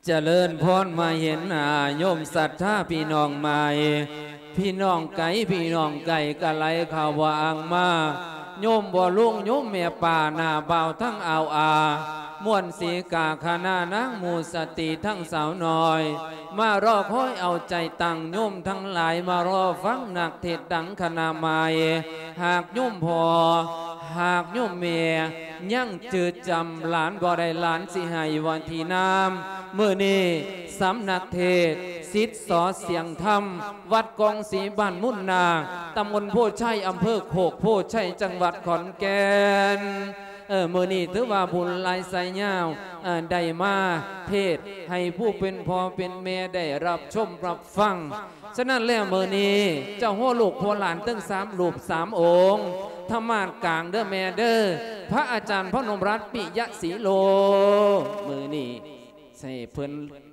ຈະເລີນພອນ ມາເຫັນໜ້າໂຍມສັດທາພີ່ນ້ອງໃໝ່ ພີ່ນ້ອງໄກ ພີ່ນ້ອງໃກ້ກະໄຫຼເຂົ້າວ່າອ່າງມາ ໂຍມພໍ່ລຸງ ໂຍມແມ່ປ້າ ນ້າບ່າວທັງອ່າວອາ ມ່ວນສີກາຄະນະນາງໝູ່ສະຕີທັງສາວນ້ອຍ ມາລໍຄອຍເອົາໃຈຕັ້ງ ໂຍມທັງຫຼາຍມາລໍຟັງນັກເທດດັງຄະນະໃໝ່ ຫາກໂຍມພໍ່ ຫາກໂຍມແມ່ ຍັງຈື່ຈຳຫຼານບໍ່ໄດ້ ຫຼານຊິໃຫ້ວັນທີນາມ. ມື້ນີ້ສຳນັກເທດສິດສອສຽງທຳ ວັດກອງສີ ບ້ານມຸນນາກ ຕຳບົນໂພໄຊ ອຳເພີໂຄກໂພໄຊ ຈັງຫວັດຂອນແກ່ນ. ເອີ ມື້ນີ້ຖືວ່າບຸນຫຼາຍສາຍຍາວ ເອີ ໄດ້ມາເທດໃຫ້ຜູ້ເປັນພໍ່ເປັນແມ່ໄດ້ຮັບຊົມຮັບຟັງ. ສະນັ້ນແລ້ວ ມື້ນີ້ເຈົ້າຫົວລູກຫົວຫຼານເຖິງສາມຮູບສາມອົງ ທຳມາດກາງເດີແມ່ເດີ ພະອາຈານພະນົມລັດ ປິຍະສີໂລ ມື້ນີ້ໃຫ້ເພິ່ນ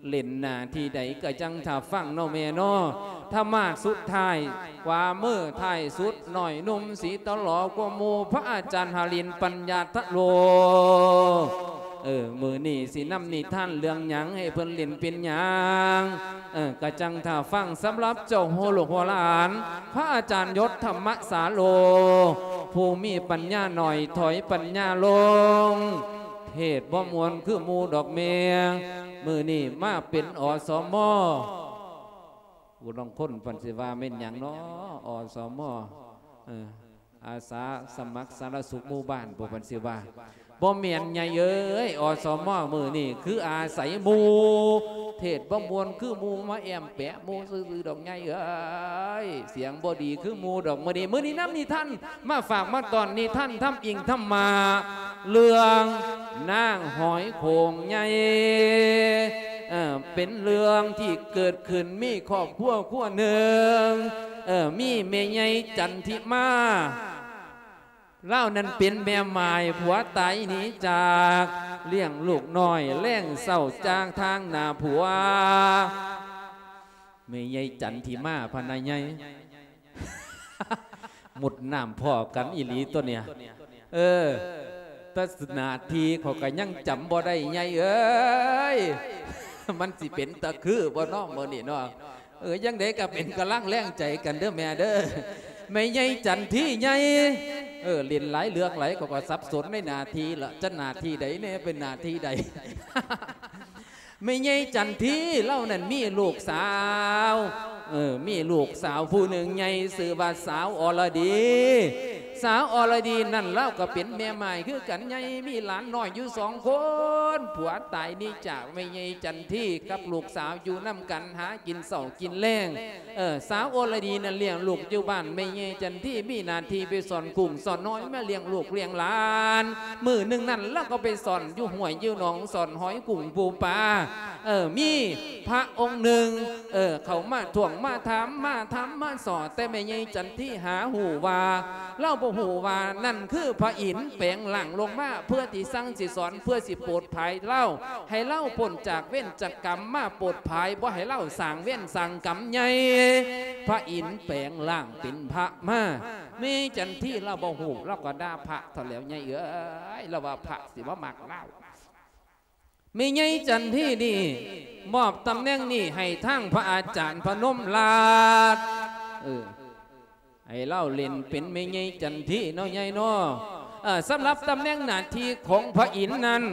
ຫຼິ້ນໜ້າທີ່ໃດກະຈັ່ງຖ້າຟັງເນາະແມ່ເນາະ. ທຳມາດສຸດທ້າຍ ຂວາມືທ້າຍສຸດ ນ້ອຍໜຸ່ມສີຕະຫຼໍກວ່າໝູ່ ພະອາຈານຫະລິນ ປັນຍາທະໂລ. ເອີ ມື້ນີ້ຊິນຳນິທານເລື່ອງຫຍັງ ໃຫ້ເພິ່ນຫຼິ້ນເປັນຫຍັງ ເອີ ກະຈັ່ງຖ້າຟັງ. ສຳລັບເຈົ້າຫົວລູກຫົວຫຼານ ພະອາຈານຍົດ ທຳມະສາໂລ ຜູ້ມີປັນຍາໜ້ອຍ ຖອຍປັນຍາລົງ ເທດບໍ່ມ່ວນຄືໝູ່ດອກແມ່. ມື້ນີ້ມາເປັນ ອສມ ຜູ້ລາງຄົນເພິ່ນຊິວ່າແມ່ນຫຍັງເນາະ ອສມ ເອີ ອາສາສະໝັກສາທາລະນະສຸກໝູ່ບ້ານ ພວກເພິ່ນຊິວ່າ. ບໍ່ແມ່ນໃຫຍ່ເອີຍ ອສມ ມື້ນີ້ຄືອາໄສໝູ່ ເທດບໍ່ມ່ວນຄືໝູ່ ມາແອ້ມແປະໝູ່ຊື່ໆດອກໃຫຍ່ເອີຍ ສຽງບໍ່ດີຄືໝູ່ດອກ. ມື້ນີ້ ມື້ນີ້ນຳນິທານມາຝາກມາຕ້ອນ ນິທານທຳອິງທຳມະ ເລື່ອງນາງຫອຍໂຂງໃຫຍ່ ເອີ ເປັນເລື່ອງທີ່ເກີດຂຶ້ນ ມີຄອບຄົວຄົວໜຶ່ງ ເອີ ມີແມ່ໃຫຍ່ຈັນທິມາ ລາວນັ້ນເປັນແມ່ໝ້າຍ ຜົວຕາຍໜີຈາກ ລ້ຽງລູກນ້ອຍແລງເຊົ້າຈາກທາງໜ້າຜົວ. ແມ່ໃຫຍ່ຈັນທິມາພະນະໃຫຍ່ ມຸດນ້ຳພໍ້ກັນອີ່ຫຼີຕົວເນີ້ຍ. ເອີ ແຕ່ໜ້າທີ່ຂ້ອຍກະຍັງຈຳບໍ່ໄດ້ໃຫຍ່ເອີຍ ມັນຊິເປັນຕາຄືບໍ່ເນາະມື້ນີ້ເນາະ. ເອີ ຈັ່ງໃດກະເປັນກຳລັງແຮງໃຈກັນເດີແມ່ເດີ ແມ່ໃຫຍ່ຈັນທີໃຫຍ່. ເອີ ຫຼິ້ນຫຼາຍເລື່ອງຫຼາຍ ຂ້ອຍກະສັບສົນໃນໜ້າທີ່ລະ ຈະໜ້າທີ່ໃດແນ່ ເປັນໜ້າທີ່ໃດ. ແມ່ໃຫຍ່ຈັນທີລາວນັ້ນມີລູກສາວ ເອີ ມີລູກສາວຜູ້ໜຶ່ງໃຫຍ່ ຊື່ວ່າສາວອໍລະດີ. ສາວອໍລະດີນັ້ນລາວກະເປັນແມ່ໝ້າຍຄືກັນໃຫຍ່ ມີຫຼານນ້ອຍຢູ່ສອງຄົນ ຜົວຕາຍໜີຈາກແມ່ໃຫຍ່ຈັນທີກັບລູກສາວຢູ່ນຳກັນ ຫາກິນເຊົ້າກິນແລງ. ເອີ ສາວອໍລະດີນັ້ນລ້ຽງລູກຢູ່ບ້ານ ແມ່ໃຫຍ່ຈັນທີມີໜ້າທີ່ໄປສ້ອນກຸ້ງສ້ອນຫອຍ ມາລ້ຽງລູກລ້ຽງຫຼານ. ມື້ໜຶ່ງນັ້ນລາວກະໄປສ້ອນຢູ່ຫ້ວຍຢູ່ໜອງ ສ້ອນຫອຍກຸ້ງປູປາ. ເອີ ມີພະອົງໜຶ່ງ ເອີ ເຂົ້າມາທ້ວງມາຖາມ ມາຖາມມາສໍ້ ແຕ່ແມ່ໃຫຍ່ຈັນທີຫາຮູ້ວ່າ ລາວບໍ່ຮູ້ວ່ານັ້ນຄືພະອິນແປງຮ່າງລົງມາ ເພື່ອທີ່ສັ່ງຊິສອນ ເພື່ອຊິໂປດຜາຍລາວ ໃຫ້ລາວພົ້ນຈາກເວນຈາກກຳ ມາໂປດຜາຍ ບໍ່ໃຫ້ລາວສ້າງເວນສ້າງກຳໃຫຍ່. ພະອິນແປງຮ່າງເປັນພະມາ ແມ່ໃຫຍ່ຈັນທີລາວບໍ່ຮູ້ ລາວກະດ່າພະເທົ່າແລ້ວ ໃຫຍ່ເອີຍ ລາວວ່າພະຊິບໍ່ມັກລາວ. ແມ່ໃຫຍ່ຈັນທີນີ້ ມອບຕຳແໜ່ງນີ້ໃຫ້ທາງພະອາຈານພະນົມລາດ ເອີ ໃຫ້ລາວຫຼິ້ນເປັນແມ່ໃຫຍ່ຈັນທີເນາະ ໃຫຍ່ເນາະ. ເອີ ສຳລັບຕຳແໜ່ງໜ້າທີ່ຂອງພະອິນນັ້ນ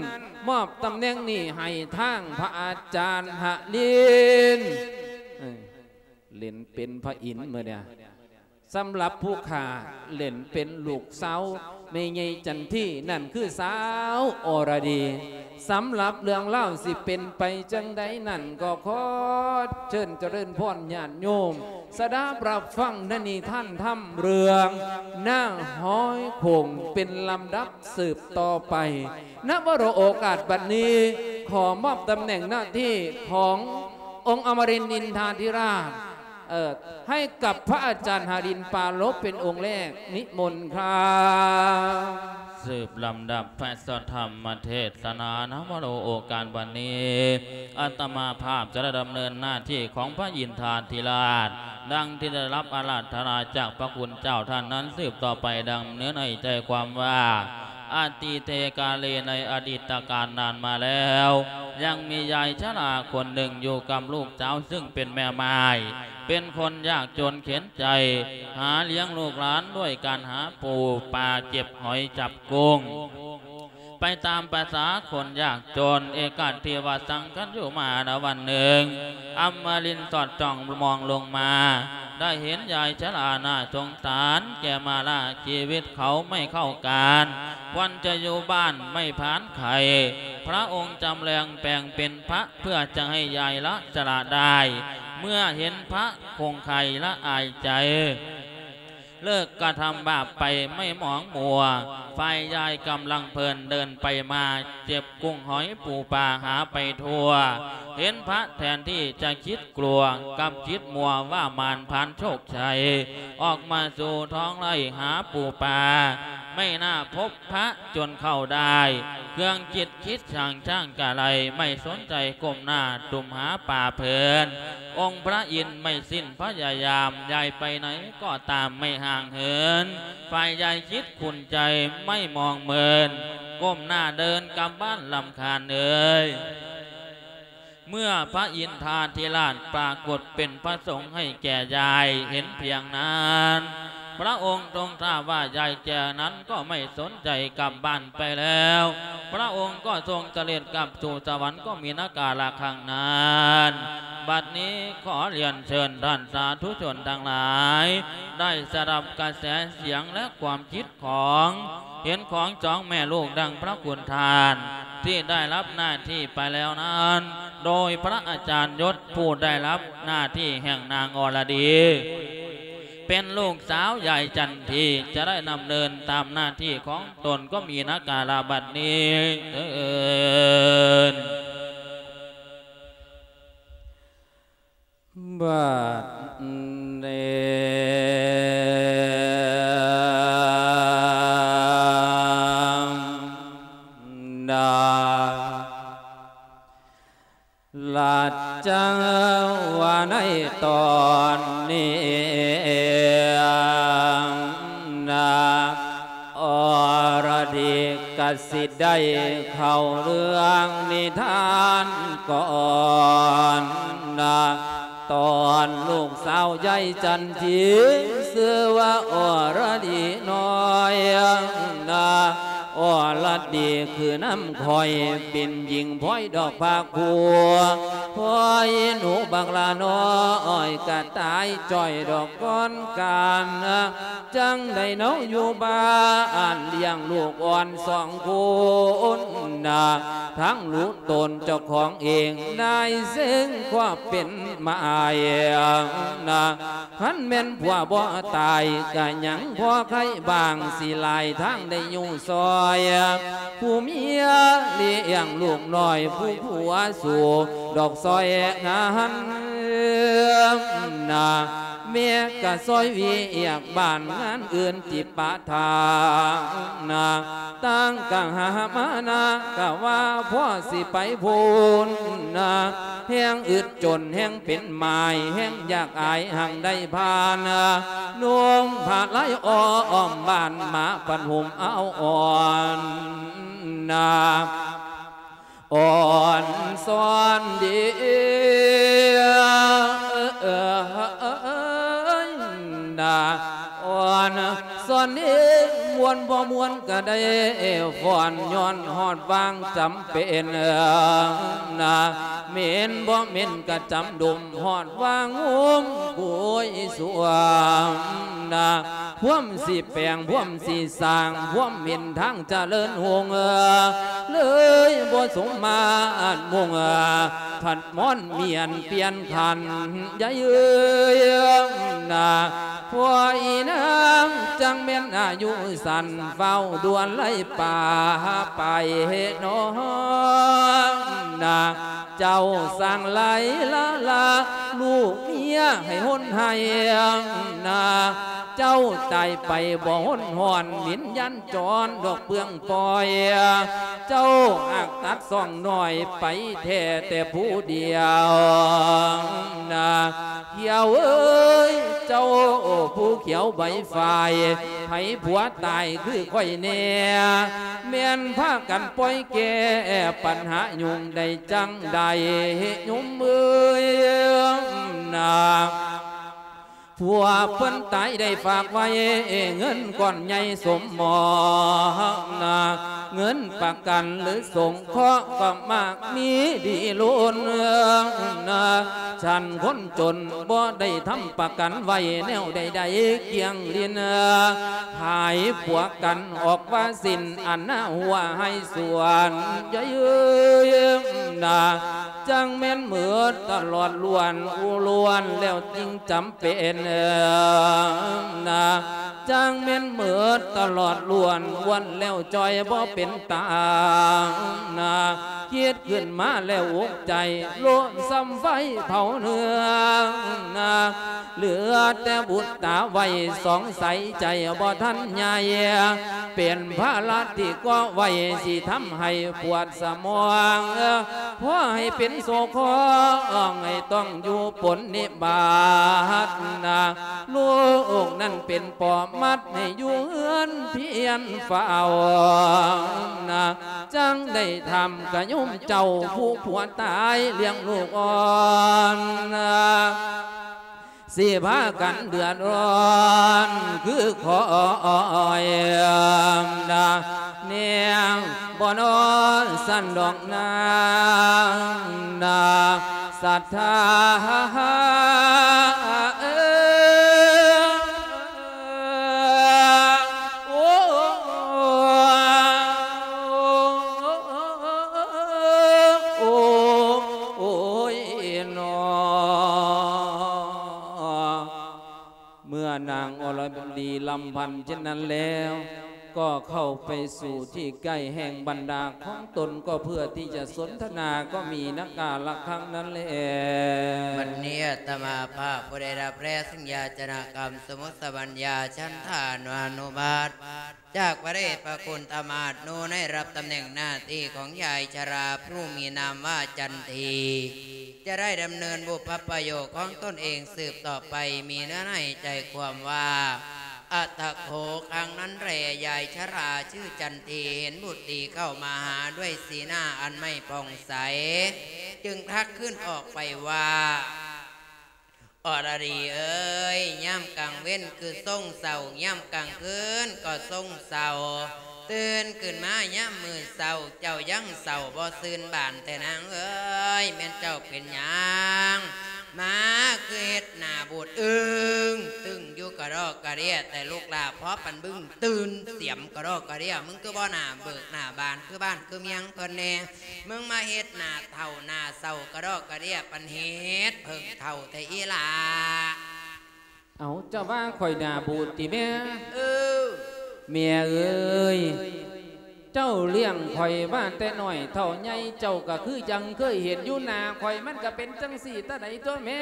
ມອບຕຳແໜ່ງນີ້ໃຫ້ທາງພະອາຈານຫະລິນ ເອີ ຫຼິ້ນເປັນພະອິນມື້ນີ້. ສຳລັບຜູ້ຂ້າຫຼິ້ນເປັນລູກສາວແມ່ໃຫຍ່ຈັນທີ ນັ້ນຄືສາວອໍລະດີ. ສຳລັບເລື່ອງລາວຊິເປັນໄປຈັ່ງໃດນັ້ນ ກໍຂໍເຊີນຈະເລີນພອນຍາດໂຍມ ສະດັບຮັບຟັງໃນນິທານທຳເລື່ອງນາງຫອຍໂຂງເປັນລຳດັບສືບຕໍ່ໄປ. ນະວະໂລະໂອກາດບັດນີ້ ຂໍມອບຕຳແໜ່ງໜ້າທີ່ຂອງອົງອະມະລິນອິນທາທິລາດ ເອີ ໃຫ້ກັບພະອາຈານຫະລິນປາລົບເປັນອົງແລກ ນິມົນຄັບ. ສືບລຳດັບພະສັດທຳມະເທດສະໜາ ນະວະໂລະໂອກາດບັດນີ້ ອາດຕະມາພາບຈະໄດ້ດຳເນີນໜ້າທີ່ຂອງພະອິນທາທິລາດ ດັ່ງທີ່ໄດ້ຮັບອາລາທະນາຈາກພະຄຸນເຈົ້າທ່ານນັ້ນ ສືບຕໍ່ໄປ ດຳເນີນໃຫ້ໃຈຄວາມວ່າ ອະຕິເຕກາເລ ໃນອະດີດຕະການນານມາແລ້ວ ຍັງມີຍາຍຊະລາຄົນໜຶ່ງຢູ່ກັບລູກສາວ ຊຶ່ງເປັນແມ່ໝ້າຍ ເປັນຄົນຍາກຈົນເຂັນໃຈ ຫາລ້ຽງລູກຫຼານດ້ວຍການຫາປູປາ ເກັບຫອຍຈັບກຸ້ງ ໄປຕາມປະສາຄົນຍາກຈົນ. ເອກາທິວະສັງຄັນຍຸມາ ນະວັນໜຶ່ງ ອຳມະລິນສອດຈ້ອງມອງລົງມາ ໄດ້ເຫັນຍາຍຊະລາໜ້າສົງສານແກ່ມາລາ ຊີວິດເຂົາໄມ່ເຂົ້າການ ຄວນຈະຢູ່ບ້ານໄມ່ຜານໄຂ່ ພະອົງຈຳແລງແປງເປັນພະ ເພື່ອຈະໃຫ້ຍາຍລະຊະລາໄດ້ ເມື່ອເຫັນພະຄົງໄຄລະອາຍໃຈ ເລີກກະທຳບາບໄປໄມ່ໝອງມົວ. ຝ່າຍຍາຍກຳລັງເພີນເດີນໄປມາ ເກັບກຸ້ງຫອຍປູປາຫາໄປທົ່ວ ເຫັນພະແທນທີ່ຈະຄິດ ກົວກັບຈິດມົວວ່າມານຜ່ານໂຊກໄຊ ອອກມາສູ່ທ້ອງໄຮ່ຫາປູປາ ໄມ່ໜ້າພົບພະຈົນເຂົ້າໄດ້ ເຄື່ອງຈິດຄິດຊ່າງຊ່າງກະໄລ ໄມ່ສົນໃຈກົ້ມໜ້າຕຸ້ມຫາປາເພິ່ນ ອົງພະອິນໄມ່ສິ້ນພະຍາຍາມ ຍາຍໄປໃນກໍຕາມໄມ່ຫ່າງເຫີນ ຝ່າຍຍາຍຈິດຂຸ້ນໃຈໄມ່ມອງເມີນ ກົ້ມໜ້າເດີນກັບບ້ານລຳຄານເອີຍ. ເມື່ອພະອິນທາທິລາດປາກົດເປັນພະສົງໃຫ້ແກ່ຍາຍເຫັນພຽງນັ້ນ ພະອົງຊົງຊາບວ່າຍາຍແກ່ນັ້ນກໍໄມ່ສົນໃຈກັບບ້ານໄປແລ້ວ ພະອົງກໍຊົງສະເດັດກັບສູ່ສະຫວັນກໍມີນາກາລະຄັ້ງນັ້ນ. ບັດນີ້ຂໍລຽນເຊີນທ່ານສາທຸຊົນທັງຫຼາຍ ໄດ້ສະດັບກະແສສຽງ ແລະ ຄວາມຄິດ ຂອງ ເຫັນຂອງສອງແມ່ລູກ ດັ່ງພະຄຸນທ່ານທີ່ໄດ້ຮັບໜ້າທີ່ໄປແລ້ວນັ້ນ ໂດຍພະອາຈານຍົດຜູ້ໄດ້ຮັບໜ້າທີ່ແຫ່ງນາງອລະດີ ເປັນລູກສາວຍາຍຈັນທີ ຈະໄດ້ດຳເນີນຕາມໜ້າທີ່ຂອງຕົນ ກໍມີນາກາລະບັດນີ້ເທີ້ນ. ບັດນີ້ ນາ ລະຈັງວ່າໃນຕອນນີ້ ນາ ອລະດີກະຊິໄດ້ເຂົ້າເລື່ອງນິທານກ່ອນນະ. ຕອນລູກສາວຍາຍຈັນທີ ຊື່ວ່າອລະດີນ້ອຍນະ. ອລະດີຄືນຳຂ້ອຍ ເປັນຍິງພອຍດອກພາກຜູ້ ພອຍໜູບັກຫຼ້ານ້ອຍ ກະຕາຍຈ້ອຍດອກກ່ອນການນະ. ຈັ່ງໃດເນາະຢູ່ບ້ານ ລ້ຽງລູກອ່ອນສອງຄົນນະ ທັງລູກຕົນເຈົ້າຂອງເອງ ນາຍເສັງຄວາມເປັນມາຍນະ. ຄັນແມ່ນຜົວບໍ່ຕາຍ ກະຍັງພໍໄຄບ້າງ ຊິຫຼາຍທາງໄດ້ຢູ່ຊ່ອຍ ຜູ້ເມຍລ້ຽງລູກນ້ອຍ ຜູ້ຜົວສູ້ດອກຊ່ອຍງານນະ. ແມ່ກະຊ່ອຍວຽກບ້ານງານອື່ນຕິປະທານນະ ຕັ້ງກະຫາມານະ ກະວ່າພໍຊິໄປພຸ້ນນະ. ແຮງອຶດຈົນ ແຮງເປັນໝາຍ ແຮງຢາກອາຍ ຮັ່ງໄດ້ຜ່ານນະ ນຸ່ງຜ້າລາຍອ້ອມບ້ານ ມາພັນຫົມເອົາອ່ອນນະ ອ່ອນຊອນດີນະ ອ່ອນຊອນດີ ມ່ວນບໍ່ມ່ວນກະໄດ້ຟ້ອນ ຍ້ອນຮອດວາງຈຳເປັນນະ ແມ່ນບໍ່ແມ່ນກະຈຳດົມ ຮອດວາງໂຮມໂກຍສ່ວມນະ. ພວມຊິແປງ ພວມຊິສ້າງ ພວມເປັນທາງຈະເລີນຮຸ່ງ ເລີຍບໍ່ສົມມາດມຸ່ງ ຜັດໝອນປ່ຽນປ່ຽນຂັນໃຫຍ່ເອີຍນະ. ພວກອີນາງຈັ່ງແມ່ນອາຍຸສັ້ນ ຟ້າວດ່ວນໄລ່ປ່າໄປເນາະນະ. ເຈົ້າສ້າງໄລ່ລາລາ ລູກເມຍໃຫ້ຫົນໃຫ້ນາ. ເຈົ້າຕາຍໄປບໍ່ຫົນຫອນ ວິນຍານຈອນດອກເປືອງປ່ອຍ. ເຈົ້າຫາກຕັດຊ່ອງນ້ອຍໄປແທ້ແຕ່ຜູ້ດຽວນາ. ຂຽວເອີຍ ເຈົ້າຜູ້ຂຽວໃບຝ້າຍ ໃຜຜົວຕາຍຄືຂ້ອຍແດ່ ແມ່ນພາກັນປ່ອຍແກ້ປັນຫາຫຍຸ້ງໄດ້ຈັ່ງໃດ ໂຍມເອີຍນາ. ຜົວເພິ່ນຕາຍໄດ້ຝາກໄວ້ເງິນກ້ອນໃຫຍ່ສົມໝອງນາ ເງິນປະກັນຫຼືສົງເຄາະກໍມາກມີດີລົ້ນນາ ຊັ້ນຄົນຈົນບໍ່ໄດ້ທຳປະກັນໄວ້ແນວໃດໆ ກ້ຽງລິນ ຫາຍຜົວກັນອອກວ່າສິ້ນ ອັນໜ້າຫົວໃຫ້ສວນໃຫຍ່ເອີຍນາ ຈັ່ງແມ່ນເໝິດຕະຫຼອດລ້ວນ ອູລ້ວນແລ້ວຈຶ່ງຈຳເປັນນາ ຈັ່ງແມ່ນເໝິດຕະຫຼອດລ້ວນ ລ້ວນແລ້ວຈ່ອຍບໍ່ເປັນຕານາ ຄິດຂຶ້ນມາແລ້ວອົກໃຈ ໂລນສ່ຳໄຟເຜົາເນື້ອນາ ເຫຼືອແຕ່ບຸດຕາໄວ້ສອງໃສ ໃຈບໍ່ທັນໃຫຍ່ ເປັນພາລະທີ່ເກາະໄວ້ ຊິທຳໃຫ້ປວດສະໝອງ ພໍໃຫ້ເປັນໂສຄອງ ໃຫ້ຕ້ອງຢູ່ປົນນິບາດນາ ລູກນັ້ນເປັນປອມມັດໃຫ້ຢູ່ເຮືອນພຽນເຝົ້ານາ ຈັ່ງໄດ້ຖາມກະໂຍມເຈົ້າ ຜູ້ຜົວຕາຍລ້ຽງລູກອ່ອນນາ ຊິພາກັນເດືອດຮ້ອນຄືຂ້ອຍນາ ແນວບໍ່ນອນຊັ້ນດອກນາ ນາ ສັດທາເອີຍ ໂອ້ ໂອ້ ໂອ້ ໂອ້ຍນໍ. ເມື່ອນາງອລະດີລຳພັນເຊັ່ນນັ້ນແລ້ວ ກໍເຂົ້າໄປສູ່ທີ່ໃກ້ແຫ່ງບັນດາຂອງຕົນ ກໍເພື່ອທີ່ຈະສົນທະນາ ກໍມີນະກາລະຄັງນັ້ນແຫຼະ. ບັດນີ້ອາດຕະມາພາບຜູ້ໄດ້ຮັບແລເຊິ່ງຢາຈະນະກຳ ສະມຸດສະບັນຍາ ສັນທານຸອະນຸບາດ ຈາກພະເດດພະຄຸນທຳມະອາດນຸ ໃນຮັບຕຳແໜ່ງໜ້າທີ່ຂອງຍາຍຊະລາຜູ້ມີນາມວ່າຈັນທີ ຈະໄດ້ດຳເນີນບຸບພະປະໂຫຍກຂອງຕົນເອງສືບຕໍ່ໄປ ມີເນື້ອໃນໃຈຄວາມວ່າ ອັດຖະໂຂ ຄັ້ງນັ້ນແລ ຍາຍຊະລາຊື່ຈັນທີ ເຫັນບຸດດີເຂົ້າມາຫາດ້ວຍສີໜ້າອັນໄມ່ຜ່ອງໃສ ຈຶ່ງທັກຄືນອອກໄປວ່າ ອລະດີເອີຍ ຍາມກາງເວັນຄືຊົງເສົ້າ ຍາມກາງຄືນກໍຊົງເສົ້າ ຕື່ນຂຶ້ນມາຍາມມື້ເຊົ້າ ເຈົ້າຍັງເສົ້າບໍ່ຊື່ນບານແທ້ນາງເອີຍ ແມ່ນເຈົ້າເປັນຫຍັງ ມາຄືເຮັດໜ້າບູດອຶ້ງຕຶ້ງຢູ່ກະດອກກະເດຍແຕ່ລູກຫຼ້າ ພໍປັນບຶ້ງຕື່ນສຽມກະດອກກະເດຍ ມຶງຄືບໍ່ໜ້າເບີກໜ້າບານຄືບ້ານຄືເມືອງເພິ່ນແດ່ ມຶງມາເຮັດໜ້າເຖົ້າໜ້າເສົ້າກະດອກກະເດຍ ປານເຫັດເຜິ້ງເຖົ້າແທ້ອີ່ຫຼ້າ. ເອົາ ເຈົ້າວ່າຂ້ອຍໜ້າບູດຕິແມ່? ເອີ ແມ່ເອີຍ ເຈົ້າລ້ຽງຂ້ອຍມາແຕ່ນ້ອຍເທົ່າໃຫຍ່ ເຈົ້າກໍຄືຍັງເຄີຍເຫັນຢູ່ ໜ້າຂ້ອຍມັນກໍເປັນຈັ່ງຊີ້ແຕ່ໃດຕົວະແມ່.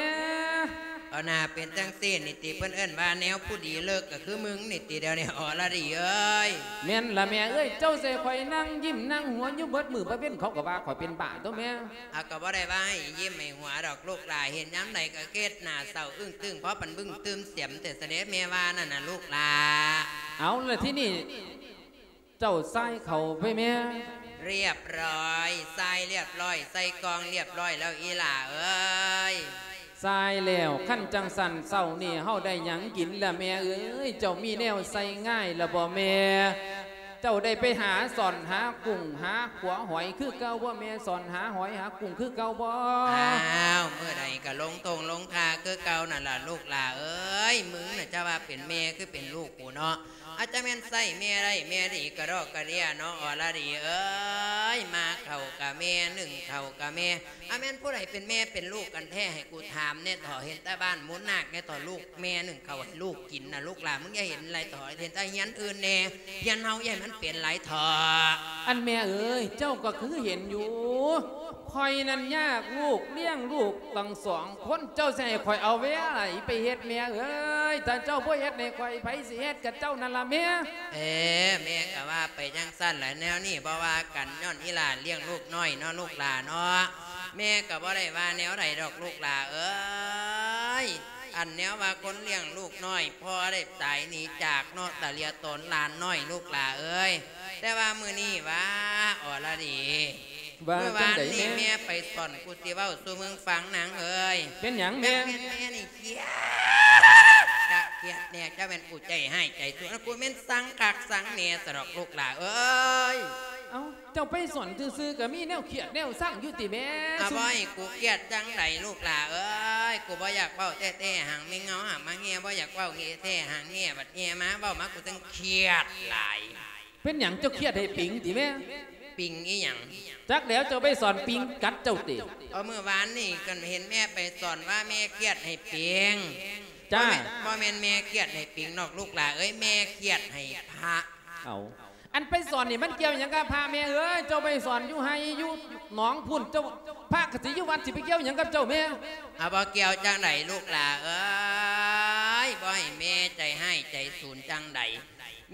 ເອົາໜ້າເປັນຈັ່ງຊີ້ນີ້ຕິ ເພິ່ນເອີ້ນວ່າແນວຜູ້ດີເລີກກໍຄືມຶງນີ້ຕິ ດຽວນີ້ ອໍລະດີເອີຍ. ແມ່ນລະແມ່ເອີຍ ເຈົ້າໃຫ້ຂ້ອຍນັ່ງຍິ້ມນັ່ງຫົວຢູ່ເບິດມື້ເບິດເວັນ ເຂົາກໍວ່າຂ້ອຍເປັນບ້າຕົວະແມ່. ອາ ກໍບໍ່ໄດ້ວ່າໃຫ້ຍິ້ມໃຫ້ຫົວດອກລູກຫຼ້າ ເຫັນຍາມໃດກໍເຮັດໜ້າເສົ້າອຶ້ງຕຶ້ງ ພໍປັນບຶ້ງຕື່ມສຽມແທ້ຊະເດ ແມ່ວ່ານັ້ນນະລູກຫຼ້າ. ເອົາ ລະທີນີ້ເຈົ້າຊາຍເຂົ້າໄປແມ່? ລຽບຮ້ອຍ ຊາຍລຽບຮ້ອຍ ໃສ່ກ່ອງລຽບຮ້ອຍແລ້ວອີ່ຫຼ້າເອີຍ. ຊາຍແລ້ວ ຄັນຈັ່ງຊັ້ນເຊົ້ານີ້ເຮົາໄດ້ຫຍັງກິນລະແມ່ເອີຍ? ເຈົ້າມີແນວໃສ່ງາຍລະບໍ່ແມ່? ເຈົ້າໄດ້ໄປຫາຊ່ອນຫາກຸ້ງຫາຂົວຫອຍຄືເກົ່າບໍ່ແມ່? ຊ່ອນຫາຫອຍຫາກຸ້ງຄືເກົ່າບໍ່? ອ້າວ ມື້ໃດກໍລົງທົ່ງລົງທ່າຄືເກົ່ານັ້ນລະລູກຫຼ້າເອີຍ. ມຶງນະຈະວ່າເປັນແມ່ຄືເປັນລູກກູເນາະ. ອາດຈະແມ່ນໃຊ້ແມ່ໄດ້ແມ່ດີກະດອກກະເດຍເນາະ ອລະດີເອີຍ. ມາເຂົ້າກະແມ່ ໜຶ້ງເຂົ້າກະແມ່ ອາ ແມ່ນຜູ້ໃດເປັນແມ່ເປັນລູກກັນແທ້ ໃຫ້ກູຖາມແດ່ເຖາະ. ເຫັນແຕ່ບ້ານມູນນາກແດ່ເຖາະ ລູກແມ່ໜຶ້ງເຂົ້າໃຫ້ລູກກິນນະລູກຫຼ້າ. ມຶງຢ່າເຫັນຫຼາຍເຖາະ ເຫັນແຕ່ເຮືອນອື່ນແດ່ ເຮືອນເຮົາຢ່າໃຫ້ມັນເປັນຫຼາຍເຖາະ. ອັນແມ່ເອີຍ ເຈົ້າກໍຄືເຫັນຢູ່ ຂ້ອຍນັ້ນຍາກລູກ ລ້ຽງລູກຕັ້ງສອງຄົນ ເຈົ້າຊິໃຫ້ຂ້ອຍເອົາເວລາໃດໄປເຮັດແມ່ເອີຍ? ຖ້າເຈົ້າບໍ່ເຮັດໃຫ້ຂ້ອຍ ໃຜຊິເຮັດ? ກະເຈົ້ານັ້ນລະແມ່. ເອີ ແມ່ກະວ່າໄປຈັ່ງຊັ້ນລະ ແນວນີ້ບໍ່ວ່າກັນ ຍ້ອນອີ່ຫຼ້າລ້ຽງລູກນ້ອຍເນາະ ລູກຫຼ້າເນາະ. ແມ່ກໍບໍ່ໄດ້ວ່າແນວໃດດອກລູກຫຼ້າເອີຍ. ອັນແນວວ່າຄົນລ້ຽງລູກນ້ອຍ ພໍ່ໄດ້ຕາຍໜີຈາກເນາະ ຕາເລຍໂຕນຫຼານນ້ອຍລູກຫຼ້າເອີຍ. ແຕ່ວ່າມື້ນີ້ຫວາ ອໍລະດີ ວ່າ ມື້ວານນີ້ ຈັ່ງໃດແມ່? ແມ່ໄປສອນ ກູຊິເວົ້າສູ່ມຶງຟັງນາງເອີຍ. ເປັນຫຍັງແມ່? ແມ່ ແມ່ນີ້ ເກຍດ ກະກຽດແນ່ ຈັກແມ່ນກູໃຈຮ້າຍໃຈຊົ່ວ ກູແມ່ນຊັງຄັກຊັງແນ່ຊະດອກລູກຫຼ້າເອີຍ. ເອົ້າ ເຈົ້າໄປສອນຊື່ໆ ກະມີແນວຄຽດແນວຊັງຢູ່ຕິແມ່? ອາ ບໍ່ໃຫ້ກູຄຽດຈັ່ງໃດລູກຫຼ້າເອີຍ. ກູບໍ່ຢາກເວົ້າແທ້ໆ ຫາງແມ່ເຫງົາຫາກມາແຮ່ ບໍ່ຢາກເວົ້າແທ້ໆ ຫາງແຮ່ບັດແຮ່ມາ ເວົ້າມາກູຈັ່ງຄຽດຫຼາຍ. ເປັນຫຍັງເຈົ້າຄຽດໃຫ້ປິງຕິແມ່? ປິງອີ່ຫຍັງ? ຈັກແລ້ວ ເຈົ້າໄປສອນປິງກັດເຈົ້າຕິ? ເອົາ ມື້ວານນີ້ກໍເຫັນແມ່ໄປສອນວ່າແມ່ຄຽດໃຫ້ປິງ. ຈ້າ ບໍ່ແມ່ນ ບໍ່ແມ່ນແມ່ຄຽດໃຫ້ປິງດອກລູກຫຼ້າເອີຍ ແມ່ຄຽດໃຫ້ພະ. ເອົາ ອັນໄປສອນນີ້ມັນກ່ຽວຫຍັງກັບພະແມ່ເອີຍ? ເຈົ້າໄປສອນຢູ່ໄຮ່ຢູ່ໜອງພຸ້ນ ເຈົ້າ ພະກໍຊິຢູ່ວັດ ຊິໄປກ່ຽວຫຍັງກັບເຈົ້າແມ່? ອາ ບໍ່ກ່ຽວຈັ່ງໃດລູກຫຼ້າເອີຍ ບໍ່ໃຫ້ແມ່ໃຈຮ້າຍໃຈສູນຈັ່ງໃດ.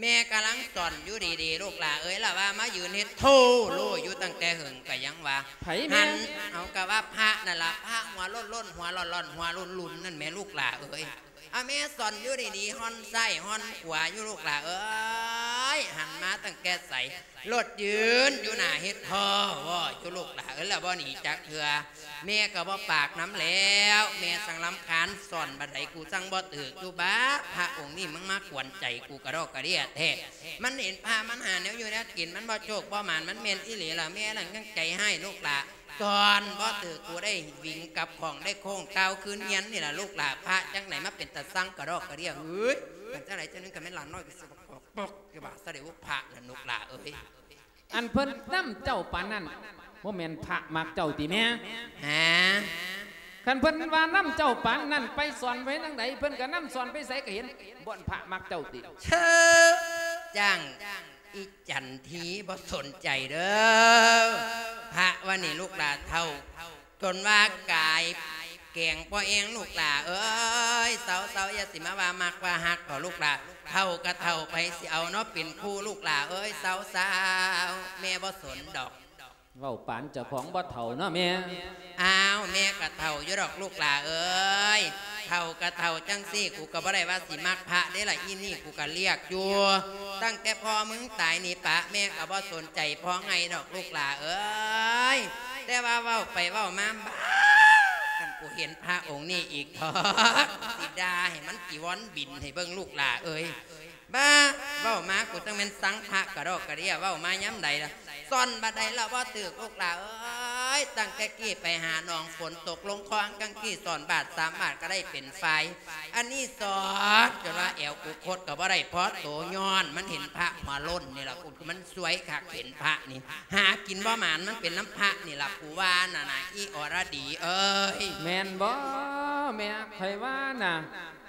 ແມ່ກຳລັງສອນຢູ່ດີໆ ລູກຫຼ້າເອີຍ ລະວ່າມາຢືນເຮັດໂທໂລຢູ່ຕັ້ງແຕ່ເຫິງກະຍັງວ່າ ໃຜແມ່? ຫັ້ນ ເອົາ ກະວ່າພະນັ້ນລະ ພະຫົວໂລ້ນໆ ຫົວຫຼອນໆ ຫົວລຸນໆ ນັ້ນແໝ່ລູກຫຼ້າເອີຍ. ອາ ແມ່ສອນຢູ່ດີໆ ຮ່ອນຊ້າຍຮ່ອນຂວາຢູ່ລູກຫຼ້າເອີຍ ຫັນມາຕັ້ງແຕ່ໃສ ລົດຢືນຢູ່ໜ້າເຮັດທໍ່ວໍ້ຢູ່ລູກຫຼ້າເອີຍ ລະບໍ່ໜີຈັກເທື່ອ. ແມ່ກໍບໍ່ປາກນຳແລ້ວ ແມ່ສັງລຳຄານ ສອນບາດໃດກູສັງບໍ່ຖືກຢູ່ບາດ ພະອົງນີ້ມັນມາກວນໃຈກູກະດອກກະເດຍແທ້. ມັນເຫັນພະມັນຫາແນວຢູ່ແນວກິນ ມັນບໍ່ໂຊກບໍ່ໝານ ມັນແມ່ນອີ່ຫຼີລະ ແມ່ນັ້ນຍັງໃຈຮ້າຍລູກຫຼ້າ ສອນບໍ່ຖືກ ກູໄດ້ຫວິງກັບຂອງໄດ້ໂຄ້ງກ້າວຄືນຮຽນນີ້ລະລູກຫຼ້າ. ພະຈັ່ງໃດມາເປັນຕາຊັງກະດອກກະເດຍ ເຮີ້ຍ ເປັນຈັ່ງໃດຈັ່ງໜຶ່ງ ກະແມ່ນຫຼານນ້ອຍກະຊິບອກປອກຢູ່ບາດຊະເດ ພະລະລູກຫຼ້າເອີຍ. ອັນເພິ່ນນຳເຈົ້າປານນັ້ນ ບໍ່ແມ່ນພະມັກເຈົ້າຕິແມ່? ຫາ? ຄັນເພິ່ນວ່ານຳເຈົ້າປານນັ້ນ ໄປສອນໄປທາງໃດ ເພິ່ນກະນຳສອນ ໄປໃສກະເຫັນ ບ່ອນພະມັກເຈົ້າຕິ? ເຊີ ຈ້າງ ອີ່ຈັນທີ ບໍ່ສົນໃຈເດີ ພະວ່ານີ້ລູກຫຼ້າເຖົ້າ ຈົນວ່າກາຍແກງພໍແອງລູກຫຼ້າເອີຍ. ເຊົາໆ ຢ່າຊິມາວ່າມັກວ່າຮັກເຖາະລູກຫຼ້າ ເຖົ້າກະເຖົ້າ ໃຜຊິເອົາເນາະເປັນຄູ່ລູກຫຼ້າເອີຍ. ເຊົາໆ ແມ່ບໍ່ສົນດອກ. ເວົ້າປານເຈົ້າຂອງບໍ່ເຖົ້າເນາະແມ່. ອ້າວ ແມ່ກະເຖົ້າຢູ່ດອກລູກຫຼ້າເອີຍ ເຖົ້າກະເຖົ້າຈັ່ງຊີ້ ກູກະບໍ່ໄດ້ວ່າຊິມັກພະເດ້ລະ ອີ່ນີ້ກູກະລຽກຢູ່ ຕັ້ງແຕ່ພໍ່ມຶງຕາຍນີ້ປະ ແມ່ກະບໍ່ສົນໃຈພໍ່ໃຫຍ່ດອກລູກຫຼ້າເອີຍ. ແຕ່ວ່າເວົ້າໄປເວົ້າມາ ບາດ ຄັນກູເຫັນພະອົງນີ້ອີກເຖາະ ຊິດ່າໃຫ້ມັນຈີວອນບິນໃຫ້ເບິ່ງລູກຫຼ້າເອີຍ. ບາ ເວົ້າມາກູຈັ່ງແມ່ນຊັງພະກະດອກກະເດຍ ເວົ້າມາຍາມໃດລະ ສອນບາດໃດລະບໍ່ຖືກລູກຫຼ້າເອີຍ. ຕັ້ງແຕ່ກີ້ໄປຫາໜອງ ຝົນຕົກລົງຄອງ ຈັ່ງກີ້ສອນບາດສາມບາດກະໄດ້ເປັນຝ່າຍ ອັນນີ້ສອນຈົນວ່າແອວກູຄົດກະບໍ່ໄດ້ພໍໂຕ ຍ້ອນມັນເຫັນພະຫົວໂລ້ນນີ້ລະ ກູ ມັນຊວຍຄັກເຫັນພະນີ້ ຫາກິນບໍ່ໝານ ມັນເປັນນຳພະນີ້ລະ ກູວ່ານັ້ນນະ ອີ່ອໍລະດີເອີຍ. ແມ່ນບໍ່ແມ່? ຂ້ອຍວ່ານະ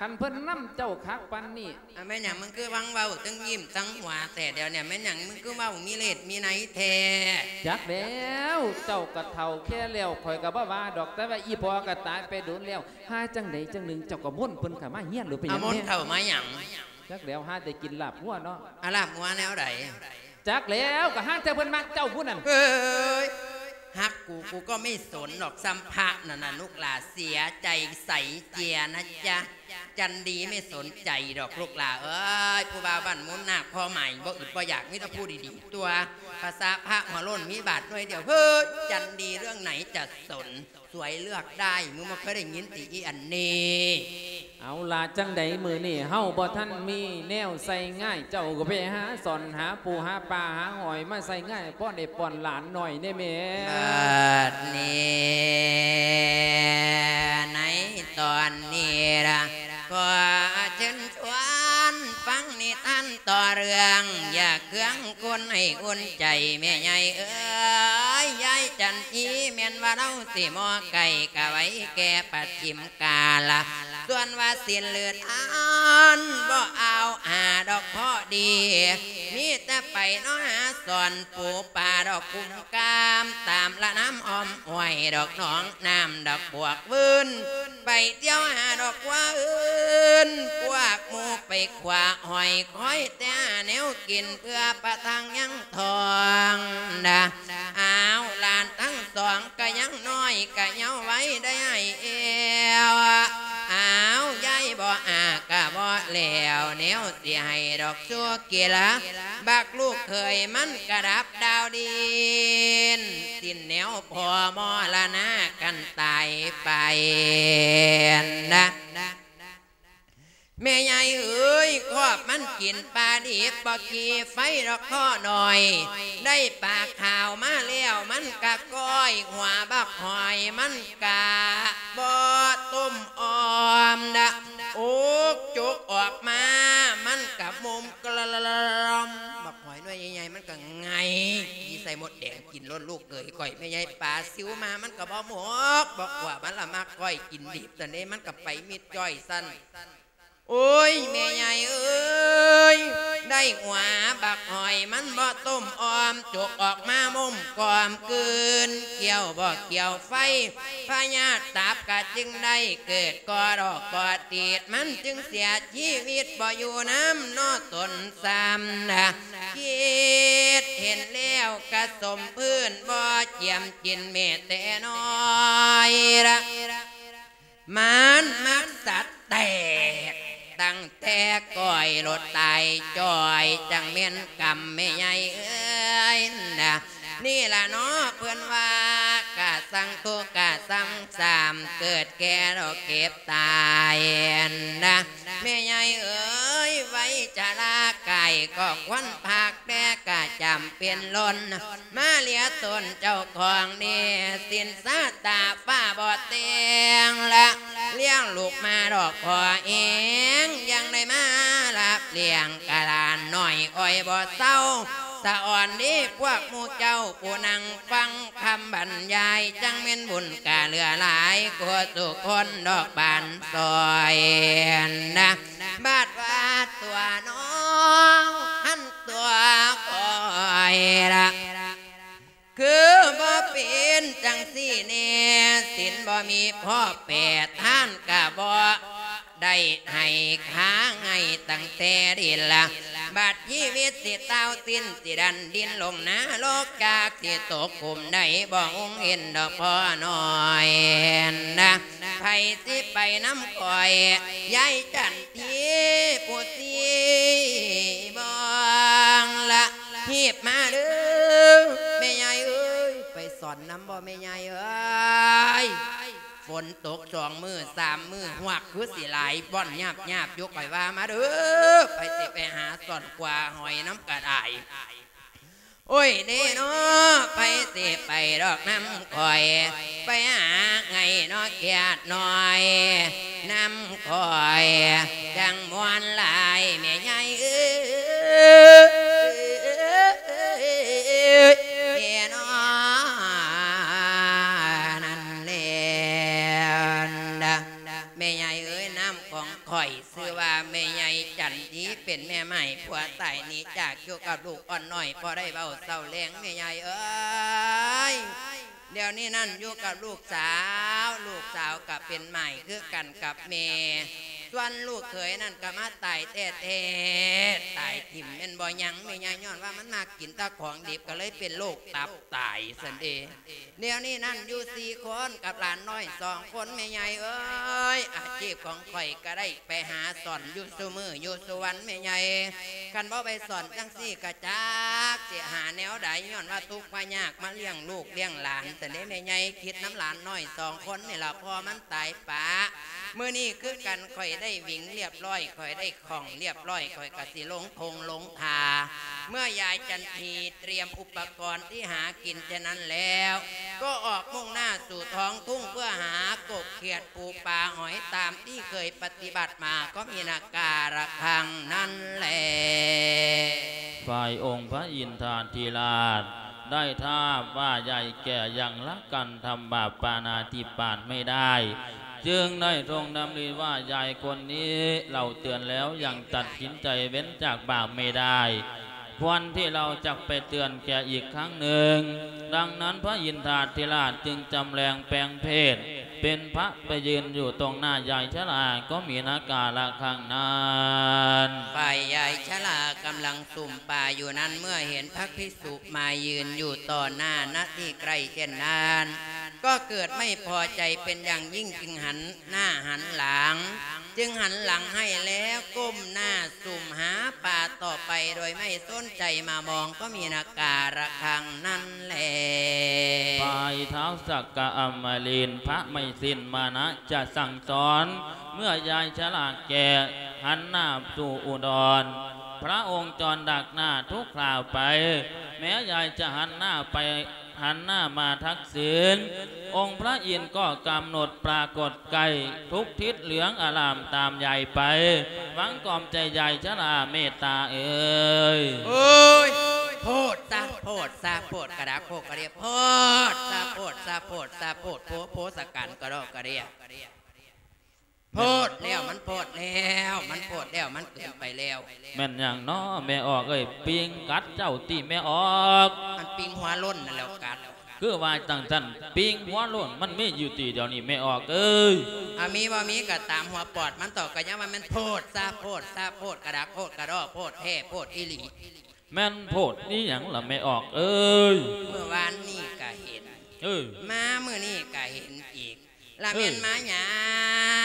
ຄັນເພິ່ນນຳເຈົ້າຄັກປານນີ້ ອາ ແມ່ນຫຍັງມຶງຄືວັງເວົ້າ ທັງຍິ້ມທັງຫົວແທ້ດຽວນີ້ ແມ່ນຫຍັງມຶງຄືເວົ້າມີເລດມີໄນແທ້? ຈັກແລ້ວ ເຈົ້າກະເຖົ້າແກ່ແລ້ວ ຂ້ອຍກະບໍ່ວ່າດອກ ແຕ່ວ່າອີ່ພໍ່ກະຕາຍໄປດົນແລ້ວ ຫາຈັ່ງໃດຈັ່ງໜຶ່ງ ເຈົ້າກະມົນເພິ່ນເຂົ້າມາຮຽນໂລດ ເປັນຫຍັງແນ່? ເອົາມົນເຂົ້າມາຫຍັງ? ຈັກແລ້ວ ຫາແຕ່ກິນລາບງົວເນາະ. ອາ ລາບງົວແນວໃດ? ຈັກແລ້ວ ກະຫາແຕ່ເພິ່ນມັກເຈົ້າພຸ້ນນັ້ນ. ເອີຍ ຮັກກູ ກູກໍໄມ່ສົນດອກ ສ່ຳພະນັ້ນນະລູກຫຼ້າ ເສຍໃຈໃສເຈຍນະຈະ ຈັນດີໄມ່ສົນໃຈດອກລູກຫຼ້າເອີຍ. ຜູ້ບ່າວບ້ານມູນນາກພໍໝາຍ ບໍ່ອຶດບໍ່ຢາກ ມີແຕ່ຜູ້ດີໆ ຕົວະ ພາສາພະຫົວໂລ້ນມີບາດໜ່ວຍດຽວ ເຮີ້ຍ ຈັນດີເລື່ອງໄນຈະສົນ ສວຍເລືອກໄດ້ ມຶງບໍ່ເຄີຍໄດ້ຍິນຕິອີ່ອັນນີ້? ເອົາລະ ຈັ່ງໃດມື້ນີ້ເຮົາບໍ່ທັນມີແນວໃສ່ງາຍ ເຈົ້າກໍໄປຫາສອນຫາປູຫາປາຫາຫອຍມາໃສ່ງາຍ ພໍໄດ້ປ້ອນຫຼານໜ້ອຍແດ່ແມ່. ບາດນີ້ ໃນຕອນນີ້ລະ ຂໍເຊີນຊວນຟັງນິທານຕໍ່ເລື່ອງ ຢ່າເຄືອງຄົນໃຫ້ອຸ່ນໃຈແມ່ໃຫຍ່ເອີຍ. ຍາຍຈັນທີແມ່ນວ່າລາວຊິມໍໄກ່ກະໄວແກ່ປະຈິມກາລະ ສ່ວນວ່າສິ້ນເລືອດອັນບໍ່ອາວຫາດອກພໍດີ ມີແຕ່ໄປເນາະຫາສອນປູປາດອກກຸມກາມ ຕາມລະນ້ຳອ້ອມຫ້ວຍດອກໜອງນ້ຳດອກບວກວືນ ໄປທ່ຽວຫາດອກຄວາອື່ນ ພວກໝູ່ໄປຂວາຫອຍ ຄອຍແຕ່ຫາແນວກິນເພື່ອປະທັງຍັງທ້ອງນະ. ອ້າວ ຫຼານທັງ ສອງກະຍັງນ້ອຍ ກະເຍົາໄວໄດ້ອ້າຍແອວ. ອ້າວ ຍາຍບໍ່ອ້າກະບໍ່ແລ້ວ ແນວຊິໃຫ້ດອກຊູກິລາ ບັກລູກເຂີຍມັນກະດັບດາວດິນ ສິ້ນແນວພໍ່ມໍລະນາກັນຕາຍໄປນະ. ແມ່ໃຫຍ່ເອີຍ ຄອບມັນກິນປາດິບ ບໍ່ກີ່ໄຟດອກພໍນ້ອຍ ໄດ້ປາຂາວມາແລ້ວ ມັນກະກ້ອຍ ຫົວບັກຫອຍມັນກະບໍ່ຕົ້ມອອມນະ. ໂອກຈົກອອກມາ ມັນກະມຸມກະລອມ ບັກຫອຍໜ່ວຍໃຫຍ່ໆ ມັນກະໄງ່ ຂີ້ໃສ່ມົດແດງກິນໂລດລູກເອີຍ. ຂ້ອຍແມ່ໃຫຍ່ປາຊິວມາ ມັນກະບໍ່ໝົກບໍ່ກົວ ມັນລະມັກກ້ອຍກິນດິບ ຕອນນີ້ມັນກະໄປມິດຈ້ອຍຊັ້ນ. ໂອ້ຍ ແມ່ໃຫຍ່ເອີຍ ໄດ້ຫົວບັກຫອຍມັນບໍ່ຕົ້ມອອມ ຈົກອອກມາມຸມກອມກືນ ກ່ຽວບໍ່ກ່ຽວໄຟ ພະຍາດຕັບກະຈຶ່ງໄດ້ເກີດ ກໍດອກກໍຕີດ ມັນຈຶ່ງເສຍຊີວິດ ບໍ່ຢູ່ນຳເນາະຕົນຊ້ຳນະ. ຄິດເຫັນແລ້ວກະສົມພື້ນ ບໍ່ຈຽມກິນແມ້ແຕ່ນ້ອຍລະ. ມັນມັກສັດແຕກ ຕັ້ງແຕ່ກ້ອຍໂລດຕາຍຈ່ອຍ ຈັ່ງແມ່ນກຳແມ່ໃຫຍ່ເອີຍນະ. ນີ້ລະເນາະເພິ່ນວ່າ ກະສັງທຸກກະສັງສາມ ເກີດແກ່ແລ້ວເຈັບຕາຍນະ. ແມ່ໃຫຍ່ເອີຍ ໄວຊະລາກາຍກໍຄວນພັກ ແຕ່ກະຈຳເປັນລົ້ນ ມາເຫຼືອຕົນເຈົ້າຂອງໜີ້ ສິນຊາຕາຟ້າບໍ່ແຕ່ງລະ ລ້ຽງລູກມາດອກພໍເອງ ຍັງໄດ້ມາຮັບລ້ຽງກະຫຼານນ້ອຍອ້ອຍບໍ່ເຊົາ ສະອອນເດ້ພວກໝູ່ເຈົ້າ ຜູ້ນັ່ງຟັງຄຳບັນຍາຍ ຈັ່ງແມ່ນບຸນກະເຫຼືອຫຼາຍ ກວ່າທຸກຄົນດອກບານຊອຍນະ. ບາດວ່າຕົວນ້ອງຫັ້ນຕົວຂ້ອຍລະ ຄືບໍ່ເປັນຈັ່ງຊີ້ແນ່ ສິນບໍ່ມີພໍແປ ທານກະບໍ່ໄດ້ໃຫ້ ຄາໄງ່ຕັ້ງແຕ່ດິນລະ. ບາດຊີວິດຊິຕ່າວສິ້ນ ຊິດັນດິນລົງນະລົກ ຈັກຊິຕົກຂຸມໃດ ບໍ່ຫຸງເຫັນດອກພໍ່ນ້ອຍນະ. ໃຜຊິໄປນຳຂ້ອຍ ຍາຍຈັນທີຜູ້ຊີ້ບອງລະ ຮີບມາເດີ້ແມ່ໃຫຍ່ເອີຍ. ໄປສອນນຳບໍ່ແມ່ໃຫຍ່ເອີຍ? ຝົນຕົກສອງມື້ສາມມື້ ຮວກຄືຊິຫຼາຍບ່ອນຍາບໆຢູ່ ຂ້ອຍວ່າມາເດີ້ ໃຜຊິໄປຫາສອນກວາຫອຍນຳກະໄດ້. ໂອ້ຍເດ້ເນາະ ໃຜຊິໄປດອກນຳຂ້ອຍ ໄປຫາໄງເນາະແຄດນ້ອຍ ນຳຂ້ອຍຈັ່ງມ່ວນຫຼາຍແມ່ໃຫຍ່ເອີຍ ເນາະ ນັ້ນແຫຼະນະ. ແມ່ໃຫຍ່ເອີຍ ນາມຂອງຂ້ອຍ ຊື່ວ່າແມ່ໃຫຍ່ຈັນດີ ເປັນແມ່ໝ້າຍຜົວຕາຍໜີຈາກຢູ່ກັບລູກອ່ອນນ້ອຍ ບໍ່ໄດ້ເວົ້າເຊົາແລງແມ່ໃຫຍ່ເອີຍ. ດຽວນີ້ນັ້ນຢູ່ກັບລູກສາວ ລູກສາວກໍເປັນໝ້າຍຄືກັນກັບແມ່ ສ່ວນລູກເຂີຍນັ້ນກໍມາຕາຍແທ້ໆ ຕາຍຖິ້ມແມ່ນບໍ່ຍັງແມ່ໃຫຍ່ ຍ້ອນວ່າມັນມັກກິນແຕ່ຂອງດິບ ກໍເລີຍເປັນໂລກຕັບຕາຍຊັ້ນເດ. ດຽວນີ້ນັ້ນຢູ່ສີ່ຄົນກັບຫຼານນ້ອຍສອງຄົນແມ່ໃຫຍ່ເອີຍ. ອາຊີບຂອງຂ້ອຍກໍໄດ້ໄປຫາສອນຢູ່ຊຸມື້ຢູ່ຊຸວັນແມ່ໃຫຍ່. ຄັນບໍ່ໄປສອນຈັ່ງຊີ້ກະຈັກຊິຫາແນວໃດ ຍ້ອນວ່າທຸກວ່າຍາກມາລ້ຽງລູກລ້ຽງຫຼານຊັ້ນເດແມ່ໃຫຍ່. ຄິດນຳຫຼານນ້ອຍສອງຄົນນີ້ລະ ພໍ່ມັນຕາຍປະ. ມື້ນີ້ຄືກັນ ຂ້ອຍໄດ້ຫວິງລຽບຮ້ອຍ ຂ້ອຍໄດ້ຂ້ອງລຽບຮ້ອຍ ຂ້ອຍກະຊິລົງທົ່ງລົງທ່າ. ເມື່ອຍາຍຈັນທີຕຽມອຸປະກອນທີ່ຫາກິນເທົ່ານັ້ນແລ້ວ ກໍອອກມຸ່ງໜ້າສູ່ທ້ອງທົ່ງເພື່ອຫາກົບຂຽດປູປາຫອຍຕາມທີ່ເຄີຍປະຕິບັດມາກໍມີນາກາລະຄັ້ງນັ້ນແລ. ຝ່າຍອົງພະອິນທາທິລາດໄດ້ທາບວ່າໃຫຍ່ແກ່ຍັງລະກັນທຳບາບປານາທິບາດໄມ່ໄດ້ ຈຶ່ງໄດ້ຊົງດຳລິວ່າ ຍາຍຄົນນີ້ເລົ່າເຕືອນແລ້ວຍັງຕັດສິນໃຈເວັ້ນຈາກບາບໄມ່ໄດ້ ຄວນທີ່ເຮົາຈະໄປເຕືອນແກ່ອີກຄັ້ງໜຶ່ງ. ດັ່ງນັ້ນພະອິນທາທິລາດຈຶ່ງຈຳແລງແປງເພດ ເປັນພະໄປຢືນຢູ່ຕົງໜ້າຍາຍຊະລາກໍມີນາກາລະຄັ້ງນັ້ນ. ຝ່າຍຍາຍຊະລາກຳລັງສຸມປາຢູ່ນັ້ນ ເມື່ອເຫັນພະພິກສຸມາຢືນຢູ່ຕໍ່ໜ້າ ນະທີ່ໃກ້ເຊັ່ນນັ້ນ ກໍເກີດໄມ່ພໍໃຈເປັນຢ່າງຍິ່ງ ຈຶ່ງຫັນໜ້າຫັນຫຼັງ ຈຶ່ງຫັນຫຼັງໃຫ້ແລ້ວກົ້ມໜ້າ ສຸມຫາປາຕໍ່ໄປໂດຍໄມ່ສົນໃຈມາມອງກໍມີນາກາລະຄັ້ງນັ້ນແລ. ຝ່າຍທ້າວສັກກະອຳມະລິນ ພະໄມ່ສິ້ນມານະຈະສັ່ງສອນ ເມື່ອຍາຍຊະລາແກ່ຫັນໜ້າສູ່ອຸດອນ ພະອົງຈອນດັກໜ້າທຸກຄລາວໄປ ແມ້ຍາຍຈະຫັນໜ້າໄປ ຫັນໜ້າມາທັກສິນ ອົງພະອິນກໍກຳນົດປາກົດໃກ້ ທຸກທິດເຫຼືອງອາລາມຕາມຍາຍໄປ ຫວັງກອມໃຈຍາຍຊະລາເມດຕາເອີຍ. ໂອ້ຍ ໂພດຊະ ໂພດຊະ ໂພດກະດາໂຄກກະເດຍ ໂພດຊະ ໂພດຊະ ໂພດຊະ ໂພດ ໂພ ໂພສະກັນກະດອກກະເດຍ. ໂພດແລ້ວ ມັນໂພດແລ້ວ ມັນໂພດແລ້ວ ມັນເກີນໄປແລ້ວ. ແມ່ນຫຍັງນໍແມ່ອອກເອີຍ? ປິງກັດເຈົ້າຕິແມ່ອອກ. ມັນປິງຫົວໂລ້ນນັ້ນແຫຼ້ວກັດ. ຄືວ່າຈັ່ງຊັ້ນ ປິງຫົວໂລ້ນມັນມີຢູ່ຕິດຽວນີ້ແມ່ອອກເອີຍ. ອາ ມີບໍ່ມີກໍຕາມຫົວປອດມັນເຖາະ ກໍຍັງວ່າແມ່ນໂພດຊະ ໂພດຊະ ໂພດກະດາໂຄກກະດອກ ໂພດແທ້ ໂພດອີ່ຫຼີ. ແມ່ນໂພດອີ່ຫຍັງລະແມ່ອອກເອີຍ? ມື້ວານນີ້ກະເຫັນ ເອີ ມາມື້ນີ້ກະເຫັນອີກ. ລະແມ່ນ ເອີ ມາຫຍັ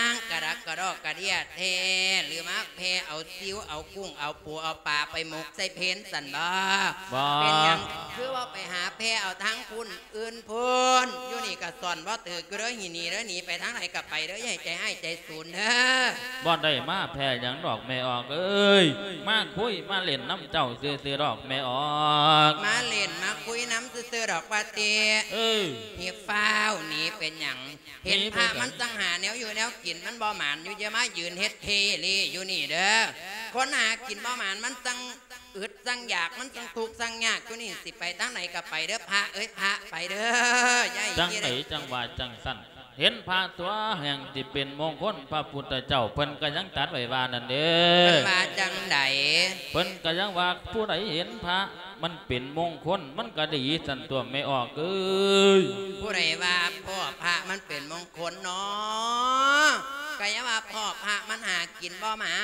ງກະດັກກະດອກກະເດຍແທ້ ຫຼືມາແຜ່ເອົາຊິວເອົາກຸ້ງເອົາປູເອົາປາໄປໝົກໃສ່ເພນຊັ້ນບໍ? ບໍ່ ເປັນຫຍັງຄືວ່າໄປຫາແຜ່ເອົາທາງພຸ້ນອື່ນພຸ້ນ ຢູ່ນີ້ກະສອນບໍ່ຖືກຢູ່ເດີ ໜີເດີ ໜີໄປທາງໃດກະໄປເດີ ຢ່າໃຫ້ໃຈຮ້າຍໃຈສູນເດີ. ບໍ່ໄດ້ມາແຜ່ຫຍັງດອກແມ່ອອກເອີຍ ມາຄຸຍມາຫຼິ້ນນຳເຈົ້າຊື່ໆດອກແມ່ອອກ. ມາຫຼິ້ນມາຄຸຍນຳຊື່ໆດອກວ່າຕິ. ເອີ ຮີບຟ້າວໜີເປັນຫຍັງ? ເຫັນພະມັນຈັ່ງຫາແນວຢູ່ແນວກິນ ມັນບໍ່ໝານຢູ່ ຢ່າມາຢືນເຮັດເທເລຢູ່ນີ້ເດີ. ຄົນຫາກິນບໍ່ໝານ ມັນຈັ່ງອຶດຈັ່ງຢາກ ມັນຈັ່ງທຸກຈັ່ງຍາກຢູ່ນີ້ ຊິໄປທາງໃດກໍໄປເດີ ພະເອີຍ ພະໄປເດີ ຢ່າໃຫ້ ຈັ່ງໃດຈັ່ງວ່າຈັ່ງຊັ້ນ ເຫັນພະຕົວະແຫ່ງຊິເປັນມົງຄົນ ພະພຸດທະເຈົ້າເພິ່ນກໍຍັງຕັດໄວ້ວ່ານັ້ນເດ້. ເພິ່ນວ່າຈັ່ງໃດ? ເພິ່ນກໍຍັງວ່າ ຜູ້ໃດເຫັນພະ ມັນເປັນມົງຄົນ ມັນກໍດີຊັ້ນຕົວະແມ່ອອກເອີຍ. ຜູ້ໃດວ່າພໍ້ພະມັນເປັນມົງຄົນນໍ? ກະຢ່າວ່າພໍ້ພະມັນຫາກິນບໍ່ໝາ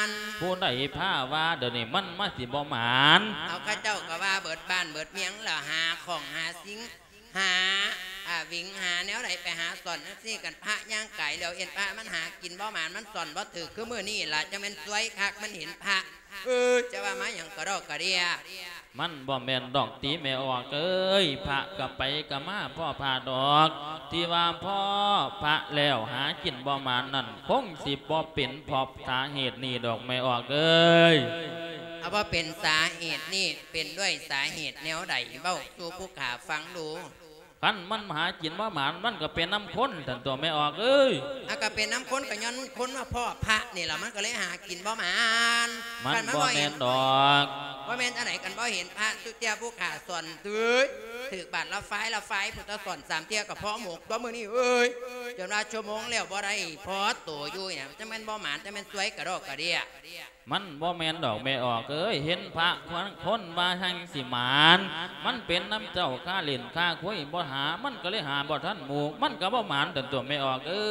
ນ. ຜູ້ໃດພາວ່າດຽວນີ້ມັນມາຊິບໍ່ໝານ? ເອົາ ເຂົາເຈົ້າກະວ່າເບິດບ້ານເບິດເມືອງລະ ຫາຂອງຫາສິ່ງ ຫາ ອາ ຫວິງຫາແນວໃດໄປຫາສອນຈັ່ງຊີ້ ຄັນພະຍ່າງກາຍແລ້ວເຫັນພະມັນຫາກິນບໍ່ໝານ ມັນສອນບໍ່ຖືກ ຄືມື້ນີ້ລະ ຈັ່ງແມ່ນຊວຍຄັກ ມັນເຫັນພະ. ເອີ ຈະວ່າມາຫຍັງກະດອກກະເດຍ. ມັນບໍ່ແມ່ນດອກຕິແມ່ອອກເອີຍ ພະກະໄປກະມາພໍ້ພະດອກ ທີ່ວ່າພໍ້ພະແລ້ວຫາກິນບໍ່ໝານນັ້ນ ຄົງຊິບໍ່ເປັນເພາະສາເຫດນີ້ດອກແມ່ອອກເອີຍ. ເອົາ ບໍ່ເປັນສາເຫດນີ້ ເປັນດ້ວຍສາເຫດແນວໃດ? ເວົ້າສູ່ຜູ້ຂ້າຟັງດູ. ຄັນມັນຫາກິນບໍ່ໝານ ມັນກໍເປັນນຳຄົນຊັ້ນຕົວະແມ່ອອກເອີຍ. ອາ ກໍເປັນນຳຄົນ ກໍຍ້ອນຄົນມາພໍ້ພະນີ້ລະ ມັນກໍເລີຍຫາກິນບໍ່ໝານ. ມັນບໍ່ແມ່ນດອກ. ບໍ່ແມ່ນອັນໃດ ຄັນບໍ່ເຫັນພະ ສຸເຈົ້ຍຜູ້ຂ້າສອນ ເອີຍ ຖືກບາດລະຟາຍລະຟາຍ ພຸດທະສອນສາມເທື່ອກໍພໍ້ໝົກຕົວະມື້ນີ້ເອີຍ. ຈົນວ່າຊົ່ວໂມງແລ້ວບໍ່ໄດ້ພໍ້ໂຕຢູ່ນີ້ ຈັ່ງແມ່ນບໍ່ໝານ ຈັ່ງແມ່ນຊວຍກະດອກກະເດຍ. ມັນບໍ່ແມ່ນດອກແມ່ອອກເອີຍ ເຫັນພະຄົນວ່າແຮ່ງຊິໝານ ມັນເປັນນຳເຈົ້າຄາຫຼິ້ນຄາຄຸຍບໍ່ຫາ ມັນກໍເລີຍຫາບໍ່ທັນໝູ່ ມັນກໍບໍ່ໝານຕົນຕົວະແມ່ອອກເອີ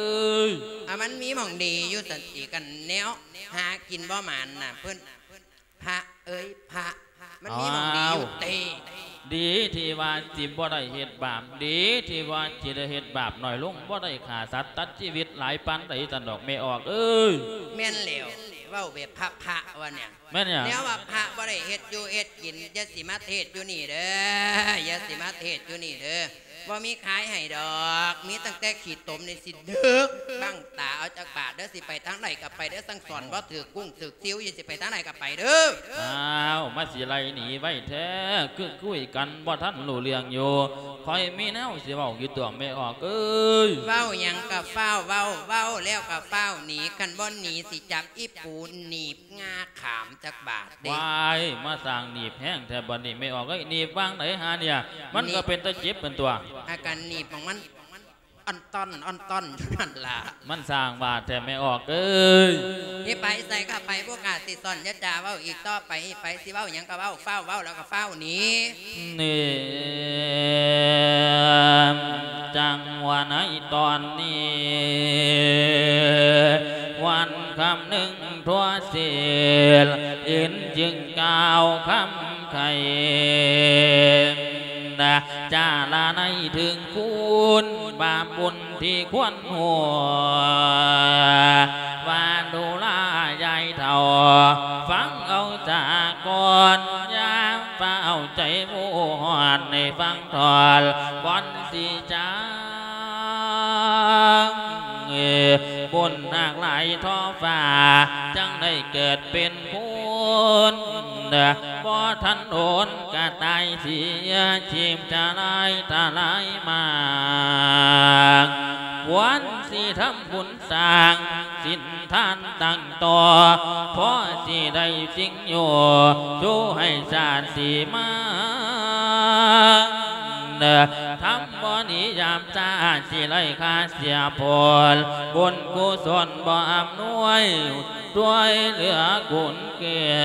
ຍ. ອາ ມັນມີໝ່ອງດີຢູ່ຊັ້ນຕິ ຄັນແນວຫາກິນບໍ່ໝານນະ ເພິ່ນ ພະເອີຍພະ ມັນມີໝ່ອງດີຢູ່ຕິ. ດີທີ່ວ່າຊິບໍ່ໄດ້ເຮັດບາບ ດີທີ່ວ່າຊິໄດ້ເຮັດບາບໜ້ອຍລົງ ບໍ່ໄດ້ຂ້າສັດຕັດຊີວິດຫຼາຍປານໃດຊັ້ນດອກແມ່ອອກເອີຍ. ແມ່ນແລ້ວ ເວົ້າແບບພະໆວ່າແນວ ແມ່ນຫຍັງ? ແນວວ່າພະບໍ່ໄດ້ເຮັດຢູ່ເຮັດກິນ ຢ່າຊິມາເທດຢູ່ນີ້ເດີ ຢ່າຊິມາເທດຢູ່ນີ້ເດີ ບໍ່ມີຂາຍໃຫ້ດອກ ມີຕັ້ງແຕ່ຂີ້ຕົມນີ້ຊິດຶກບັ້ງຕາເອົາຈັກບາດເດີ ຊິໄປທາງໃດກໍໄປເດີ ສັ່ງສອນບໍ່ຖືກກຸ້ງຖືກຊິວ ຊິໄປທາງໃດກໍໄປເດີ. ອ້າວ ມາຊິໄລ່ໜີໄວແທ້ ຄືຄຸຍກັນບໍ່ທັນຮູ້ເລື່ອງຢູ່ ຂ້ອຍມີແນວຊິເວົ້າຢູ່ຕົວະແມ່ອອກເອີຍ. ເວົ້າຫຍັງກໍຟ້າວເວົ້າ ເວົ້າແລ້ວກໍຟ້າວໜີ ຄັນບໍ່ໜີຊິຈັບອີປູໜີບ ງາຂາມຈັກບາດເດ້. ວ້າຍ ມາສ້າງໜີບແຮງແທ້ບັດນີ້ແມ່ອອກເອີຍ ໜີບຫວ່າງໃດຫາເນຍ ມັນກໍເປັນຕາເຈັບເປັນຕົວະ. ອາການໜີບຂອງມັນອ່ອນຕ່ອນ ອ່ອນຕ່ອນຢູ່ຫັ້ນລະ ມັນສ້າງວ່າແທ້ແມ່ອອກເອີຍ. ຊິໄປໃສກໍໄປ ພວກຂ້າຊິສອນ ຢ່າຈາເວົ້າອີກຕໍ່ໄປ ຊິໄປ ຊິເວົ້າຫຍັງກໍເວົ້າ ຟ້າວເວົ້າແລ້ວກໍຟ້າວໜີ ນີ້. ຈັ່ງວ່າໃນຕອນນີ້ ວັນຄຳນຶງທົ່ວເສດ ເຫັນຈຶ່ງກ່າວຄຳໄຂ ຈາລະໄນເຖິງຄຸນບາບບຸນທີ່ຄວນຮູ້ ວ່າດູລາຍາຍເຖົ້າ ຟັງເອົາສາກ່ອນ ຢ່າຟ້າວໃຈວອນ ໃຫ້ຟັງ ທອດບ່ອນສີຈາງ ບຸນໜາກຫຼາຍທໍ່ຟ້າ ຈັ່ງໄດ້ເກີດເປັນຄົນ ບໍ່ທັນໂດນກະຕາຍເສຍ ຊີບຈະລາຍທະລາຍມາກ ຄວນຊິທຳບຸນສ້າງສິນ ທານຕັ້ງຕໍ່ ພໍຊິໄດ້ສິ່ງຢູ່ ສູ່ໃຫ້ຊາດສີມາ ທຳບໍ່ໜີຍາມຊາດ ຊິໄດ້ຄ່າເສຍຜົນ ບຸນກຸສົນບໍ່ອຳນວຍ ຊ່ວຍເຫຼືອກຸນເກືອ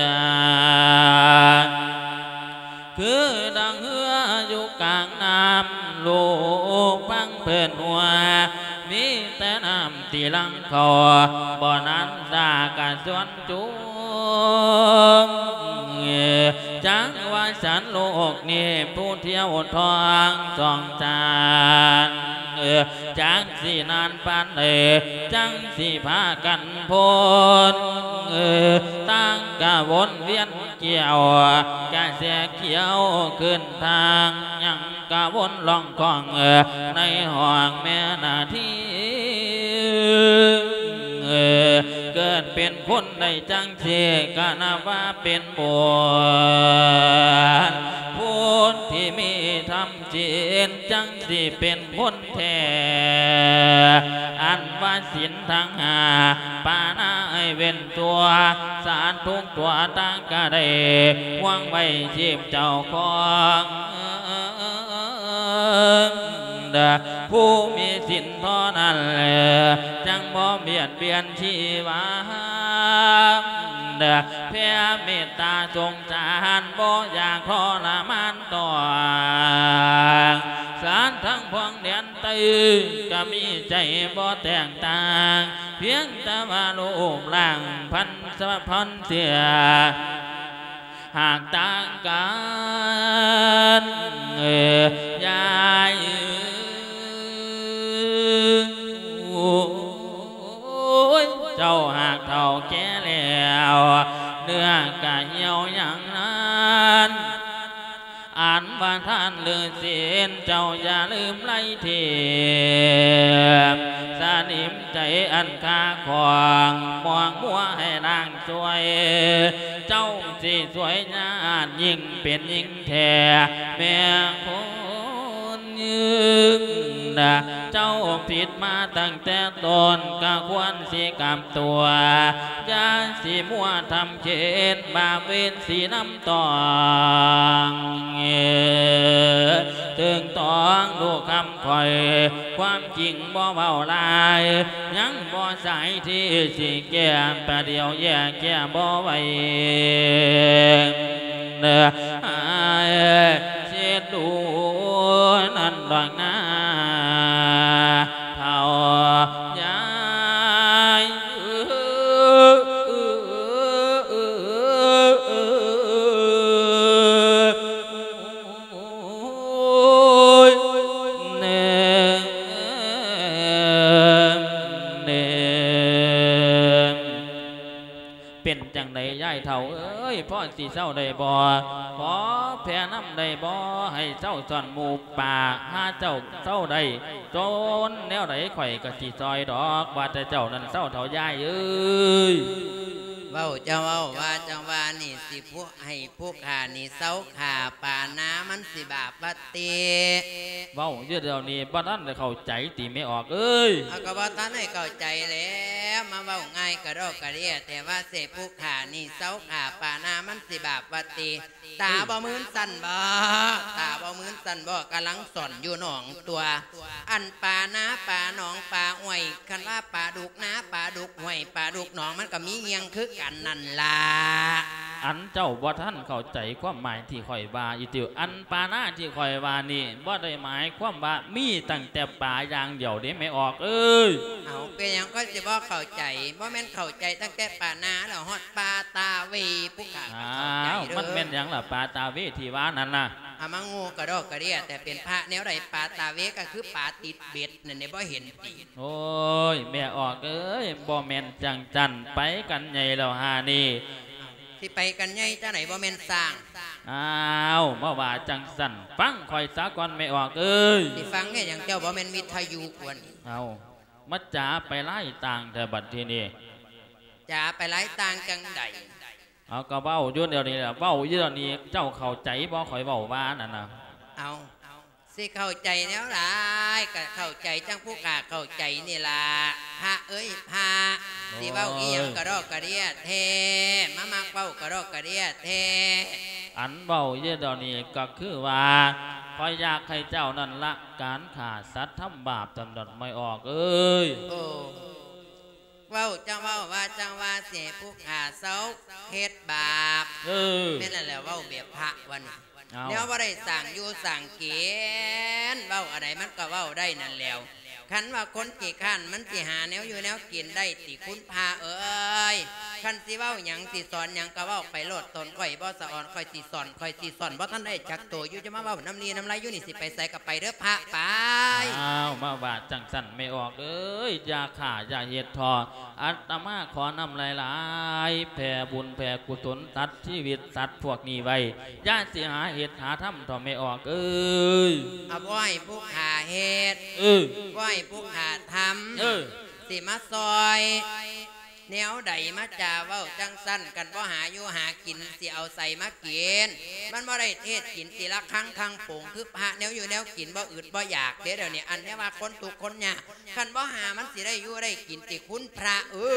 ຄືດັ່ງເຮືອຢູ່ກາງນ້ຳ ລູກຟັງເພິ່ນຫົວ ມີແຕ່ນ້ຳທີ່ຫຼັ່ງເຂົ້າ ບໍ່ນານສາກະຊວນຈຸ່ມ ຈັກວ່າສັນໂລກນີ້ ຜູ້ທ່ຽວທ່ອງສອງສານ ຈັກຊິນານປານໃດ ຈັ່ງຊິພາກັນພົ້ນ ຕ່າງກະວົນວຽນ ກ່ຽວກະແສຂຽວຂຶ້ນທາງ ຍັງກະວົນລ່ອງຄ້ອງໃນຫ້ອງແມ່ນາທີ ເກີດເປັນຄົນໄດ້ຈັ່ງຊີ້ ກະນັບວ່າເປັນບຸນ ຜູ້ທີ່ມີທຳ ຈິດຈັ່ງຊິເປັນຄົນແທ້ ອັນວ່າສິນທັງຫ້າ ປານາໃຫ້ເວັ້ນຕົວ ສາດທຸກຕົວຕ່າງກະໄດ້ ຫວງໄວ້ຊີບເຈົ້າຂອງ ຜູ້ມີສິນທໍ່ນັ້ນ ຈັ່ງບໍ່ບຽດບຽນຊີວາ ແຜ່ເມດຕາສົງສານ ບໍ່ຢາກທໍລະມານ ຕ້ອງ ສານທັງພວງແດນໃຕ້ ກະມີໃຈບໍ່ແຕກຕ່າງ ພຽງແຕ່ວ່າຮູບຮ່າງພັນສະພັນເຊື້ອ ຫາກຕ່າງກັນ ຍາຍເອີຍ ເຈົ້າຫາກເຖົ້າແກ່ແລ້ວ ເນື້ອກະຫ່ຽວຫຍັງນັ້ນ ອັນວ່າທານຫຼືສິນ ເຈົ້າຢ່າລືມໄລທີບ ສະໜິມໃຈອັນຄາຂອງ ມອງມົວໃຫ້ລ້າງຊ່ວຍ ເຈົ້າຊິຊ່ວຍຍາດຍິ່ງເປັນຍິ່ງແທ້ ແມ່ຄົນ ເຈົ້າຜິດມາຕັ້ງແຕ່ຕົ້ນ ກະຄວນຊິກັບຕົວ ຢ່າຊິມົວທຳເຂດ ບາບເວນສີນຳຕ້ອງ ເຖິງຕ້ອງລູກຄຳຂ້ອຍ ຄວາມຈິງບໍ່ເວົ້າຫຼາຍ ຍັງບໍ່ສາຍທີ່ຊິແກ້ ປະດຽວແຍກແກ້ບໍ່ໄຫວ ເດີ ໃຫ້ເສດດູນັ້ນດອກນາ ເຖົ້າຍາຍ ໂອ້ຍ ເນ ເນ ເປັນຈັ່ງໃດຍາຍເຖົ້າເອີຍ ພໍຊິເຊົາໄດ້ບໍ່? ຂໍແຜ່ນຳໄດ້ບໍ່? ໃຫ້ເຊົາຊ່ອນໝູ່ປ່າ ຫາເຈົ້າເຊົາໄດ້ ຈົນແນວໃດຂ້ອຍກະຊິຊ່ອຍດອກ ວ່າແຕ່ເຈົ້ານັ້ນເຊົາເຖົ້າຍາຍເອີຍ. ເວົ້າເຈົ້າເວົ້າ ວ່າເຈົ້າວ່ານີ້ ຊິຜູ້ ໃຫ້ຜູ້ຂ້ານີ້ເຊົາຂ້າປານາ ມັນຊິບາບຫວາຕິ? ເວົ້າຢູ່ດຽວນີ້ ບໍ່ທັນໄດ້ເຂົ້າໃຈຕິແມ່ອອກເອີຍ? ເອົາ ກະບໍ່ທັນໄດ້ເຂົ້າໃຈແລ້ວ ມາເວົ້າງ່າຍກະດອກກະເດຍແທ້ ວ່າຊິໃຫ້ຜູ້ຂ້ານີ້ເຊົາຂ້າປານາ ມັນຊິບາບຫວາຕິ? ຕາບໍ່ມື່ນຊັ້ນບໍ? ຕາບໍ່ມື່ນຊັ້ນບໍ? ກຳລັງສອນຢູ່ໜອງຕົວະ ອັນປານາປາໜອງປາຫ້ວຍ ຄັນວ່າປາດຸກນາປາດຸກຫ້ວຍ ປາດຸກໜອງ ມັນກະມີຫ່ຽງຄືກັນນັ້ນລະ. ອັນເຈົ້າບໍ່ທັນເຂົ້າໃຈຄວາມໝາຍທີ່ຂ້ອຍວ່າອີກຕິ? ອັນປານາທີ່ຂ້ອຍວ່ານີ້ ບໍ່ໄດ້ໝາຍຄວາມວ່າມີຕັ້ງແຕ່ປາຢ່າງດຽວເດ້ແມ່ອອກເອີຍ. ເອົາ ເປັນຫຍັງຂ້ອຍຊິບໍ່ເຂົ້າໃຈ? ບໍ່ແມ່ນເຂົ້າໃຈຕັ້ງແຕ່ປານາແລ້ວ ຮອດປາຕາເວ ຜູ້ຂ້າກໍເຂົ້າໃຈເດີ. ມັນແມ່ນຫຍັງລະ ປາຕາເວທີ່ວ່ານັ້ນນະ? ອາມາໂງ່ກະດອກກະເດ້ຍ ແຕ່ເປັນພະແນວໃດ? ປາຕາເວກໍຄືປາຕິດເບັດນັ້ນເດ້ ບໍ່ເຫັນຕິ? ໂອ້ຍ ແມ່ອອກເອີຍ ບໍ່ແມ່ນຈັ່ງຊັ້ນ ໄປກັນໃຫຍ່ແລ້ວຫານີ້. ຊິໄປກັນໃຫຍ່ຈັ່ງໃດ ບໍ່ແມ່ນຊ້າງ? ອ້າວ ມາວ່າຈັ່ງຊັ້ນ ຟັງຂ້ອຍສາກ່ອນແມ່ອອກເອີຍ. ຊິຟັງເຮັດຫຍັງ ເຈົ້າບໍ່ແມ່ນວິທະຍຸກວ່ານີ້? ເອົ້າ ມາຈາໄປຫຼາຍຕ່າງແທ້ບັດທີນີ້. ຈາໄປຫຼາຍຕ່າງຈັ່ງໃດ? ເອົາ ກໍເວົ້າຢູ່ດຽວນີ້ລະ ເວົ້າຢູ່ດຽວນີ້ ເຈົ້າເຂົ້າໃຈບໍ່ ຂ້ອຍເວົ້າວ່ານັ້ນນະ? ເອົາ ຊິເຂົ້າໃຈແນວໃດ? ກໍເຂົ້າໃຈຈັ່ງຜູ້ຂ້າເຂົ້າໃຈນີ້ລະ ພະເອີຍພະ. ໂອ້ຍ ຊິເວົ້າອີ່ຫຍັງກະດອກກະເດ້ຍແທ້ ມາມັກເວົ້າກະດອກກະເດ້ຍແທ້. ອັນເວົ້າຢູ່ດຽວນີ້ກໍຄືວ່າ ຂ້ອຍຢາກໃຫ້ເຈົ້ານັ້ນລະການຂ້າສັດທຳບາບ ສຳລັບແມ່ອອກເອີຍ. ໂອ້ ເວົ້າຈັ່ງເວົ້າ ວ່າຈັ່ງວ່າ ຊິໃຫ້ຜູ້ຂ້າເຊົາເຮັດບາບ. ເອີ ແມ່ນແລ້ວ ເວົ້າແບບພະວ່ານີ້. ເອົາ ແນວບໍ່ໄດ້ສ້າງຢູ່ສ້າງກິນ ເວົ້າອັນໃດມັນກໍເວົ້າໄດ້ນັ້ນແຫຼວ. ຄັນວ່າຄົນຂີ້ຄ້ານ ມັນຊິຫາແນວຢູ່ແນວກິນໄດ້ຕິ ຄຸນພະເອີຍ? ຄັນຊິເວົ້າຫຍັງ ຊິສອນຫຍັງກໍເວົ້າໄປໂລດ ຕົນຂ້ອຍບໍ່ສະອອນ ຂ້ອຍຊິສອນ ຂ້ອຍຊິສອນ ບໍ່ທັນໄດ້ຈັກໂຕຢູ່ ຈະມາເວົ້ານ້ຳລີ້ນ້ຳໄລຢູ່ນີ້ ຊິໄປໃສກໍໄປເດີພະ ໄປ. ອ້າວ ມາວ່າຈັ່ງຊັ້ນແມ່ອອກເອີຍ ຢ່າຂ້າຢ່າເຮັດເຖາະ. ອາດຕະມາຂໍນຳຫຼາຍໆ ແຜ່ບຸນແຜ່ກຸສົນ ຕັດຊີວິດສັດພວກນີ້ໄວ້ ຢ່າຊິຫາເຮັດຫາທຳເຖາະແມ່ອອກເອີຍ. ເອົາ ບໍ່ໃຫ້ຜູ້ຂ້າເຮັດ ເອີ ບໍ່ໃຫ້ຜູ້ຂ້າທຳ ເອີ ຊິມາຊ່ອຍແນວໃດ? ມາຈາເວົ້າຈັ່ງຊັ້ນ ຄັນບໍ່ຫາຢູ່ຫາກິນ ຊິເອົາໃສມາກິນ? ມັນບໍ່ໄດ້ເທດກິນຕີລະຄັງຄັງໂປງ ຄືພະແນວຢູ່ແນວກິນ ບໍ່ອຶດບໍ່ຢາກເດ້ດຽວນີ້. ອັນແນວວ່າຄົນທຸກຄົນຍາກ ຄັນບໍ່ຫາມັນຊິໄດ້ຢູ່ໄດ້ກິນຕິ ຄຸນພະເອີ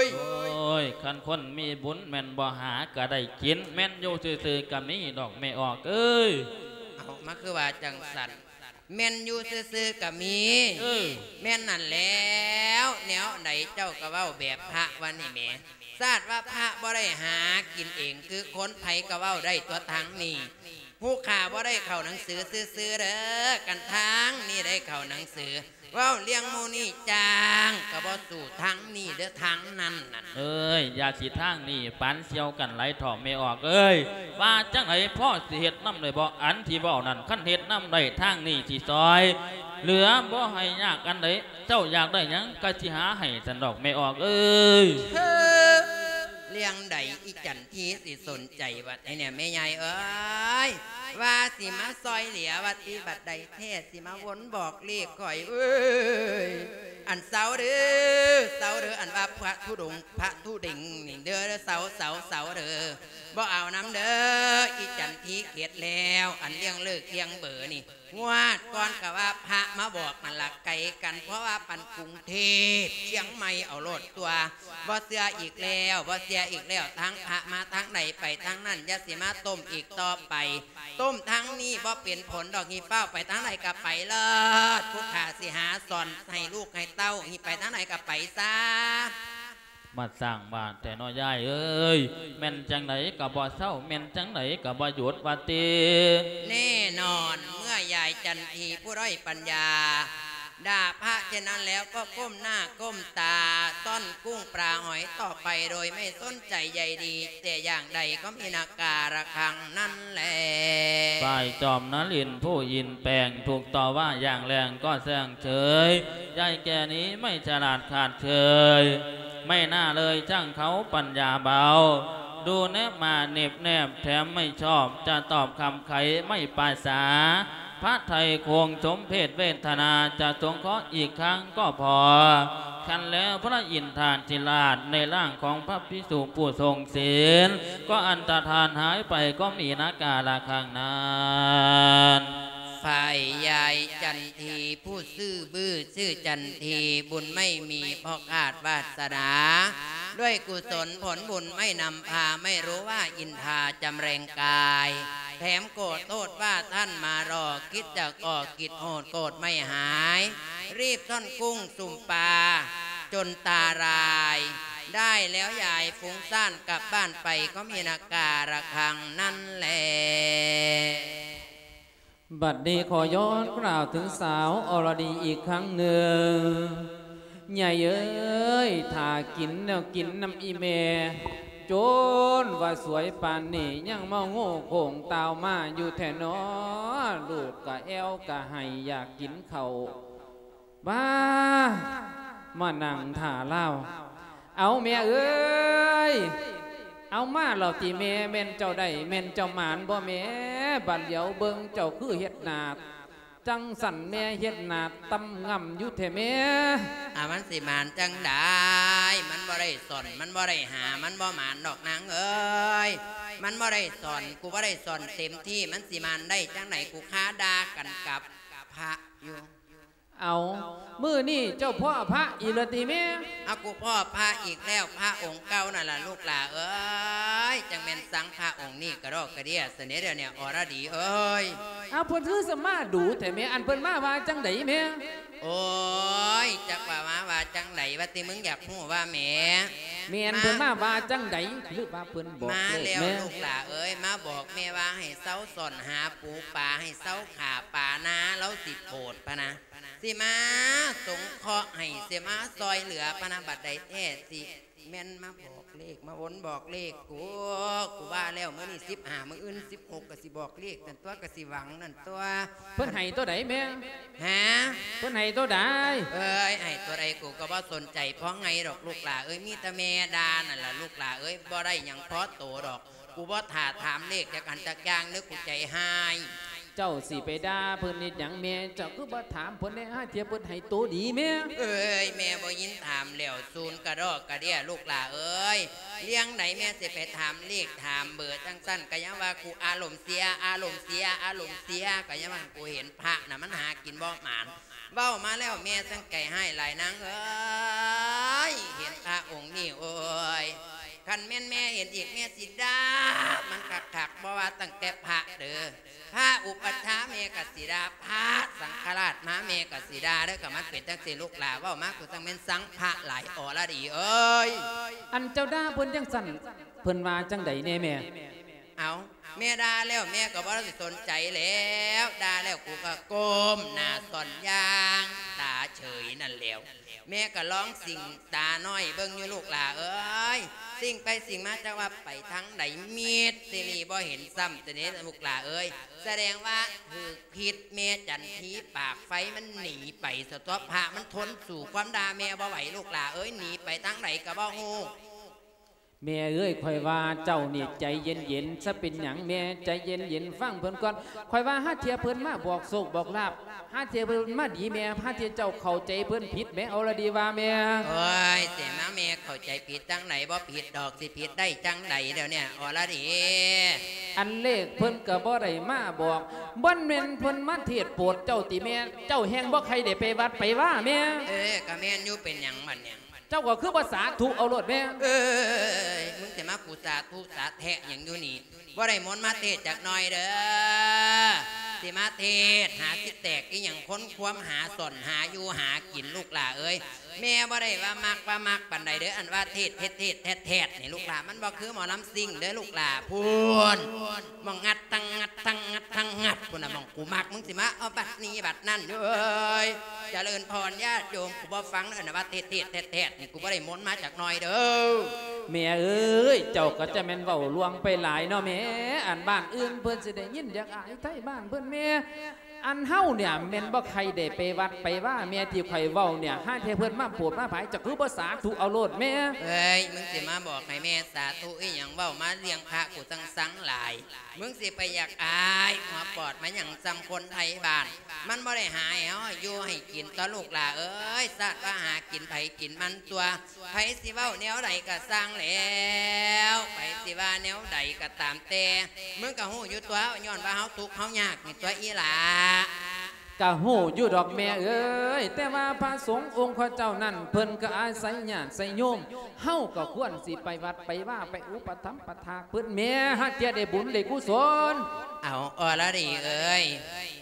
ຍ? ໂອ້ຍ ຄັນຄົນມີບຸນແມ່ນບໍ່ຫາກໍໄດ້ກິນ ແມ່ນຢູ່ຊື່ໆກໍມີດອກແມ່ອອກເອີຍ. ເອົາ ມາຄືວ່າຈັ່ງຊັ້ນ? ແມ່ນຢູ່ຊື່ໆກໍມີ ເອີ ແມ່ນນັ້ນແລ້ວ ແນວໃດເຈົ້າກໍເວົ້າແບບພະວ່ານີ້ແໝ. ຊາດວ່າພະບໍ່ໄດ້ຫາກິນເອງຄືຄົນ ໃຜກໍເວົ້າໄດ້ຕົວະທາງນີ້. ຜູ້ຂ້າບໍ່ໄດ້ເຂົ້າໜັງສືຊື່ໆເດີ ຄັນທາງນີ້ໄດ້ເຂົ້າໜັງສື ເວົ້າເລື່ອງໝູ່ນີ້ຈ້າງກໍບໍ່ສູ້ທາງນີ້ເດີ ທາງນັ້ນນັ້ນ. ເອີຍ ຢ່າຊິທາງນີ້ປານສ່ຽວກັນຫຼາຍເຖາະແມ່ອອກເອີຍ. ວ່າຈັ່ງໃດ ພໍຊິເຮັດນຳໄດ້ບໍ່ ອັນທີ່ເວົ້ານັ້ນ? ຄັນເຮັດນຳໄດ້ ທາງນີ້ຊິຊ່ອຍເຫຼືອບໍ່ໃຫ້ຍາກອັນໃດ. ເຈົ້າຢາກໄດ້ຫຍັງ ກໍຊິຫາໃຫ້ຊັ້ນດອກແມ່ອອກເອີຍ. ເອີ ເລື່ອງໃດ ອີ່ຈັນທີຊິສົນໃຈບັດນີ້ແມ່ໃຫຍ່ເອີຍ? ວ່າຊິມາຊ່ອຍເຫຼືອວ່າຕິ ບັດໃດແທ້ຊິມາວົນບອກເລກຂ້ອຍເອີຍ. ອັນເຊົາເດີ ເຊົາເດີ ອັນວ່າພະທຸດົງ ພະທຸເດັງນີ້ເດີ ເຊົາ ເຊົາ ເຊົາເດີ ບໍ່ເອົານຳເດີ. ອີ່ຈັນທີເຂດແລ້ວ ອັນເລື່ອງເລີກເລື່ອງເບີນີ້ ງວດກ່ອນກໍວ່າພະມາບອກນັ້ນລະ ໄກກັນ ເພາະວ່າປານກຸງເທບ ຊຽງໃໝ່ເອົາໂລດຕົວະ. ບໍ່ເຊື່ອອີກແລ້ວ ບໍ່ເຊື່ອອີກແລ້ວ ທາງພະມາທາງໃດໄປທາງນັ້ນ ຢ່າຊິມາຕົ້ມອີກຕໍ່ໄປ. ຕົ້ມທາງນີ້ບໍ່ເປັນຜົນດອກ ຮີບຟ້າວໄປທາງໃດກໍໄປເລີດ. ຜູ້ຂ້າຊິຫາສອນໃຫ້ລູກໃຫ້ເຕົ້າ ຮີບໄປທາງໃດກໍໄປຊະ. ມາສ້າງບ້ານແທ້ເນາະຍາຍເອີຍ ແມ່ນຈັ່ງໃດກໍບໍ່ເຊົາ ແມ່ນຈັ່ງໃດກໍບໍ່ຢຸດວ່າຕິ. ແນ່ນອນ ເມື່ອຍາຍຈັນທີຜູ້ດ້ອຍປັນຍາ ດ່າພະເຊັ່ນນັ້ນແລ້ວ ກໍກົ້ມໜ້າກົ້ມຕາ ຊ້ອນກຸ້ງປາຫອຍຕໍ່ໄປ ໂດຍໄມ່ສົນໃຈໃຍດີແຕ່ຢ່າງໃດ ກໍມີໜ້າກາລະຄັງນັ້ນແລ. ຝ່າຍຈອມນະລິນຜູ້ອິນແປງ ຖືກຕໍ່ວ່າຢ່າງແຮງກໍແຊງເສີຍ ຍາຍແກ່ນີ້ໄມ່ສະຫຼາດຂາດເຂີຍ ໄມ່ໜ້າເລີຍຊ່າງເຂົາປັນຍາເບົາ ດູແນບມາເນັບແນບແຖມໄມ່ຊອບ ຈະຕອບຄຳໄຂໄມ່ປາສາ ພະໄທຄວງສົມເພດເວທະນາ ຈະສົງເຄາະອີກຄັ້ງກໍພໍ. ຄັນແລ້ວພະອິນທາທິລາດ ໃນຮ່າງຂອງພະພິກຂຸຜູ້ຊົງສິນ ກໍອັນຕະທານຫາຍໄປ ກໍມີໜ້າກາລະຄັງນັ້ນ. ຝ່າຍຍາຍຈັນທີຜູ້ຊື່ບື້ຊື່ຈັນທີ ບຸນໄມ່ມີ ເພາະຂາດວາດສະໜາ ດ້ວຍກຸສົນຜົນບຸນໄມ່ນຳພາ ໄມ່ຮູ້ວ່າອິນທາຈຳແຮງກາຍ ແຖມໂກດໂທດວ່າທ່ານມາລໍ ຄິດຈະກໍ່ກິດໂຫດໂກດໄມ່ຫາຍ ຮີບຊ້ອນກຸ້ງສຸມປາຈົນຕາລາຍ ได้แล้วยาย ฟุ้งซ่านกลับบ้านไปก็มีนาการะคังนั่นแหละ บัดนี้ขอย้อนกล่าวถึงสาวอรดีอีกครั้งหนึ่ง ใหญ่เอ้ย ถ้ากินแนวกินนำอีแม่ โจนว่าสวยปานนี้ยังมาโง่โค้งตาวมาอยู่แท้น้อ ลูกกะแอวกะไห้อยากกินข้าว บ้า มานั่งท่าลาว เอาแม่เอ้ย เอามาแล้วติแม่ แม่นเจ้าได้ แม่นเจ้าหมานบ่แม่ บัดเหลียวเบิ่งเจ้าคือเฮ็ดหน้าจั่งซั่นแม่ เฮ็ดหน้าต่ำง่ำอยู่แท้แม่ อ่า มันสิหมานจั่งใด มันบ่ได้ซ่อน มันบ่ได้หา มันบ่หมานดอกนางเอ้ย มันบ่ได้ซ่อน กูบ่ได้ซ่อนเต็มที่ มันสิหมานได้จั่งใด กูคาด่ากันกับพระอยู่ เอา มื้อนี้เจ้าพ้อพระอีกแล้วติแม่ เอา กูพ้อพระอีกแล้ว พระองค์เก่านั่นล่ะลูกหล่าเอ้ย จั่งแม่นซังพระองค์นี้กะดอกกะเดี้ยซะแหน่เดี๋ยวนี้ อรดีเอ้ย เอา เพิ่นคือสมาดูแท้แม่ อันเพิ่นมาว่าจั่งใดแม่ โอ้ย จักว่ามาว่าจั่งใด ว่าติ มึงอยากฮู้ว่าแหม แม่น มา เพิ่นมาว่าจั่งใด หรือว่าเพิ่นบอก มา เลข แล้ว แม่ ลูกหล่าเอ้ย มาบอกแม่ว่าให้เซาซ่อนหาปูปลา ให้เซาฆ่าปลานา ลาวสิโปรดพะนะ สิมาสงเคราะห์ให้ สิมาซ่อยเหลือพะนะ บัดใดแท้สิ แม่นมาบอกเลข มาวนบอกเลขกู กูว่าแล้ว มื้อนี้สิบห้า มื้ออื่นสิบหก กะสิบอกเลขนั่นตั่ว กะสิหวังนั่นตั่ว เพิ่นให้ตัวใดแม่ ฮะ เพิ่นให้ตัวใด เอ้ย ให้ตัวใดกูกะบ่สนใจ พอไงดอกลูกหล่าเอ้ย มีแต่แม่ด่านั่นล่ะลูกหล่าเอ้ย บ่ได้หยังพอโตดอก กูบ่ท่าถามเลขจักอันจักอย่างเด้อ กูใจฮ้าย เจ้าสิไปด่าเพิ่นเฮ็ดหยังแม่ เจ้าคือบ่ถามเพิ่นแหน่ ห่าเทื่อเพิ่นให้โตดีแม่ เอ้ย แม่บ่ยินถามแล้ว ซูนกะดอกกะเดี้ย ลูกหล่าเอ้ย เรื่องใดแม่สิไปถามเลขถามเบอร์จั่งซั่น กะยังว่ากูอารมณ์เสีย อารมณ์เสีย อารมณ์เสีย กะยังว่ากูเห็นพระน่ะมันหากินบ่หมาน เว้ามาแล้วแม่จั่งใจฮ้ายหลายนางเอ้ย เห็นพระองค์นี้ โอ้ย คันแม่นแม่เห็นอีกแม่สิด่ามันคักๆ บ่ว่าตั้งแต่พระเด้อ พระอุปัชฌาย์แม่กะสิด่า พระสังฆราชมาแม่กะสิด่าเด้อ กะมันเป็นจั่งซี้ลูกหล่า เว้ามากูจั่งแม่นซังพระหลาย อรดีเอ้ย อันเจ้าด่าเพิ่นจั่งซั่น เพิ่นว่าจั่งใดแหน่แม่ เอา แม่ด่าแล้วแม่กะบ่ได้สนใจแล้ว ด่าแล้วกูกะก้มหน้าซ่อนยางตาเฉยนั่นแหล้ว แม่กะลองสิ่งตาน้อยเบิ่งอยู่ลูกหล่าเอ้ย สิ่งไปสิ่งมาจักว่าไปทางใด มิดซิลีบ่เห็นซ้ำ แต่นี้ลูกหล่าเอ้ย แสดงว่าถืกพิษแม่จันทีปากไฟมันหนีไปซะตั๊ว พระมันทนสู้ความด่าแม่บ่ไหวลูกหล่าเอ้ย หนีไปทางใดกะบ่ฮู้ แม่เอ้ย ข้อยว่าเจ้านี่ใจเย็นๆ ซะ เป็นหยังแม่ ใจเย็นๆ ฟังเพิ่นก่อน ข้อยว่าห่าเทื่อเพิ่นมาบอกโชคบอกลาภ ห่าเทื่อเพิ่นมาดีแม่ ห่าเทื่อเจ้าเข้าใจเพิ่นผิดแม่ อรดีว่าแม่ โอ้ย สิมาแม่เข้าใจผิดจั่งใด บ่ผิดดอก สิผิดได้จั่งใดเดี๋ยวนี้ อรดี อันเลขเพิ่นกะบ่ได้มาบอก บ่แม่นเพิ่นมาเทศน์โปรดเจ้าติแม่ เจ้าแฮ่งบ่ใค่ได้ไปวัดไปวาแม่ เออ กะแม่นอยู่ เป็นหยังบัดนี้ เจ้าก็คือบ่สาธุเอาโลดแม่ เอ้ย มึงสิมากูสาธุสาแทะหยังอยู่นี่ บ่ได้มนต์มาเทศน์จักหน่อยเด้อ สิมาเทศน์หาสิแตกอีหยัง คนความหาซ่อนหาอยู่หากินลูกหล่าเอ้ย แม่บ่ได้ว่ามักว่ามักปานใดเด้อ อันว่าเทศน์เทศน์เทศน์แทดแทดนี่ลูกหล่า มันบ่คือหมอลำซิ่งเด้อลูกหล่า พู้น หม่องงัดตังงัดตังงัดตังงัด พุ้นน่ะหม่องกูมัก มึงสิมาเอาบัดนี้บัดนั้นอยู่เอ้ย เจริญพรญาติโยม กูบ่ฟังเด้อนะว่าเทศน์เทศน์แทดแทดนี่ กูบ่ได้มนต์มาจักหน่อยเด้อ แม่เอ้ย เจ้าก็จะแม่นเว้าลวงไปหลายเนาะแม่ อันบ้านอื่นเพิ่นสิได้ยินอยากอายไทบ้านเพิ่นแม่ อันเฮาเนี่ยแม่นบ่ใค่ได้ไปวัดไปวาแม่ ที่ข้อยเว้าเนี่ย ห่าเทื่อเพิ่นมาโปรดมาผาย เจ้าคือบ่สาธุเอาโลดแม่ เอ้ย มึงสิมาบอกให้แม่สาธุอีหยัง เว้ามาเรื่องพระกูซังๆ หลาย มึงสิไปอยากอายหัวปอดมาหยัง ซ่ำคนไทบ้าน มันบ่ได้หาให้เฮาอยู่ให้กินตั๊วลูกหล่าเอ้ย ซาดว่าหากินไผกินมันตั๊ว ไผสิเว้าแนวใดกะซ่างแล้ว ไผสิว่าแนวใดกะตามแต่ มึงกะฮู้อยู่ตั๊ว ย้อนว่าเฮาทุกข์เฮายากนี่ตั๊วอีหล่า กะฮู้อยู่ดอกแม่เอ้ย แต่ว่าพระสงฆ์องค์ข้าเจ้านั้น เพิ่นกะอาศัยญาติไสโยม เฮากะควรสิไปวัดไปวา ไปอุปถัมภ์ประถากเพิ่นแม่ ห่าเทื่อได้บุญได้กุศล เอา อรดีเอ้ย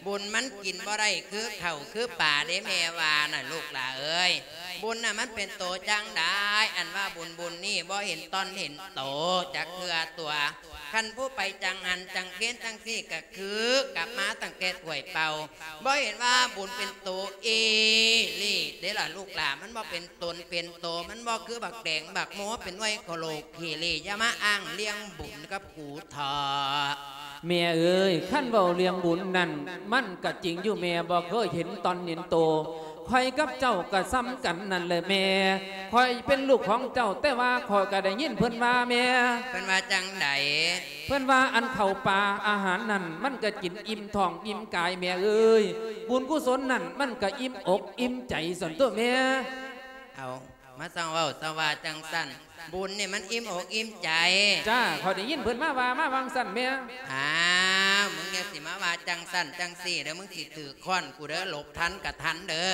บุญมันกินบ่ได้คือข้าวคือปลาเด้แม่ว่าน่ะลูกหล่าเอ้ย ບຸນນະມັນເປັນໂຕຈັ່ງໃດ? ອັນວ່າບຸນບຸນນີ້ບໍ່ເຫັນຕອນເຫັນໂຕຈັກເທື່ອຕົວະ. ຄັນຜູ້ໄປຈັງຫັນຈັງເຫັນຈັ່ງຊີ້ກະຄືກັບມາຕັ້ງແຕ່ຖ້ວຍເປົ່າ. ບໍ່ເຫັນວ່າບຸນເປັນໂຕອີ່ຫຼີເດ້ລະລູກຫຼານ. ມັນບໍ່ເປັນຕົນເປັນໂຕ, ມັນບໍ່ຄືບັກແຕງບັກໂມເປັນໜ່ວຍໂຄໂລຄີລີ. ຢ່າມາອ້າງເລື່ອງບຸນກັບ ກູເຖາະ. ແມ່ເອີຍ, ຄັນເວົ້າເລື່ອງບຸນນັ້ນ ມັນກະຈິງຢູ່ແມ່, ບໍ່ເຄີຍເຫັນຕອນເຫັນໂຕ. ຂ້ອຍກັບເຈົ້າກະສ່ຳກັນນັ້ນແຫຼະແມ່. ຂ້ອຍເປັນລູກຂອງເຈົ້າ, ແຕ່ວ່າຂ້ອຍກະໄດ້ຍິນເພິ່ນວ່າແມ່. ເພິ່ນວ່າຈັ່ງໃດ? ເພິ່ນວ່າອັນເຂົ້າປາອາຫານນັ້ນ ມັນກະກິນອີ່ມທ້ອງອີ່ມກາຍແມ່ເອີຍ. ບຸນກຸສົນນັ້ນ ມັນກະອີ່ມອົກອີ່ມໃຈຊັ້ນຕົວະແມ່. ເອົາ ມາຊ່າງເວົ້າຊ່າງວ່າຈັ່ງຊັ້ນ. ບຸນນີ້ມັນອີ່ມອົກອີ່ມໃຈ. ຈ້າ, ຂ້ອຍໄດ້ຍິນເພິ່ນມາວ່າມາວ່າງຊັ້ນແມ່. ອ້າວ ມຶງຢ່າຊິມາວ່າຈັ່ງຊັ້ນຈັ່ງຊີ້ເດີ, ມຶງຊິຖືກຄ້ອນກູເດີ, ຫຼົບທັນກະທັນເດີ.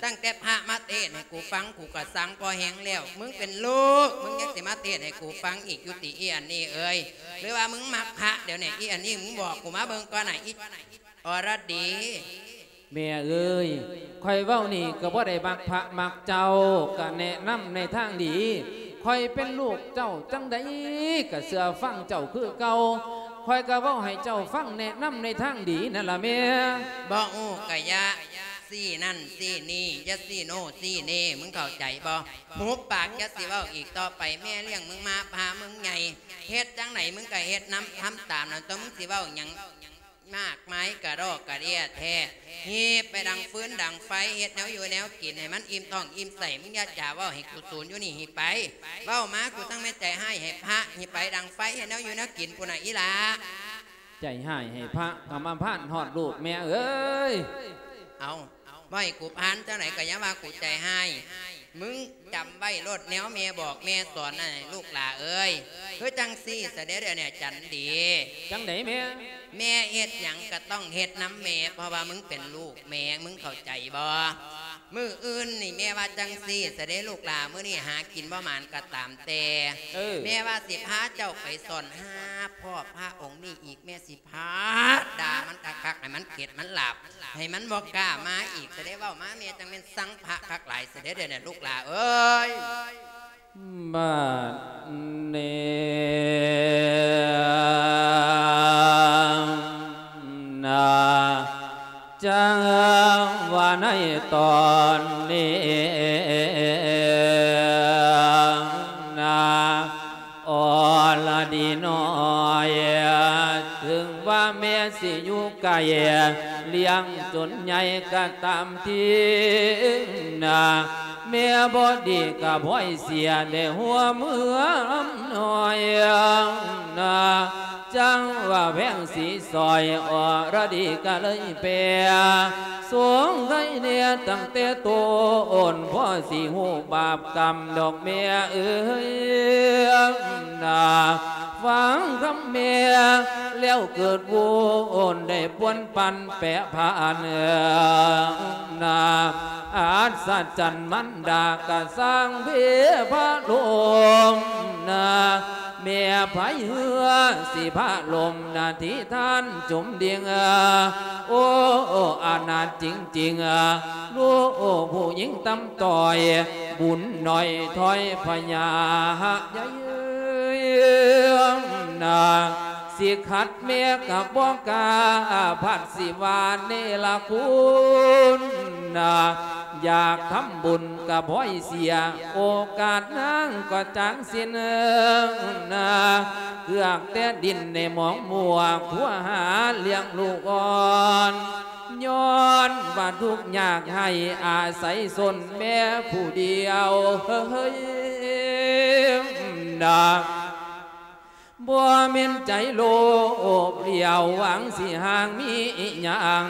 ຕັ້ງແຕ່ພະມາເທດໃຫ້ກູຟັງ ກູກະຊັງພໍແຮງແລ້ວ. ມຶງເປັນລູກ ມຶງຍັງຊິມາເທດໃຫ້ກູຟັງອີກຢູ່ຕິ ອີ່ອັນນີ້ເອີຍ? ຫຼືວ່າມຶງມັກພະ? ດຽວນີ້ ອີ່ອັນນີ້ ມຶງບອກກູມາເບິ່ງກ່ອນນະ ອີ່ ອລະດີ. ແມ່ເອີຍ, ຂ້ອຍເວົ້ານີ້ກໍບໍ່ໄດ້ມັກພະມັກເຈົ້າ, ກະແນະນຳໃນທາງດີ. ຂ້ອຍເປັນລູກເຈົ້າຈັ່ງໃດກະເຊື່ອຟັງເຈົ້າຄືເກົ່າ. ຂ້ອຍກະເວົ້າໃຫ້ເຈົ້າຟັງ, ແນະນຳໃນທາງດີນັ້ນລະແມ່. ບໍ່ຮູ້ກະຢ່າຊີ້ນັ້ນຊີ້ນີ້, ຢ່າຊີ້ໂນ່ຊີ້ເນ. ມຶງເຂົ້າໃຈບໍ່? ຫຸບປາກ, ຢ່າຊິເວົ້າອີກຕໍ່ໄປ. ແມ່ລ້ຽງມຶງມາ, ພາມຶງໃຫຍ່, ເຮັດຈັ່ງໃດມຶງກະເຮັດນຳ, ທຳຕາມນັ້ນຕົວະ. ມຶງຊິເວົ້າຫຍັງ ມາກມາຍກະດອກກະເດຍແທ້. ຮີບໄປດັງຟືນດັງໄຟ, ເຮັດແນວຢູ່ແນວກິນໃຫ້ມັນອີ່ມທ້ອງອີ່ມໄສ້. ມຶງຢ່າຈາເວົ້າໃຫ້ກູສູນຢູ່ນີ້. ຮີບໄປ, ເວົ້າມາກູຈັ່ງແມ່ນໃຈຮ້າຍໃຫ້ພະ. ຮີບໄປດັງໄຟ, ເຮັດແນວຢູ່ແນວກິນພຸ້ນນະ ອີ່ຫຼ້າ. ໃຈຮ້າຍໃຫ້ພະ ກຳມະພານຮອດລູກແມ່ເອີຍ. ເອົາ ບໍ່ໃຫ້ກູພານຈັ່ງໃດກະຢ່າວ່າກູໃຈຮ້າຍ. ມຶງຈຳໄວ້ໂລດ ແນວແມ່ບອກແມ່ສອນນັ້ນ ລູກຫຼ້າເອີຍ. ຄືຈັ່ງຊີ້ຊະເດ ດຽວນີ້ຈັນດີ. ຈັ່ງໃດແມ່? ແມ່ເຮັດຫຍັງກະຕ້ອງເຮັດນຳແມ່, ເພາະວ່າມຶງເປັນລູກແມ່, ມຶງເຂົ້າໃຈບໍ່? ມື້ອື່ນນີ້ແມ່ວ່າຈັ່ງຊີ້ຊະເດ ລູກຫຼ້າ, ມື້ນີ້ຫາກິນບໍ່ໝານກະຕາມແຕ່, ເອີ ແມ່ວ່າຊິພາເຈົ້າໄປສ່ອນຫາພໍ່ພະອົງນີ້ອີກ. ແມ່ຊິ ພະ ດ່າມັນຄັກໆ ໃຫ້ມັນເຂິດມັນຫຼາບ, ໃຫ້ມັນບໍ່ກ້າມາອີກຊະເດ. ເວົ້າມາແມ່ຈັ່ງແມ່ນຊັງພະຄັກຫຼາຍຊະເດ ດຽວນີ້ລູກຫຼ້າເອີຍ. ບາດນີ້ນະ ຈັ່ງວ່າໃນຕອນນີ້ນະ ອລະດີນ້ອຍ, ເຖິງວ່າແມ່ຊິຢູ່ໄກ, ລ້ຽງຈົນໃຫຍ່ກະຕາມທີນະ, ແມ່ບໍ່ດີກະພອຍເສຍໄດ້ຫົວເມືອອຳນວຍນະ. ຈັ່ງວ່າແພງສີສອຍ ອລະດີກະເລີຍແປ ສົງໄຄແດ່ຕັ້ງແຕ່ຕົ້ນ, ພໍຊິຮູ້ບາບກຳດອກແມ່ເອີຍນາ. ຟັງຄຳແມ່ແລ້ວເກີດວຸ່ນ ໄດ້ປ່ວນປັ່ນແປພັນນາ. ອັດສະຈັນມັນດາກະສ້າງເພພະລົມນາ. ແມ່ໃຜເຮືອຊິພະລົມນາ ທິທ່ານຈົມດິງ, ໂອ້ ອະນາດຈິງໆ, ລູກຜູ້ຍິງຕ່ຳຕ້ອຍ, ບຸນໜ້ອຍຖອຍພະຍາໃຫຍ່ນາ. ຊິຂັດແມ່ກະບໍ່ກ້າ ພັດຊິວ່າເນລະຄຸນນາ. ຢາກທຳບຸນກະພອຍເສຍ ໂອກາດນາງກໍຈາງສິ້ນນາ. ເກືອກແຕ່ດິນໃນໝອງມົວ ຄົວຫາລ້ຽງລູກອ່ອນ, ຍ້ອນວ່າທຸກຍາກໄຮ້ອາໄສຊົນແມ່ຜູ້ດຽວເຮີ້ຍນາ. ບໍ່ແມ່ນໃຈໂລບຫຼຽວຫວັງຊິຫາງມີອີ່ຫຍັງ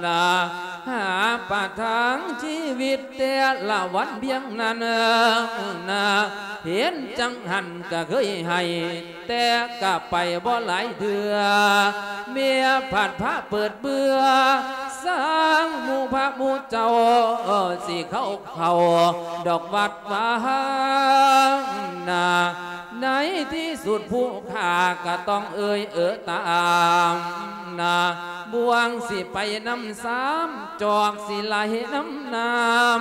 ນາ ຫາປະທັງຊີວິດແຕ່ລະວັນພຽງນັ້ນນາ. ເຫັນຈັ່ງຫັ້ນກະເຄີຍໃຫ້ ແຕ່ກະໄປບໍ່ຫຼາຍເທື່ອ ເມຍພັດພາເປີດເບື່ອ ສ້າງໝູ່ພະໝູ່ເຈົ້າ ຊິເຂົ້າ ເຂົ້າດອກວັດວານາ. ໃນທີ່ສຸດຜູ້ຂ້າກໍຕ້ອງເອີ່ຍເອີຕາມນາ. ບ່ວງຊິໄປນຳສາມ ຈອກຊິໄຫຼນຳນ້ຳ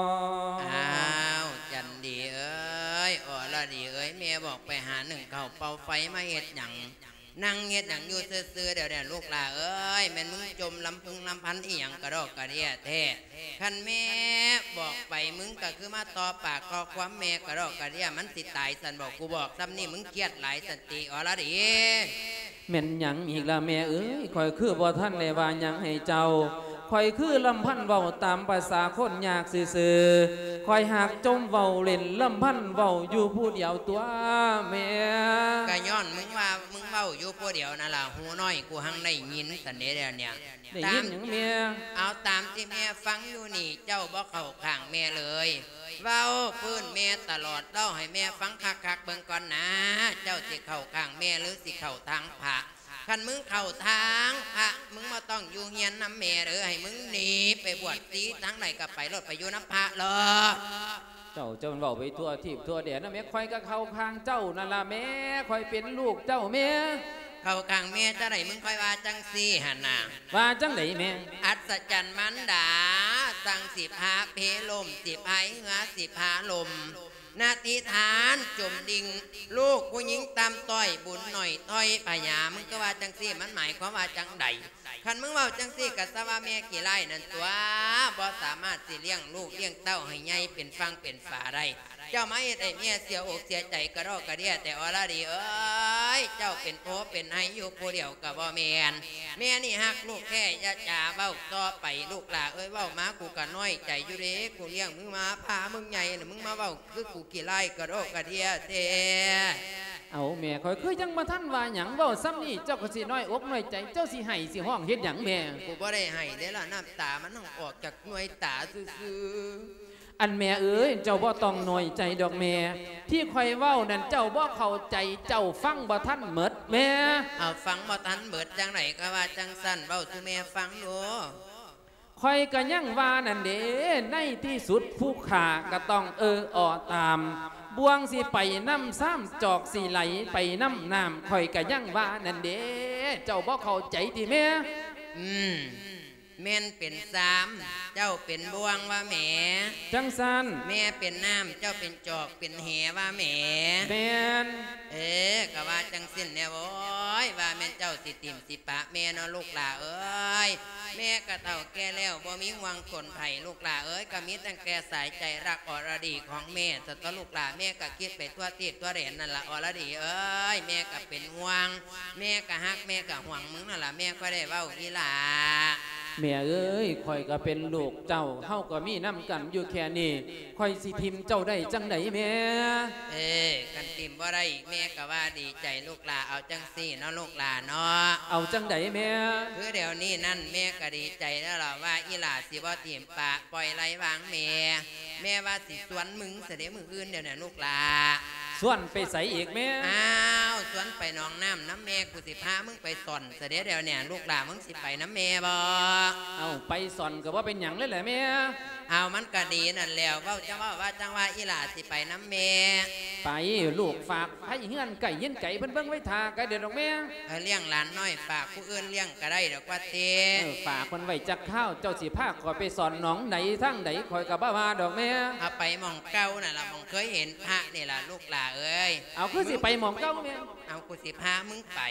ອ້າວ ຈັນດີເອີຍ ອໍລະດີເອີຍ ແມ່ບອກໄປຫາໜຶ້ງເຂົ້າເປົ່າໄຟມາເຮັດຫຍັງ? ນັ່ງເຮັດຫຍັງຢູ່ຊື່ໆ ດຽວນີ້ ລູກຫຼ້າເອີຍ ແມ່ນມຶງຈົ່ມລຳພຶງລຳພັນອີ່ຫຍັງກະດອກກະເດຍແທ້? ຄັນແມ່ບອກໄປ ມຶງກະຄືມາຕໍ່ປາກຕໍ່ຄວາມແມ່ກະດອກກະເດຍ ມັນຊິຕາຍຊັ້ນບໍ? ກູບອກຊ່ຳນີ້ ມຶງຄຽດຫຼາຍຊັ້ນຕິ ອໍລະດີ? ແມ່ນຫຍັງອີກລະແມ່ເອີຍ? ຂ້ອຍຄືບໍ່ທັນໄດ້ວ່າຫຍັງໃຫ້ເຈົ້າ ຂ້ອຍຄືລຳພັນເວົ້າຕາມພາສາຄົນຍາກຊື່ໆ ຂ້ອຍຫາກຈົ່ມເວົ້າຫຼິ້ນ ລຳພັນເວົ້າຢູ່ຜູ້ດຽວຕົວະແມ່. ກະຍ້ອນມຶງວ່າ ມຶງເວົ້າຢູ່ຜູ້ດຽວນັ້ນລະ ຫູນ້ອຍກູຫັ້ງໄດ້ຍິນຊັ້ນເດ ດຽວນີ້. ໄດ້ຍິນຫຍັງແມ່? ຕາມ ເອົາຕາມທີ່ແມ່ຟັງຢູ່ນີ້ ເຈົ້າບໍ່ເຂົ້າຂ້າງແມ່ເລີຍ ເວົ້າຟື້ນແມ່ຕະຫຼອດ ເລົ່າໃຫ້ແມ່ຟັງຄັກໆເບິ່ງກ່ອນນາ ເຈົ້າຊິເຂົ້າຂ້າງແມ່ ຫຼື ຊິເຂົ້າທາງພະ? ຄັນມຶງເຂົ້າທາງພະ ມຶງບໍ່ຕ້ອງຢູ່ຮຽນນຳແມ່ເດີ ໃຫ້ມຶງໜີໄປບວດຊີທາງໃດກະໄປໂລດ ໄປຢູ່ນຳພະໂລດ. ເຈົ້າ ເຈົ້າເວົ້າໄປທົ່ວທີບທົ່ວແດນນະແມ່ ຂ້ອຍກະເຂົ້າຂ້າງເຈົ້ານັ້ນລະແມ່ ຂ້ອຍເປັນລູກເຈົ້າແມ່. ເຂົ້າຂ້າງແມ່ຈັ່ງໃດ ມຶງຄ່ອຍວ່າຈັ່ງຊີ້ຫັ້ນນະ. ວ່າຈັ່ງໃດແມ່? ອັດສະຈັນມານດາ ຊ່າງຊິພາເພລົມ ຊິພາຍເຮືອ ຊິພາລົມ ນະທິທານຈົມດິ່ງ ລູກຜູ້ຍິງຕ່ຳຕ້ອຍ ບຸນໜ້ອຍຖອຍພະຍາ ມຶງກະວ່າຈັ່ງຊີ້ ມັນໝາຍຄວາມວ່າຈັ່ງໃດ? ຄັນມຶງເວົ້າຈັ່ງຊີ້ກະຊະວ່າແມ່ຂີ້ຮ້າຍນັ້ນຕົວະ ບໍ່ສາມາດຊິລ້ຽງລູກລ້ຽງເຕົ້າໃຫ້ໃຫຍ່ເປັນຝັ່ງເປັນຝາໄດ້. ເຈົ້າມາເຮັດໃຫ້ແມ່ເສຍອົກເສຍໃຈກະດອກກະເດຍແຕ່ ອໍລະດີເອີຍ ເຈົ້າເປັນໂພເປັນໄຮຢູ່ຜູ້ດຽວກະບໍ່ແມ່ນ. ແມ່ນີ້ຮັກລູກແທ້ ຢ່າຈາເວົ້າຕໍ່ໄປ ລູກຫຼ້າເອີຍ ເວົ້າມາກູກະນ້ອຍໃຈຢູ່ເດ ກູລ້ຽງມຶງມາ ພາມຶງໃຫຍ່ ລະມຶງມາເວົ້າຄືກູຂີ້ຮ້າຍກະດອກກະເດຍແທ້. ເອົາແມ່ ຂ້ອຍຄືຍັງບໍ່ທັນວ່າຫຍັງ ເວົ້າຊ່ຳນີ້ເຈົ້າກະຊິນ້ອຍອົກນ້ອຍໃຈ ເຈົ້າຊິໄຫ້ຊິຮ້ອງເຮັດຫຍັງແມ່? ກູບໍ່ໄດ້ໄຫ້ເດລະ ນ້ຳຕາມັນອອກຈາກໜ່ວຍຕາຊື່ໆ. ອັນແມ່ເອີຍ ເຈົ້າບໍ່ຕ້ອງນ້ອຍໃຈດອກແມ່ ທີ່ຂ້ອຍເວົ້ານັ້ນເຈົ້າບໍ່ເຂົ້າໃຈ ເຈົ້າຟັງບໍ່ທັນໝົດແມ່. ເອົາ ຟັງບໍ່ທັນໝົດຈັ່ງໃດກະວ່າຈັ່ງຊັ້ນ ເວົ້າສູ່ແມ່ຟັງດູ. ຂ້ອຍກະຍັງວ່ານັ້ນເດ ໃນທີ່ສຸດຜູ້ຂ້າກະຕ້ອງເອີ່ອໍຕາມ ບ່ວງຊິໄປນຳຊາມ ຈອກຊິໄຫຼໄປນຳນ້ຳ ຂ້ອຍກະຍັງວ່ານັ້ນເດ ເຈົ້າບໍ່ເຂົ້າໃຈຕິແມ່? ອືມ ແມ່ນເປັນຊາມ ເຈົ້າເປັນບ່ວງວ່າແໝ? ຈັ່ງຊັ້ນ. ແມ່ເປັນນ້ຳ ເຈົ້າເປັນຈອກເປັນແຫວ່າແໝ? ແມ່ນ. ເອີ ກະວ່າຈັ່ງຊີ້ແນ່ ໂອ້ຍ ວ່າແມ່ນເຈົ້າຊິຖິ້ມຊິປະແມ່ເນາະ ລູກຫຼ້າເອີຍ. ແມ່ກະເຖົ້າແກ່ແລ້ວ ບໍ່ມີຫວັງຄົນໃຜ ລູກຫຼ້າເອີຍ ກະມີຕັ້ງແຕ່ສາຍໃຈຮັກອໍລະດີຂອງແມ່ ສະຕົວະລູກຫຼ້າ ແມ່ກະຄິດໄປທົ່ວທີບທົ່ວແດນນັ້ນລະ ອໍລະດີເອີຍ ແມ່ກະເປັນຫ່ວງ ແມ່ກະຮັກ ແມ່ກະຫວງມຶງນັ້ນລະ ແມ່ຄ່ອຍໄດ້ເວົ້າອີ່ຫຼ້າ. ແມ່ເອີຍ ຂ້ອຍກະເປັນລູກເຈົ້າ ເຮົາກະມີນຳກັນຢູ່ແຄ່ນີ້ ຂ້ອຍຊິຖິ້ມເຈົ້າໄດ້ຈັ່ງໃດແມ່? ເອີ ຄັນຖິ້ມບໍ່ໄດ້ ແມ່ກະວ່າດີໃຈລູກຫຼ້າ ເອົາຈັ່ງຊີ້ເນາະ ລູກຫຼ້າເນາະ. ເອົາຈັ່ງໃດແມ່? ຄືດຽວນີ້ນັ້ນ ແມ່ກະດີໃຈແລ້ວລະ ວ່າອີ່ຫຼ້າຊິບໍ່ຖິ້ມປະ ປ່ອຍໄລ່ວາງແມ່ ແມ່ວ່າຊິຊວນມຶງຊະເດ ມື້ອື່ນດຽວນີ້ ລູກຫຼ້າ. ຊວນໄປໃສອີກແມ່? ອ້າວ ຊວນໄປໜອງນ້ຳນຳແມ່ ກູຊິພາມຶງໄປຊ່ອນຊະເດ້ດຽວນີ້ ລູກຫຼ້າ ມຶງຊິໄປນຳແມ່ບໍ່? ເອົາ ໄປຊ່ອນກໍບໍ່ເປັນຫຍັງເລີຍແຫຼະແມ່. ເອົາ ມັນກໍດີນັ້ນແຫຼະ ເວົ້າຈັ່ງເວົ້າວ່າຈັ່ງວ່າ ອີຫຼ້າຊິໄປນຳແມ່. ໄປ ລູກ ຝາກໃຫ້ເຮືອນໃກ້ເຮືອນໄກເພິ່ນເບິ່ງໄວ້ຖ້າກໍໄດ້ດອກແມ່. ເອີ ລ້ຽງຫຼານນ້ອຍຝາກຜູ້ອື່ນລ້ຽງກໍໄດ້ດອກວ່າຕິ. ເອີ ຝາກເພິ່ນໄວ້ຈັກຄາວ ເຈົ້າຊິພາຂ້ອຍໄປຊ່ອນໜອງໃດທາງໃດ ຂ້ອຍກໍບໍ່ວ່າດອກແມ່. ເອົາ ໄປໝ່ອງເກົ່ານັ້ນລະ ໝ່ອງເຄີຍເຫັນພະນີ້ລະ ລູກຫຼ້າເອີຍ. ເອົາ ຄືຊິໄປໝ່ອງເກົ່າແມ່? ເອົາ ກູຊິພາມຶງໄປ.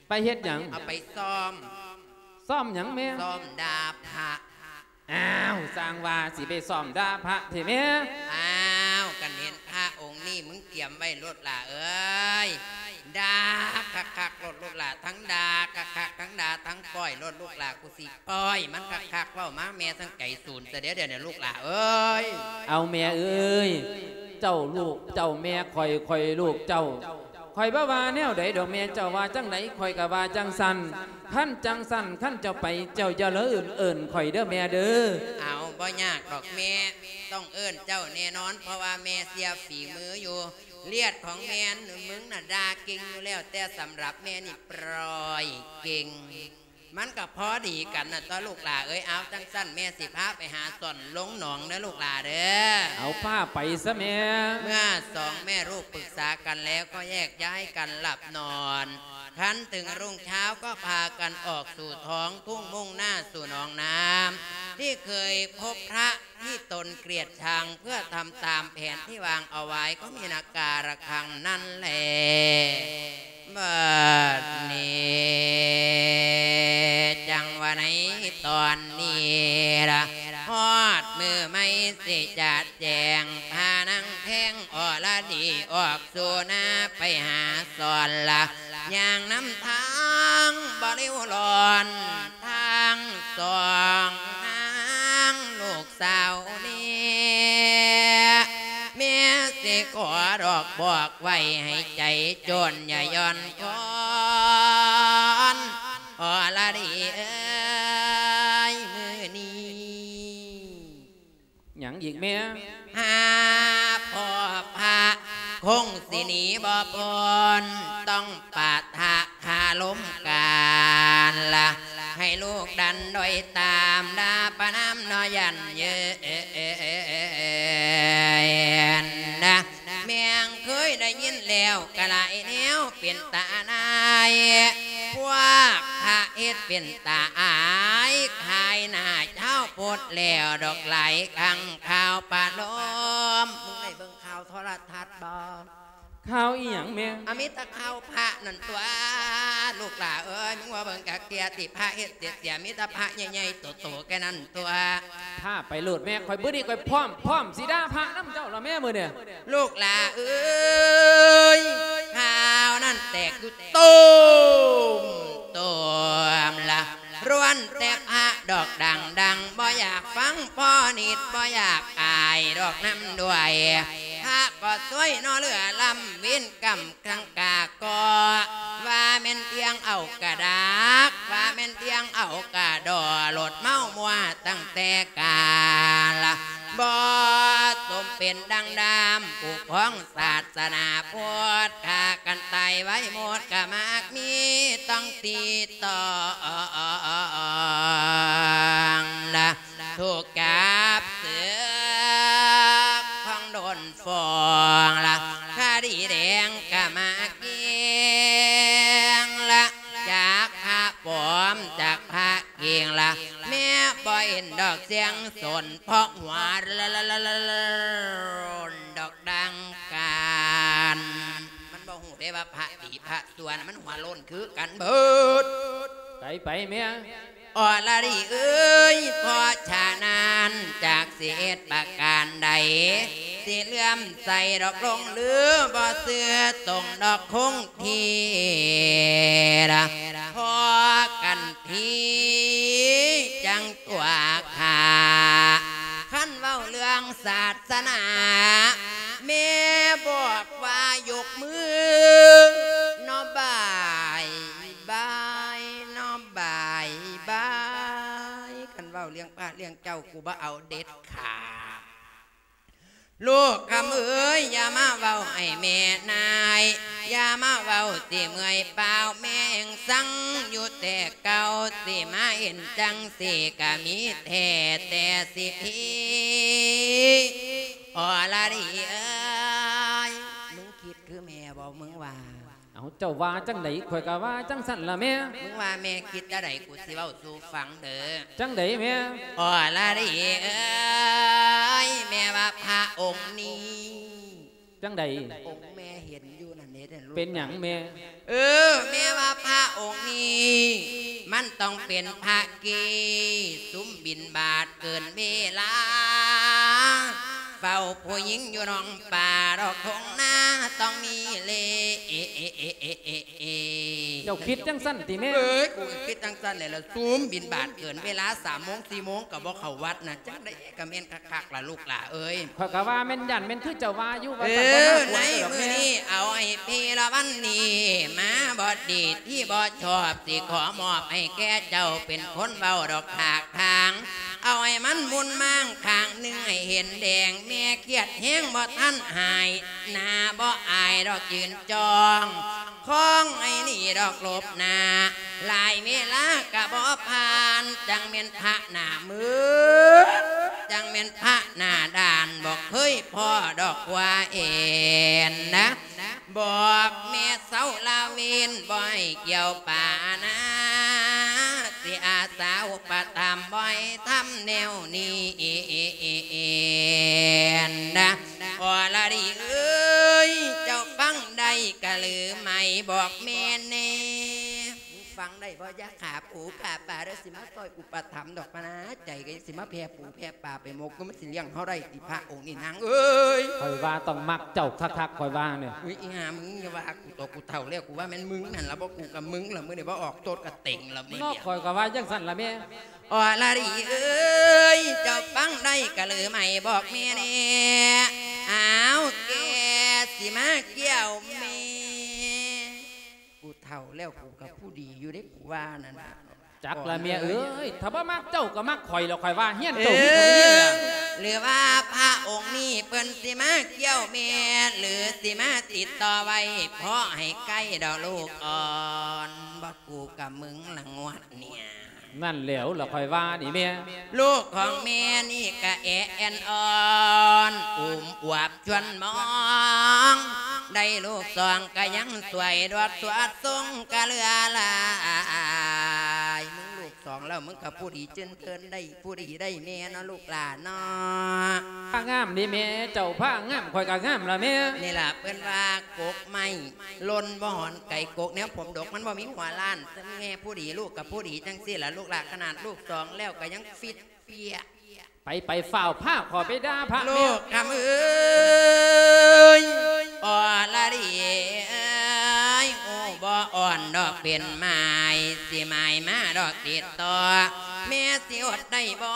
ໄປເຮັດຫຍັງ? ເອົາ ໄປຊ້ອມ. ຊ້ອມຫຍັງແມ່? ຊ້ອມດ່າພະ. ອ້າວ ຊ່າງວ່າ ຊິໄປຊ້ອມດ່າພະແທ້ແມ່. ອ້າວ ຄັນເຫັນພະອົງນີ້ ມຶງກຽມໄວ້ໂລດຫຼ້າເອີຍ ດ່າຄັກໆໂລດລູກຫຼ້າ ທັງດ່າຄັກໆ ທັງດ່າທັງປ້ອຍໂລດລູກຫຼ້າ ກູຊິປ້ອຍມັນຄັກໆ. ເວົ້າມາແມ່ທັງໄກສູນຊະເດ້ດຽວນີ້ ລູກຫຼ້າເອີຍ. ເອົາ ແມ່ເອີຍ ເຈົ້າລູກເຈົ້າແມ່ຂ້ອຍ ຂ້ອຍລູກເຈົ້າ ຂ້ອຍບໍ່ວ່າແນວໃດດອກແມ່ ເຈົ້າວ່າຈັ່ງໃດຂ້ອຍກໍວ່າຈັ່ງຊັ້ນ. ຄັນຈັ່ງຊັ້ນ ຄັນເຈົ້າໄປ ເຈົ້າຢ່າລືມເອີ້ນຂ້ອຍເດີແມ່ເດີ. ເອົາ ບໍ່ຍາກດອກແມ່ ຕ້ອງເອີ້ນເຈົ້າແນ່ນອນ ເພາະວ່າແມ່ເຊື່ອຝີມືຢູ່. ລຽດຂອງແມ່ນ ມຶງນະດ່າເກັ່ງຢູ່ແລ້ວ ແຕ່ສຳລັບແມ່ນີ້ປ້ອຍເກັ່ງ ມັນກໍພໍດີກັນນະຕົວະລູກຫຼ້າເອີຍ. ເອົາ ຈັ່ງຊັ້ນແມ່ຊິພາໄປຫາຊ່ອນລົງໜອງເດີລູກຫຼ້າເດີ. ເອົາ ພາໄປຊະແມ່. ເມື່ອສອງແມ່ລູກປຶກສາກັນແລ້ວ ກໍແຍກຍ້າຍກັນຫຼັບນອນ. ຄັນເຖິງຮຸ່ງເຊົ້າກໍພາກັນອອກສູ່ທ້ອງທົ່ງ ມຸ່ງໜ້າສູ່ໜອງນ້ຳ ທີ່ເຄີຍພົບພະທີ່ຕົນເກລີຍດຊັງ ເພື່ອທຳຕາມແຜນທີ່ວາງເອົາໄວ້ ກໍມີນາກາລະຄັງນັ້ນແລ. ບັດນີ້ຈັ່ງວ່າໃນຕອນນີ້ລະ ຮອດມື້ໃໝ່ຊິຈະແຈ້ງ ພານາງແພງອໍລະດີອອກສູ່ນາ ໄປຫາສອນລະ ຍ່າງນຳທາງບໍ່ລິ້ວລ້ອນ ທັງສອງນາງລູກສາວນີ້ ແມ່ຊິຂໍດອກບອກໄວ້ໃຫ້ໃຈໂຈນຢ່າຢ່ອນຄອນ ອໍລະດີເອີຍ ມື້ນີ້ ຫຍັງອີກແມ່? ຫາພໍ່ພະຄົງຊິໜີບໍ່ພົ້ນ ຕ້ອງປະທະຄາລົມກັນລະ ໃຫ້ລູກດັນດ້ອຍຕາມ ດາປະນາມເນາະ ຢ້ານເຍີ້ນນະ. ແມ່ງເຄີຍໄດ້ຍິນແລ້ວກະຫຼາຍແນວເປັນຕາອາຍ ພວກພະເຮັດເປັນຕາອາຍ ຂາຍໜ້າຊາວພຸດແລ້ວດອກ ຫຼາຍຄັ້ງຂ່າວປະໂລມ. ມຶງໄດ້ເບິ່ງຂ່າວໂທລະທັດບໍ່? ຂ່າວອີ່ຫຍັງແມ່? ອາ ມີແຕ່ຂ່າວພະນັ້ນຕົວະ ລູກຫຼ້າເອີຍ. ມຶງວ່າເບິ່ງກະເກຍຕິ ພະເຮັດເສຍ ມີແຕ່ພະໃຫຍ່ໆໂຕໆແຄ່ນັ້ນ ຕົວະ. ພາໄປໂລດແມ່ ຂ້ອຍມື້ນີ້ຂ້ອຍພ້ອມ ພ້ອມຊິດ່າພະນຳເຈົ້າລະແມ່ມື້ນີ້. ລູກຫຼ້າເອີຍ ຂ່າວນັ້ນແຕກຢູ່ໂຕມໂຕມລະ ລ້ວນແຕ່ພະດອກດັງໆ ບໍ່ຢາກຟັງພໍນິດ ບໍ່ຢາກອາຍດອກນຳດ້ວຍ. ພະກໍຊ່ວຍເນາະ ເຫຼືອລ້ຳເວນກຳ ຄັງກາກໍວ່າແມ່ນທ່ຽງເອົາກະດາກ ວ່າແມ່ນທ່ຽງເອົາກະດໍ ໂລດເມົາມົວຕັ້ງແຕ່ກາລະ ບໍ່ສົມເປັນດັ່ງດຳ ຜູ້ຄອງສາສະໜາພຸດ ຂ້າກັນຕາຍໄວໝົດກະມາກມີ ຕ້ອງຕິດຕ້ອງລະ ຖືກຈັບເຊືອກ ຂອງໂດນຟ້ອງລະ ຄະດີແດງກະມາກກິງລະ ຈາກພະປອມ ຈາກພະກິງລະ ແມ່ບໍ່ເຫັນດອກສຽງສົນ ເພາະຫົວໂລນດອກດັ່ງກັນ. ມັນບໍ່ຮູ້ເດ້ວ່າພະດີພະ ສ່ວນມັນຫົວໂລ້ນຄືກັນເບີດ. ໄປ ໄປແມ່. ອໍລະດີເອີຍ ເພາະສະນັ້ນ ຈັກຊິເຮັດປະການໃດ ຊິເຫຼື້ອມໃສດອກຫຼົງລື ບໍ່ເຊື່ອຕົງດອກຄົງທີ່ລະ ພໍກັນທີຈັ່ງຕົວະຂ້າ. ຄັນເວົ້າເລື່ອງສາສະໜາ ແມ່ບອກວ່າຍົກມືເນາະ ບາຍບາຍເນາະ ບາຍບາຍ. ຄັນເວົ້າເລື່ອງພະເລື່ອງເຈົ້າ ກູບໍ່ເອົາເດັດຂາດ. ລູກຄຳເອີຍ ຢ່າມາເວົ້າໃຫ້ແມ່ນາຍ ຢ່າມາເວົ້າຊິເມື່ອຍເປົ່າ ແມ່ງສັງຢູ່ແຕ່ເກົ່າ ຊິມາເຫັນຈັ່ງຊີ້ກະມີແທ້ແຕ່ຊິພີ ອໍລະດີເອີຍ ມຶງຄິດຄືແມ່ບໍ່ ມຶງວ່າ? ເອົາ ເຈົ້າວ່າຈັ່ງໃດ ຂ້ອຍກະວ່າຈັ່ງຊັ້ນລະແມ່. ມຶງວ່າແມ່ຄິດແນວໃດ ກູຊິເວົ້າສູ່ຟັງເດີ. ຈັ່ງໃດແມ່? ອໍລະດີເອີຍ ແມ່ວ່າພະອົງນີ້ ຈັ່ງໃດ? ອົງແມ່ເຫັນຢູ່ນັ້ນເດ້ ເປັນຫຍັງແມ່? ເອີ ແມ່ວ່າພະອົງນີ້ ມັນຕ້ອງເປັນພະເກ ສຸມບິນບາດເກີນເວລາ ເຝົ້າຜູ້ຍິງຢູ່ໜອງປາດອກທົ່ງນາ ຕ້ອງມີເລ ເອ ເອ ເອ ເອ ເອ ເອ ເອ. ເຈົ້າຄິດຈັ່ງຊັ້ນຕິແມ່? ເອີຍ ກູກະຄິດຈັ່ງຊັ້ນແຫຼະ ລະສຸມບິນບາດເກີນເວລາ ສາມໂມງ ສີ່ໂມງກະບໍ່ເຂົ້າວັດນະ ຈັ່ງໃດກະແມ່ນຄັກໆລະລູກຫຼ້າເອີຍ. ຂ້ອຍກະວ່າແມ່ນ ຢ້ານແມ່ນຄືເຈົ້າວ່າຢູ່ ວ່າ ເອີ ໃນມື້ນີ້ເອົາໃຫ້ພີລະວັນນີ້ ມາບໍດດີທີ່ບໍ່ຊອບ ຊິຂໍມອບໃຫ້ແກ່ເຈົ້າເປັນຄົນເວົ້າດອກຖາກຖາງ ເອົາໃຫ້ມັນມຸນມາງຂ້າງໜຶ່ງໃຫ້ເຫັນແດງ ແມ່ຄຽດແຮງບໍ່ທັນຫາຍ ໜ້າບໍ່ອາຍດອກຢືນຈ້ອງ ຄອງໄອ້ນີ້ດອກຫຼົບໜ້າ ຫຼາຍເວລາກະບໍ່ຜ່ານ ຈັ່ງແມ່ນພະໜ້າມືດ ຈັ່ງແມ່ນພະໜ້າດ້ານ ບໍ່ເຄີຍພໍ້ດອກວ່າເອັນນະ ບອກແມ່ເຊົາລະເວນ ບໍ່ໃຫ້ກ່ຽວປານາ ຊິອາສາອຸປະຖຳ ບໍ່ໃຫ້ທຳແນວນີ້ ນະ ອໍລະດີເອີຍ ເຈົ້າຟັງໄດ້ກະຫຼືໄໝ ບອກແມ່ແນ່. ຟັງໄດ້ບໍ່? ຢ່າຂາປູຂາປາເດີ ຊິມາຊ່ອຍອຸປະຖຳດອກປານາ ໃຈກະຊິມາແຜ່ປູແຜ່ປາໄປໝົກ ມັນຊິລ້ຽງເຮົາໄດ້ຕິພະອົງນີ້ນາງເອີຍ? ຂ້ອຍວ່າຕ້ອງມັກເຈົ້າຄັກໆ ຂ້ອຍວ່ານີ້. ອຸຍ ອີຫ່າ ມຶງຢ່າວ່າກູໂຕ ກູເຖົ້າແລ້ວ ກູວ່າແມ່ນມຶງຫັ້ນລະ ບໍ່ ກູກະມຶງລະ ມື້ນີ້ບໍ່ອອກໂຕດກະເຕັງລະ ມື້ນີ້ ເນາະ ຂ້ອຍກະວ່າຈັ່ງຊັ້ນລະແມ່. ອໍລະດີເອີຍ ເຈົ້າຟັງໄດ້ກະລືໄໝ ບອກແມ່ແນ່ ອ້າວ ແກ່ຊິມາກ່ຽວແມ່. ກູເຖົ້າແລ້ວ ກູກະຜູ້ດີຢູ່ເດ້ ກູວ່ານັ້ນນະ. ຈັກລະແມ່ເອີຍ ຖ້າບໍ່ມັກເຈົ້າກະມັກຂ້ອຍແລ້ວ ຂ້ອຍວ່າຮຽນເຈົ້າ ເອີ ຜິດເຂົາໄປນີ້ລະ. ຫຼືວ່າພະອົງນີ້ເພິ່ນຊິມາກ່ຽວແມ່ ຫຼືຊິມາຕິດຕໍ່ໄວ້ ພໍໃຫ້ໃກ້ດອກລູກອ່ອນ ບໍ່ ກູກະມຶງລະງວດນີ້. ນັ້ນແຫຼວລະຂ້ອຍວ່ານີ້ແມ່. ລູກຂອງແມ່ນີ້ກະແອແອ່ນອ່ອນ ອຸ້ມອວບຊວນມອງ ໄດ້ລູກສອງກະຍັງສວຍ ດວດສວດຊົງກະເຫຼືອຫຼາຍ. ມຶງລູກສອງແລ້ວ ມຶງກະຜູ້ດີເຈີນເທີນໄດ້ ຜູ້ດີໄດ້ແມ່ເນາະ ລູກຫຼານເນາະ. ພະງາມເດ້ແມ່ ເຈົ້າພະງາມ ຂ້ອຍກະງາມລະແມ່. ນີ້ລະເພິ່ນວ່າກົກໄມ້ ຫຼົ່ນບໍ່ຫອນໄກກົກ ແນວຜົມດົກມັນບໍ່ມີຫົວລ້ານ. ແມ່ຜູ້ດີ ລູກກະຜູ້ດີ ຈັ່ງຊີ້ລະລູກຫຼານ. ຂະໜາດລູກສອງແລ້ວກະຍັງຟິດເປຍ. ໄປ ໄປ ຟ້າວພາຂ້ອຍໄປດ່າພະແມ່. ລູກຄຳເອີຍ ອໍລະດີເອີຍ ໂອ້ ບໍ່ອ່ອນດອກເປັນໝາຍ ຊິໝາຍມາດອກຕິດຕໍ່ ແມ່ຊິອົດໄດ້ບໍ່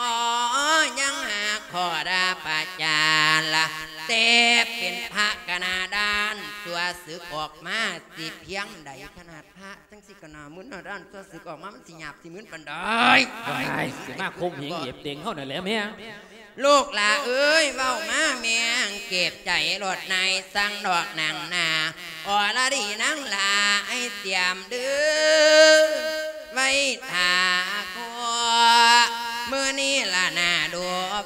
ຍັງຫາຂໍ້ດ່າປະຈານລະ ແຕ່ເປັນພະກະໜ້າດ້ານ ຊົ່ວສຶກອອກມາຊິພຽງໃດ. ຂະໜາດພະຈັ່ງຊີ້ກະໜ້າມຶນໜ້າດ້ານ ຊົ່ວສຶກອອກມາມັນຊິຫຍາບຊິມຶນປານໃດ. ວ້າຍ ຊິມາຂົ່ມເຫງເຫຍບເຕັງເຮົານັ້ນແຫຼະແມ່. ລູກຫຼ້າເອີຍ ເວົ້າມາແມ່ງເຈັບໃຈໂລດ ນາຍສັ່ງດອກນາງນາ ອໍລະດີນາງຫຼ້າ ໃຫ້ຕຽມເດີ ໄວ້ຖ້າໂຄ ມື້ນີ້ລະໜ້າດູ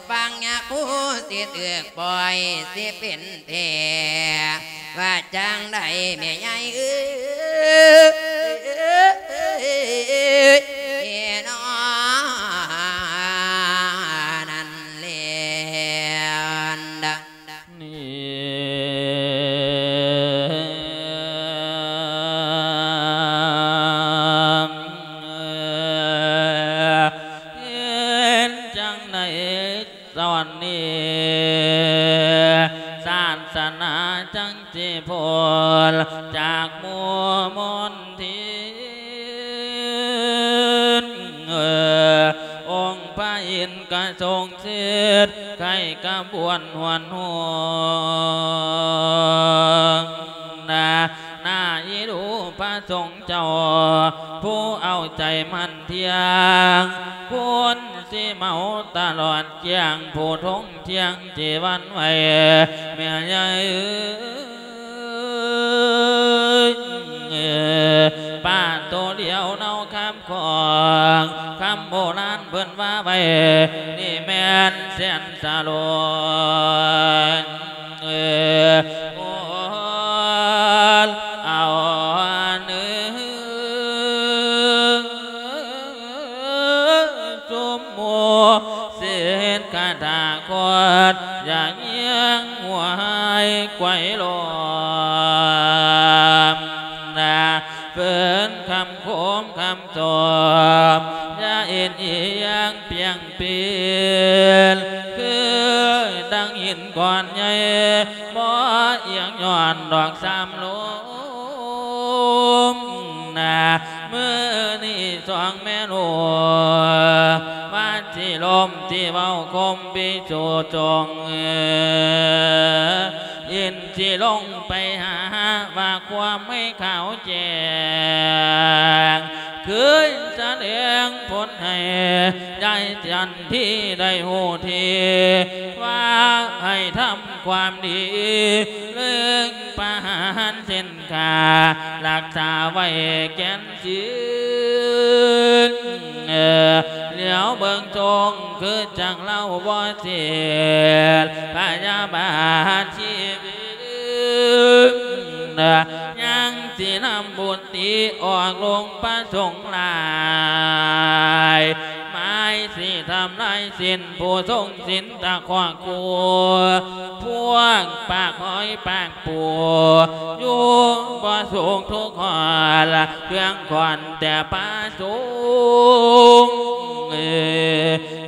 ຟັງຍາຄູ ຊິຖືກປ່ອຍ ຊິເປັນແທ້ ວ່າຈັ່ງໃດແມ່ໃຫຍ່ເອີຍ ເນາະ ນັ້ນແຫຼະ. ນີ້ ເຮັດຈັ່ງໃດ ຕອນນີ້ ສາສະໜາຈັ່ງຊິພົ້ນຈາກໝູ່ມົນທິນ. ອົງພະອິນກະຊົງສິດ ໄຄກະບວນຫວນຫົວ ນາ ໜ້າອິດພະສົງເຈົ້າ ຜູ້ເອົາໃຈໝັ້ນທ່ຽງ ຄຸນຊິເມົາຕະຫຼອດກ້ຽງ ຜູ້ທົງທ່ຽງຈີວັນໄວ້ ແມ່ໃຫຍ່ເອີຍ. ໄຫວລົມນາ ເພິ່ນຄຳໂຄມຄຳໂຕມ ຢ່າເອັນອີ່ຍງປ່ຽງປີນ ຄືດັ່ງຫີນກ້ອນໃຫຍ່ ບໍ່ອຽງຍ້ອນດອກສາມລົມນາ ມື້ນີ້ສອງແມ່ລູກ ວ່າຊິລົມຊິເວົ້າຄົມພິໂສຈົງ ອິນຊິລົງໄປຫາວ່າຄວາມໃຫ້ຂາວແຈ້ງ ຄືສະແດງຜົນໃຫ້ຍາຍຈັນທີໄດ້ຮູ້ທີ ວ່າໃຫ້ທຳຄວາມດີ ເລື່ອງປະຫານສິນ ຂ້າຮັກສາໄວ້ແກ່ນສິນ ຫຼຽວເບິ່ງຊົງຄືຈັ່ງລາວບໍ່ເສດ ພະຍາບາດຊີວິດ ຍັງຊິນຳບຸດຕິອອກລົງປະສົງຫຼາຍ ໝາຍຊິທຳລາຍສິນຜູ້ຊົງສິນຕະຄອກຄູ່ ພວກປາກຫອຍປາກ ຜູ້ຢູ່ບໍ່ສຸກທຸກຮອດ ເຄື່ອງຂອນແຕ່ປະສົງ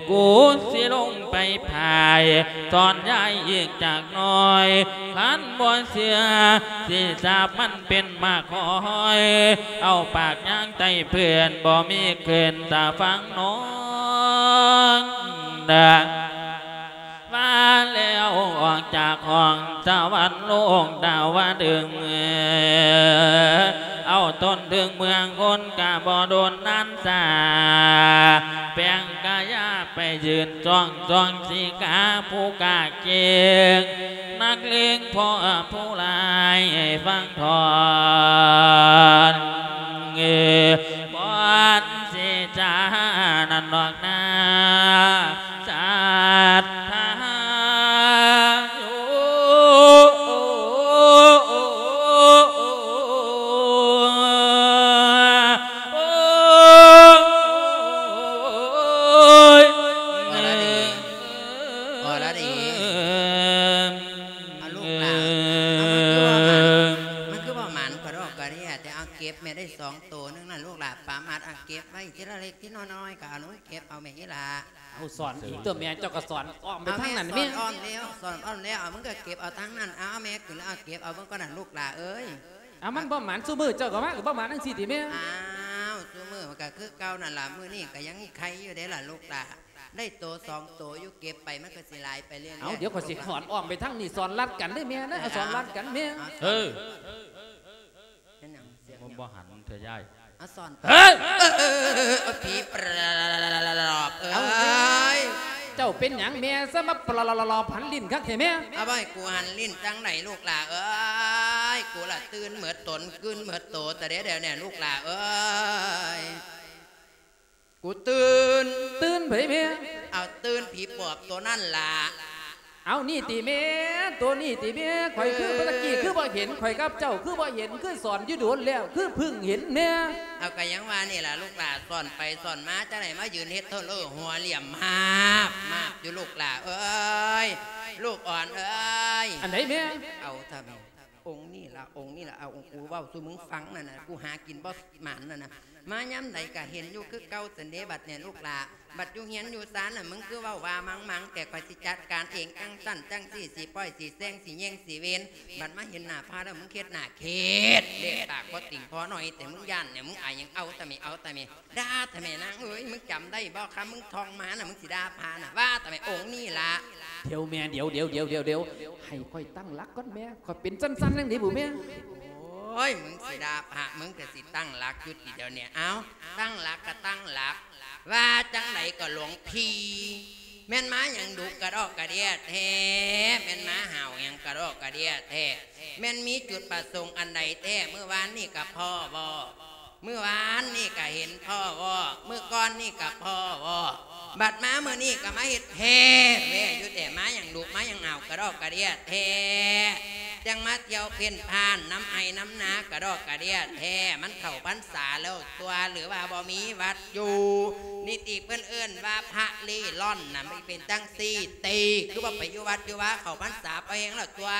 ກູຊິລົງໄປພາຍ ສອນຍາຍອີກຈັກໜ້ອຍ ຄັນບໍ່ເຊື່ອ ຊິສາບມັນເປັນໝາກຫອຍ ເອົາປາກຍາງໃຕ້ເພື່ອນ ບໍ່ມີຂຶ້ນຕາຝັ່ງນອນ ວ່າແລ້ວອອກຈາກຫ້ອງສະຫວັນໂລກດາວະດຶງ ເອົາຕົ້ນເຖິງເມືອງຄົນກະບໍ່ດົນນານຊ້າ ແປງກາຍາໄປຢືນຈ້ອງ ຊ່ອງສີກາຜູ້ກາເກັ່ງ ນັກເລງພໍ່ຜູ້ຫຼາຍໃຫ້ຟັງທ່ອນ ເອີ ບ່ອນເສຈານັ້ນດອກນາ ສັດທາໂຍ ໂອ້ຍ ອໍລະດີ ອໍລະດີ ເອົາລູກຫຼານ ເອົາ ມັນຄືບໍ່ໝານ ມັນຄືບໍ່ໝານກະດອກກະເດຍ ແຕ່ເອົາເກັບແມ່ໄດ້ສອງໂຕໜຶ່ງນະ ລູກຫຼານປາມາດ ເອົາເກັບໄວ້ທີລະເລັກທີລະນ້ອຍ ກະເອົາລົງເກັບເອົາແມ່ອີ່ຫຼາ. ເອົາສອນອີກຕົວະແມ່ ເຈົ້າກໍສອນອ້ອມໄປທາງນັ້ນແມ່ ເອົາແມ່ ສອນອ້ອມແລ້ວ ສອນອ້ອມແລ້ວ ເອົາ ມຶງກໍເກັບເອົາທາງນັ້ນ ເອົາ ເອົາແມ່ຂຶ້ນແລ້ວ ເອົາເກັບເອົາເບິ່ງກ່ອນນະລູກຫຼາເອີຍ. ເອົາ ມັນບໍ່ໝານ ຊຸມື້ເຈົ້າກໍມາກໍບໍ່ໝານຈັ່ງຊີ້ຕິແມ່. ອ້າວ ຊຸມື້ມັນກໍຄືເກົ່ານັ້ນລະ ມື້ນີ້ກໍຍັງໄຄຢູ່ເດ້ລະລູກຫຼາ ໄດ້ໂຕສອງໂຕຢູ່ ເກັບໄປມັນກໍຊິຫຼາຍໄປເລື້ອຍໆ. ເອົາ ດຽວຂ້ອຍຊິສອນອ້ອມໄປທາງນີ້ ສອນລັດກັນເດີ້ແມ່ເດີ້ ເອົາ ສອນລັດກັນແມ່ ເອີ. ເປັນຫຍັງ ສຽງຫຍັງ ບໍ່ ບໍ່ຫັນເທື່ອຍາຍ ອາສອນ ເອີ ເອີ ເອີ ເອີ ຜີປອບເອີຍ ເອົາ ເຈົ້າເປັນຫຍັງແມ່ ຊະມາປອບຫັນຫຼິ້ນຄັກແທ້ແມ່. ເອົາ ບໍ່ໃຫ້ກູຫັນຫຼິ້ນຈັ່ງໃດລູກຫຼາເອີຍ ກູລະຕື່ນເໝິດຕົນ ຕື່ນເໝິດໂຕ ຕະເດດຽວນີ້ລູກຫຼາເອີຍ ກູຕື່ນ ຕື່ນໃຜແມ່. ເອົາ ຕື່ນຜີປອບໂຕນັ້ນລະ. ເອົາ ນີ້ຕິແມ່ ໂຕນີ້ຕິແມ່ ຂ້ອຍຄື ເອີ ແຕ່ກີ້ຄືບໍ່ເຫັນ ຂ້ອຍກັບເຈົ້າຄືບໍ່ເຫັນ ຄືສອນຢູ່ດົນແລ້ວ ຄືເພິ່ງເຫັນແນ່. ເອົາ ກະຍັງວ່ານີ້ລະລູກຫຼາ ສອນໄປສອນມາ ຈັ່ງໃດມາຢືນເຮັດເທີເລີຫົວຫຼ້ຽມຫາບມາບຢູ່ລູກຫຼາເອີຍ ລູກອ່ອນເອີຍ. ອັນໃດແມ່. ເອົາ ຖ້າແມ່ ອົງນີ້ລະ ອົງນີ້ລະ ເອົາ ອົງກູເວົ້າສູ່ມຶງຟັງນັ້ນນະ ກູຫາກິນບໍ່ໝານນັ້ນນະ ມາຍາມໃດກະເຫັນຢູ່ຄືເກົ່າຊັ້ນເດ ບັດນີ້ລູກຫຼາ ບັດຢູ່ເຮືອນຢູ່ຊານນະ ມຶງຄືເວົ້າວ່າມັງໆ ແຕ່ຂ້ອຍຊິຈັດການເອງ ຈັ່ງຊັ້ນຈັ່ງຊີ້ ຊິປ່ອຍ ຊິແຊງ ຊິແຍງ ຊິເວັນ ບັດມາເຫັນໜ້າພະແລ້ວ ມຶງເຮັດໜ້າເຂດ ເລກປາກບໍ່ຕິງພໍໜ້ອຍ ແຕ່ມຶງຢ້ານນີ້ ມຶງອາຍຫຍັງ ເອົາຕະແມ່ ເອົາຕະແມ່ ດ່າແທ້ແມ່ນາງເອີຍ ມຶງຈຳໄດ້ບໍ່ ຄຳມຶງທ່ອງມານະ ມຶງຊິດ່າພະນະ ວ່າແຕ່ແມ່ອົງນີ້ລະ. ດຽວແມ່ ດຽວ ດຽວ ດຽວ ດຽວ ໃຫ້ຂ້ອຍຕັ້ງຫຼັກກ່ອນແມ່ ຂ້ອຍເປັນຊັ້ນໆ ຈັ່ງໃດບຸແມ່. ໂອ້ຍ ມຶງຊິດ່າພະ ມຶງກະຊິຕັ້ງຫຼັກຢູ່ຕິດຽວນີ້ ເອົ້າ ຕັ້ງຫຼັກກະຕັ້ງຫຼັກ ວ່າຈັ່ງໃດກໍຫຼວງພີ່ ແມ່ນມາຫຍັງດຸກະດອກກະເດຍແທ້ ແມ່ນມາຫາວຫຍັງກະດອກກະເດຍແທ້ ແມ່ນມີຈຸດປະສົງອັນໃດແທ້ ມື້ວານນີ້ກະພໍ້ບໍ່ ມື້ວານນີ້ກະເຫັນພໍ້ບໍ່ ມື້ກ່ອນນີ້ກະພໍ້ບໍ່ ບັດມາມື້ນີ້ກະມາເຮັດແທ້ແວ່ຢູ່ແຕ່ ມາຫຍັງດຸມາຫຍັງຫາວກະດອກກະເດຍແທ້ ຈັ່ງມາທ່ຽວເພ້ນຜ່ານນຳໄຮ່ນຳນາກະດອກກະເດຍແທ້ ມັນເຂົ້າພັນສາແລ້ວຕົວະ ຫຼືວ່າບໍ່ມີວັດຢູ່ ນິຕິເພິ່ນເອີ້ນວ່າພະເລ່ລ່ອນນະ ມັນເປັນຈັ່ງຊີ້ຕິ ຄືບໍ່ໄປຢູ່ວັດຢູ່ວາ ເຂົ້າພັນສາພໍແຮງແລ້ວຕົວະ.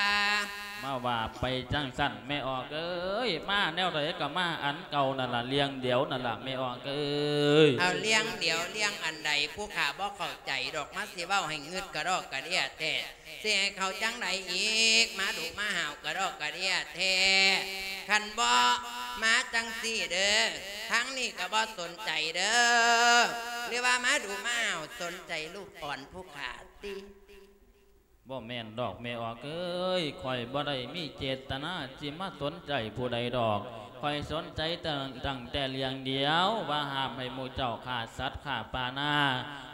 ມາວ່າໄປຈັ່ງຊັ້ນແມ່ອອກເອີຍ ມາແນວໃດກໍມາອັນເກົ່ານັ້ນລະ ເລື່ອງດຽວນັ້ນລະແມ່ອອກເອີຍ. ເອົາເລື່ອງດຽວເລື່ອງອັນໃດ ຜູ້ຂ້າບໍ່ເຂົ້າໃຈດອກ ມາຊິເວົ້າໃຫ້ງຶດກະດອກກະເດຍແທ້ ຊິໃຫ້ເຂົາຈັ່ງໃດອີກ ມາດຸມາຫາວກະດອກກະເດຍແທ້. ຄັນບໍ່ມາຈັ່ງຊີ້ເດີ ທາງນີ້ກໍບໍ່ສົນໃຈເດີ ຫຼືວ່າມາດຸມາຫາວສົນໃຈລູກອ່ອນຜູ້ຂ້າຕິ? ບໍ່ແມ່ນດອກແມ່ອອກເອີຍ ຂ້ອຍບໍ່ໄດ້ມີເຈດຕະນາຊິມາສົນໃຈຜູ້ໃດດອກ ຂ້ອຍສົນໃຈຕັ້ງ ຕັ້ງແຕ່ເລື່ອງດຽວ ວ່າຫ້າມໃຫ້ໝູ່ເຈົ້າຂ້າສັດຂ້າປານາ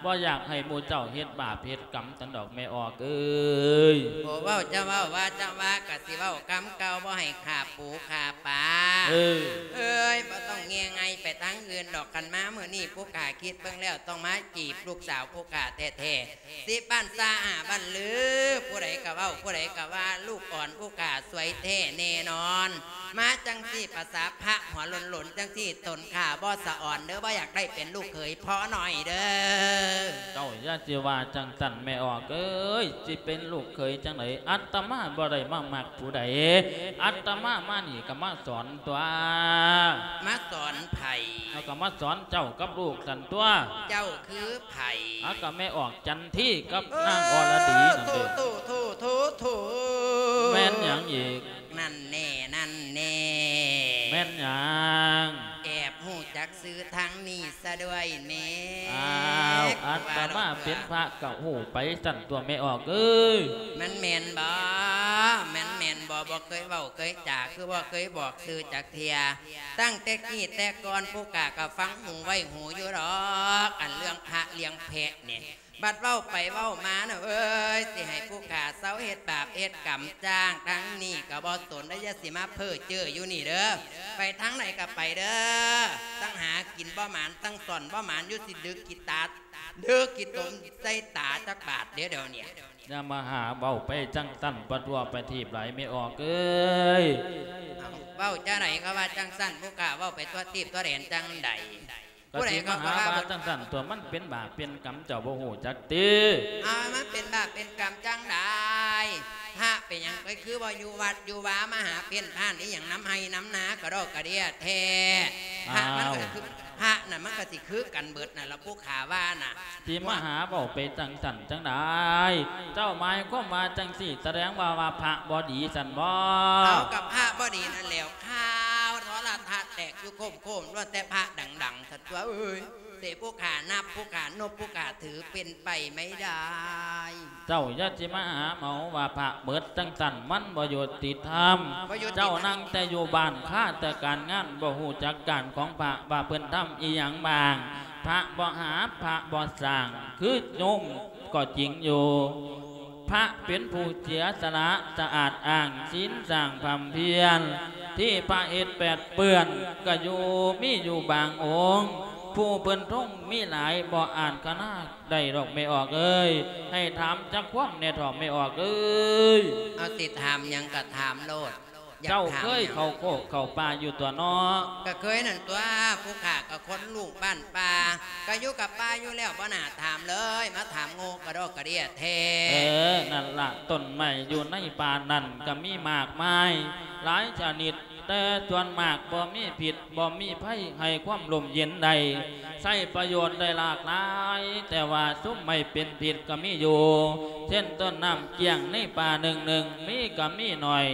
ບໍ່ຢາກໃຫ້ໝູ່ເຈົ້າເຮັດບາບເຮັດກຳຊັ້ນດອກແມ່ອອກເອີຍ. ໂອ້ ເວົ້າຈະເວົ້າ ວ່າຈະວ່າ ກະຊິເວົ້າຄຳເກົ່າ ບໍ່ໃຫ້ຂ້າປູຂ້າປາ. ເອີ ເອີຍ ບໍ່ຕ້ອງແຍ່ໄງ່ໄປທາງອື່ນດອກ ຄັນມາມື້ນີ້ຜູ້ຂ້າຄິດເບິ່ງແລ້ວ ຕ້ອງມາຈີບລູກສາວຜູ້ຂ້າແທ້ໆ. ສິບບ້ານຊາຫ້າບ້ານລື ຜູ້ໃດກະເວົ້າ ຜູ້ໃດກະວ່າ ລູກອ່ອນຜູ້ຂ້າສວຍແທ້ແນ່ນອນ. ມາຈັ່ງຊີ້ ປະສາພະຫົວໂຫຼນໆ ຈັ່ງຊີ້ ຕົນຂ້າບໍ່ສະອອນເດີ ບໍ່ຢາກໄດ້ເປັນລູກເຂີຍພໍ່ນ້ອຍເດີ. ເຈົ້າຢ່າຊິວ່າຈັ່ງຊັ້ນແມ່ອອກເອີຍ ຊິເປັນລູກເຂີຍຈັ່ງໃດ ອາດຕະມາບໍ່ໄດ້ມາມັກຜູ້ໃດ ອາດຕະມາມານີ້ກະມາສອນຕົວະ. ມາສອນໃຜ? ເຮົາກະມາສອນເຈົ້າກັບລູກຊັ້ນຕົວະ. ເຈົ້າຄືໃຜ? ອາ ກະແມ່ອອກຈັນທີກັບນາງອໍລະດີນັ້ນເດ. ໂອ້ ໂທ້ ໂທ້ ໂທ້ ໂທ້ ແມ່ນຫຍັງອີກ? ນັ້ນແນ່ ນັ້ນແນ່ ແມ່ນຫຍັງ? ແອບຮູ້ຈັກຊື່ທາງນີ້ຊະດ້ວຍແມ້. ອ້າວ ອາດຕະມາເປັນພະກະຮູ້ໄປຊັ້ນຕົວະແມ່ອອກເອີຍ. ມັນແມ່ນບໍ່? ມັນແມ່ນບໍ່? ບໍ່ເຄີຍເວົ້າເຄີຍຈາ ຄືບໍ່ເຄີຍບອກຊື່ຈັກເທື່ອ. ຕັ້ງແຕ່ກີ້ແຕ່ກ່ອນ ຜູ້ຂ້າກະຟັງຫູໄວ້ຫູຢູ່ດອກ ອັນເລື່ອງພະເລື່ອງແພະນີ້. ບັດເວົ້າໄປເວົ້າມານະເອີຍ ຊິໃຫ້ຜູ້ຂ້າເຊົາເຮັດບາບເຮັດກຳຈ້າງ ທາງນີ້ກະບໍ່ສົນເດີ ຢ່າຊິມາເພ້ອເຈີຢູ່ນີ້ເດີ. ໄປທາງໃດກະໄປເດີ ທັງຫາກິນບໍ່ໝານ ທັງສ້ອນບໍ່ໝານ ຢູ່ຊິດຶກຂີ້ຕາ ດຶກຂີ້ຕົມໃສ່ຕາຈັກບາດເດ ດຽວນີ້. ຢ່າມາຫາເວົ້າໄປຈັ່ງຊັ້ນ ປະທົ່ວໄປທີບຫຼາຍແມ່ອອກເອີຍ. ເອົ້າ ເວົ້າຈັ່ງໃດກະວ່າຈັ່ງຊັ້ນ ຜູ້ຂ້າເວົ້າໄປທົ່ວທີບທົ່ວແດນຈັ່ງໃດ? ກະຊິມາຫາວ່າຈັ່ງຊັ້ນຕົວະ ມັນເປັນບາບເປັນກຳ ເຈົ້າບໍ່ຮູ້ຈັກຕິ? ເອົາ ມັນເປັນບາບເປັນກຳຈັ່ງໃດ? ພະເປັນຫຍັງ ເອີຍ ຄືບໍ່ຢູ່ວັດຢູ່ວາ ມາຫາເພ້ນພານອີ່ຫຍັງນຳໄຮ່ນຳນາກະດອກກະເດຍແທ້? ພະມັນກະຄື ພະນະ ມັນກະຊິຄືກັນເບິດນັ້ນລະ ຜູ້ຂ້າວ່ານະ. ຊິມາຫາເວົ້າໄປຈັ່ງຊັ້ນຈັ່ງໃດ? ເຈົ້າໝາຍຄວາມວ່າຈັ່ງຊີ້ ສະແດງວ່າ ວ່າພະບໍ່ດີຊັ້ນບໍ? ເອົາ ກະພະບໍ່ດີນັ້ນແຫຼ້ວ ຂ່າວໂທລະທັດແຕກຢູ່ໂຄມໆ ລ້ວນແຕ່ພະດັງໆ ຊັ້ນຕົວະເອີຍ. ເສ ຜູ້ຂ້ານັບ ຜູ້ຂ້ານົບ ຜູ້ຂ້າຖື ເປັນໄປໄມ່ໄດ້. ເຈົ້າຢ່າຊິມາຫາເມົາວ່າພະເບິດຈັ່ງຊັ້ນ ມັນບໍ່ຍຸຕິທຳ. ບໍ່ຍຸຕິທຳ. ເຈົ້ານັ່ງແຕ່ຢູ່ບ້ານ ຄາແຕ່ການງານ ບໍ່ຮູ້ຈັກການຂອງພະວ່າເພິ່ນທຳອີ່ຫຍັງບ້າງ. ພະບໍ່ຫາ ພະບໍ່ສ້າງ ຄືໂຍມກໍຈິງຢູ່. ພະເປັນຜູ້ເສຍສະຫຼະ ສະອາດອ້າງ ສິນສ້າງພຳພຽນ ທີ່ພະເຮັດແປດເປື້ອນ ກະຢູ່ ມີຢູ່ບາງອົງ ຜູ້ເພິ່ນທົງມີຫຼາຍ ບໍ່ອາດຄະນາໄດ້ດອກແມ່ອອກເອີຍ. ໃຫ້ຖາມຈັກຄວາມແດ່ເຖາະແມ່ອອກເອີຍ. ເອົາ ຊິຖາມຫຍັງກະຖາມໂລດ. ເຈົ້າເຄີຍເຂົ້າໂຄກເຂົ້າປ່າຢູ່ຕົວະເນາະ? ກະເຄີຍນັ້ນຕົວະ ຜູ້ຂ້າກະຄົນລູກບ້ານປ່າ ກະຢູ່ກັບປ່າຢູ່ແລ້ວ ບໍ່ໜ້າຖາມເລີຍ ມາຖາມໂງ່ກະດອກກະເດຍແທ້. ເອີ ນັ້ນລະ ຕົ້ນໄມ້ຢູ່ໃນປ່ານັ້ນກະມີມາກມາຍຫຼາຍຊະນິດ ແຕ່ສ່ວນມາກບໍ່ມີພິດ ບໍ່ມີໄພ ໃຫ້ຄວາມຮົ່ມເຢັນໄດ້ ໃຊ້ປະໂຫຍດໄດ້ຫຼາກຫຼາຍ ແຕ່ວ່າຊຸມໄມ້ເປັນພິດກະມີຢູ່ ເຊັ່ນ ຕົ້ນນ້ຳກ້ຽງໃນປ່າໜຶ່ງໆ ມີກະມີໜ້ອຍ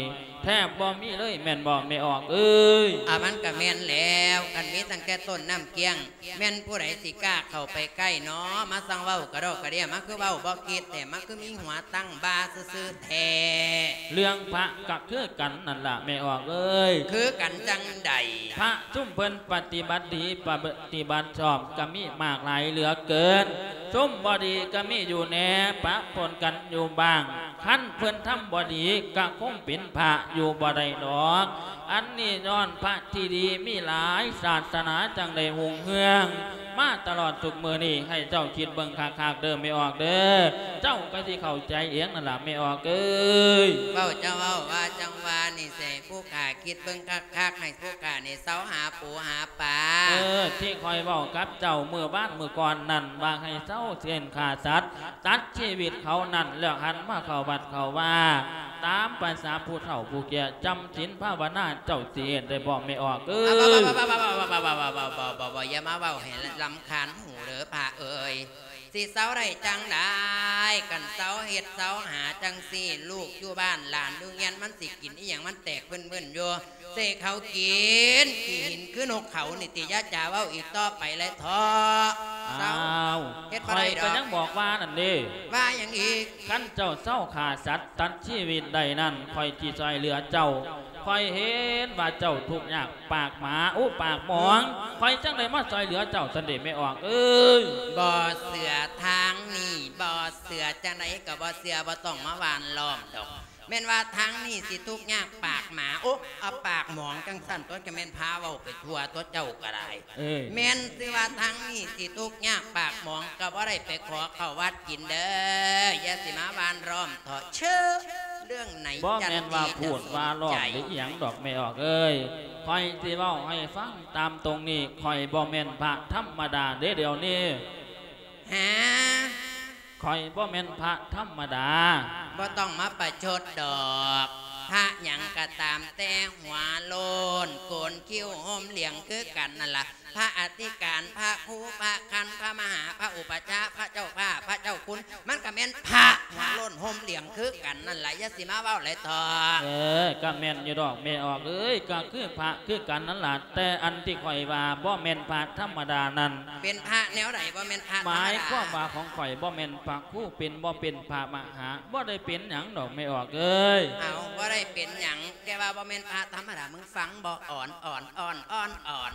ແທບບໍ່ມີເລີຍແມ່ນບໍ່ແມ່ອອກເອີຍ? ອາ ມັນກະແມ່ນແລ້ວ ຄັນມີຕັ້ງແຕ່ຕົ້ນນ້ຳກ້ຽງ ແມ່ນຜູ້ໃດຊິກ້າເຂົ້າໄປໃກ້ເນາະ ມາຊ່າງເວົ້າກະດອກກະເດຍ ມາຄືເວົ້າບໍ່ຄິດແທ້ ມາຄືມີຫົວຕັ້ງບ່າຊື່ໆແທ້. ເລື່ອງພະກະຄືກັນນັ້ນລະແມ່ອອກເອີຍ. ຄືກັນຈັ່ງໃດ? ພະຊຸມເພິ່ນປະຕິບັດດີ ປະຕິບັດຊອບກະມີມາກຫຼາຍເຫຼືອເກີນ ຊຸມບໍ່ດີກະມີຢູ່ແດ່ ປະປົນກັນຢູ່ບ້າງ. ຄັນເພິ່ນທຳບໍ່ດີກະຄົງເປັນພະຢູ່ບໍ່ໄດ້ດອກ. ອັນນີ້ຍ້ອນພະທີ່ດີມີຫຼາຍ ສາສະໜາຈັ່ງໄດ້ຮຸ່ງເຮືອງມາຕະຫຼອດທຸກມື້ນີ້ ໃຫ້ເຈົ້າຄິດເບິ່ງຄັກໆເດີແມ່ອອກເດີ ເຈົ້າກະຊິເຂົ້າໃຈເອງນັ້ນລະແມ່ອອກເອີຍ. ເວົ້າຈະເວົ້າວ່າຈັ່ງວ່ານີ້ ຊິໃຫ້ຜູ້ຂ້າຄິດເບິ່ງຄັກໆ ໃຫ້ຜູ້ຂ້ານີ້ເຊົາຫາປູຫາປາ. ເອີ ທີ່ຂ້ອຍເວົ້າກັບເຈົ້າມື້ວານມື້ກ່ອນນັ້ນ ວ່າໃຫ້ເຊົາເຊັ່ນຂ້າສັດ ຕັດຊີວິດເຂົານັ້ນ ແລ້ວຫັນມາເຂົ້າວັດເຂົ້າວາ ຕາມພາສາຜູ້ເຖົ້າຜູ້ແກ່ ຈຳສິນພາວະນາເຈົ້າຊິເຮັດໄດ້ບໍ່ແມ່ອອກເອີຍ? ບໍ່ ບໍ່ ບໍ່ ຢ່າມາເວົ້າໃຫ້ລຳຄານຫູເດີພະເອີຍ. ຊິເຊົາໄດ້ຈັ່ງໃດ ຄັນເຊົາເຮັດເຊົາຫາຈັ່ງຊີ້ ລູກຢູ່ບ້ານຫຼານຢູ່ຮຽນ ມັນຊິກິນອີ່ຫຍັງ ມັນແຕກເພິ້ນໆຢູ່ ໃຫ້ເຂົາກິນຂີ້ຫີນຄືນົກເຂົານີ້ຕິ ຢ່າຈາເວົ້າອີກຕໍ່ໄປແລະເທາະ. ອ້າວ ເຮັດບໍ່ໄດ້ດອກ ຂ້ອຍກໍຍັງບອກວ່ານັ້ນເດ້. ວ່າຫຍັງອີກ? ຄັນເຈົ້າເຊົາຂ້າສັດຕັດຊີວິດໄດ້ນັ້ນ ຂ້ອຍຊິຊ່ອຍເຫຼືອເຈົ້າ. ຂ້ອຍເຫັນວ່າເຈົ້າທຸກຍາກປາກໝາ ໂອ້ ປາກໝອງ ຂ້ອຍຈັ່ງໄດ້ມາຊ່ອຍເຫຼືອເຈົ້າຊັ້ນເດແມ່ອອກເອີຍ. ບໍ່ເຊື່ອທາງນີ້ ບໍ່ເຊື່ອ ຈັ່ງໃດກໍບໍ່ເຊື່ອ ບໍ່ຕ້ອງມາຫວ່ານລ້ອມດອກ. ແມ່ນວ່າທາງນີ້ຊິທຸກຍາກປາກໝາ ໂອ້ ເອົາປາກໝອງຈັ່ງຊັ້ນຕົວະ ກໍແມ່ນພາເວົ້າໄປທົ່ວຕົວະ ເຈົ້າກໍໄດ້. ເອີຍ ແມ່ນຊື່ວ່າທາງນີ້ຊິທຸກຍາກປາກໝອງ ກໍບໍ່ໄດ້ໄປຂໍເຂົ້າວັດກິນເດີ ຢ່າຊິມາຫວ່ານລ້ອມເທາະເຊີ. ເລື່ອງໃນ ບໍ່ແມ່ນວ່າພູດວ່າລ້ອມ ຫຼືອີ່ຫຍັງດອກແມ່ອອກເອີຍ. ຂ້ອຍຊິເວົ້າໃຫ້ຟັງຕາມຕົງນີ້ ຂ້ອຍບໍ່ແມ່ນພະທຳມະດາເດ້ດຽວນີ້. ຫາ ຂ້ອຍບໍ່ແມ່ນພະທຳມະດາ. ບໍ່ຕ້ອງມາປະຊົດດອກ ພະຫຍັງກໍຕາມແຕ່ ຫົວໂລ້ນ ໂກນຄິ້ວ ຫົ່ມຫຼຽງຄືກັນນັ້ນລະ. ພະອະທິການ ພະຄູ ພະຄັນ ພະມະຫາ ພະອຸປັດຈາ ພະເຈົ້າຟ້າ ພະເຈົ້າຄຸນ ມັນກໍແມ່ນພະຫົວໂລ້ນຫົ່ມຫຼຽງຄືກັນນັ້ນລະ. ຢ່າຊິມາເວົ້າຫຼາຍເຖາະ. ເອີ ກໍແມ່ນຢູ່ດອກແມ່ອອກເອີຍ ກໍຄືພະຄືກັນນັ້ນລະ ແຕ່ອັນທີ່ຂ້ອຍວ່າບໍ່ແມ່ນພະທຳມະດານັ້ນ ເປັນພະແນວໃດ? ບໍ່ແມ່ນພະທຳມະດາ ໝາຍຄວາມວ່າຂອງຂ້ອຍບໍ່ແມ່ນພະຄູ ເປັນ ບໍ່ເປັນພະມະຫາ ບໍ່ໄດ້ເປັນຫຍັງດອກແມ່ອອກເອີຍ. ເອົາ ບໍ່ໄດ້ເປັນຫຍັງ ແຕ່ວ່າບໍ່ແມ່ນພະທຳມະດາ ມຶງຟັງບໍ່? ອອນ ອອນ ອອນ ອອນ ອອນ.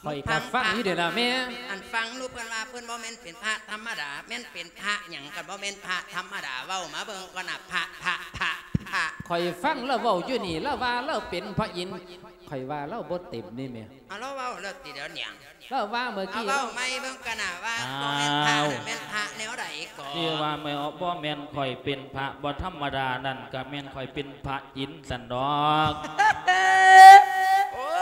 ຂ້ອຍກໍຟັງຢູ່ເດລະແມ່. ອັນຟັງດູ ເພິ່ນວ່າເພິ່ນບໍ່ແມ່ນເປັນພະທຳມະດາ ແມ່ນເປັນພະຫຍັງ ຄັນບໍ່ແມ່ນພະທຳມະດາ ເວົ້າມາເບິ່ງກ່ອນນະ ພະ ພະ ພະ ພະ. ຂ້ອຍຟັງລາວເວົ້າຢູ່ນີ້ ລາວວ່າລາວເປັນພະອິນ ຂ້ອຍວ່າລາວບໍ່ເຕັມນີ້ແມ່. ເອົາ ລາວເວົ້າແລ້ວຕິດຽວນີ້ ລາວວ່າເມື່ອກີ້ ເອົາ ເວົ້າໃໝ່ເບິ່ງກັນນະວ່າ ອ້າວ ບໍ່ແມ່ນພະ ແມ່ນພະແນວໃດກໍ ທີ່ວ່າແມ່ນ ບໍ່ແມ່ນຂ້ອຍເປັນພະບໍ່ທຳມະດານັ້ນ ກໍແມ່ນຂ້ອຍເປັນພະອິນຊັ້ນດອກ. ໂອ້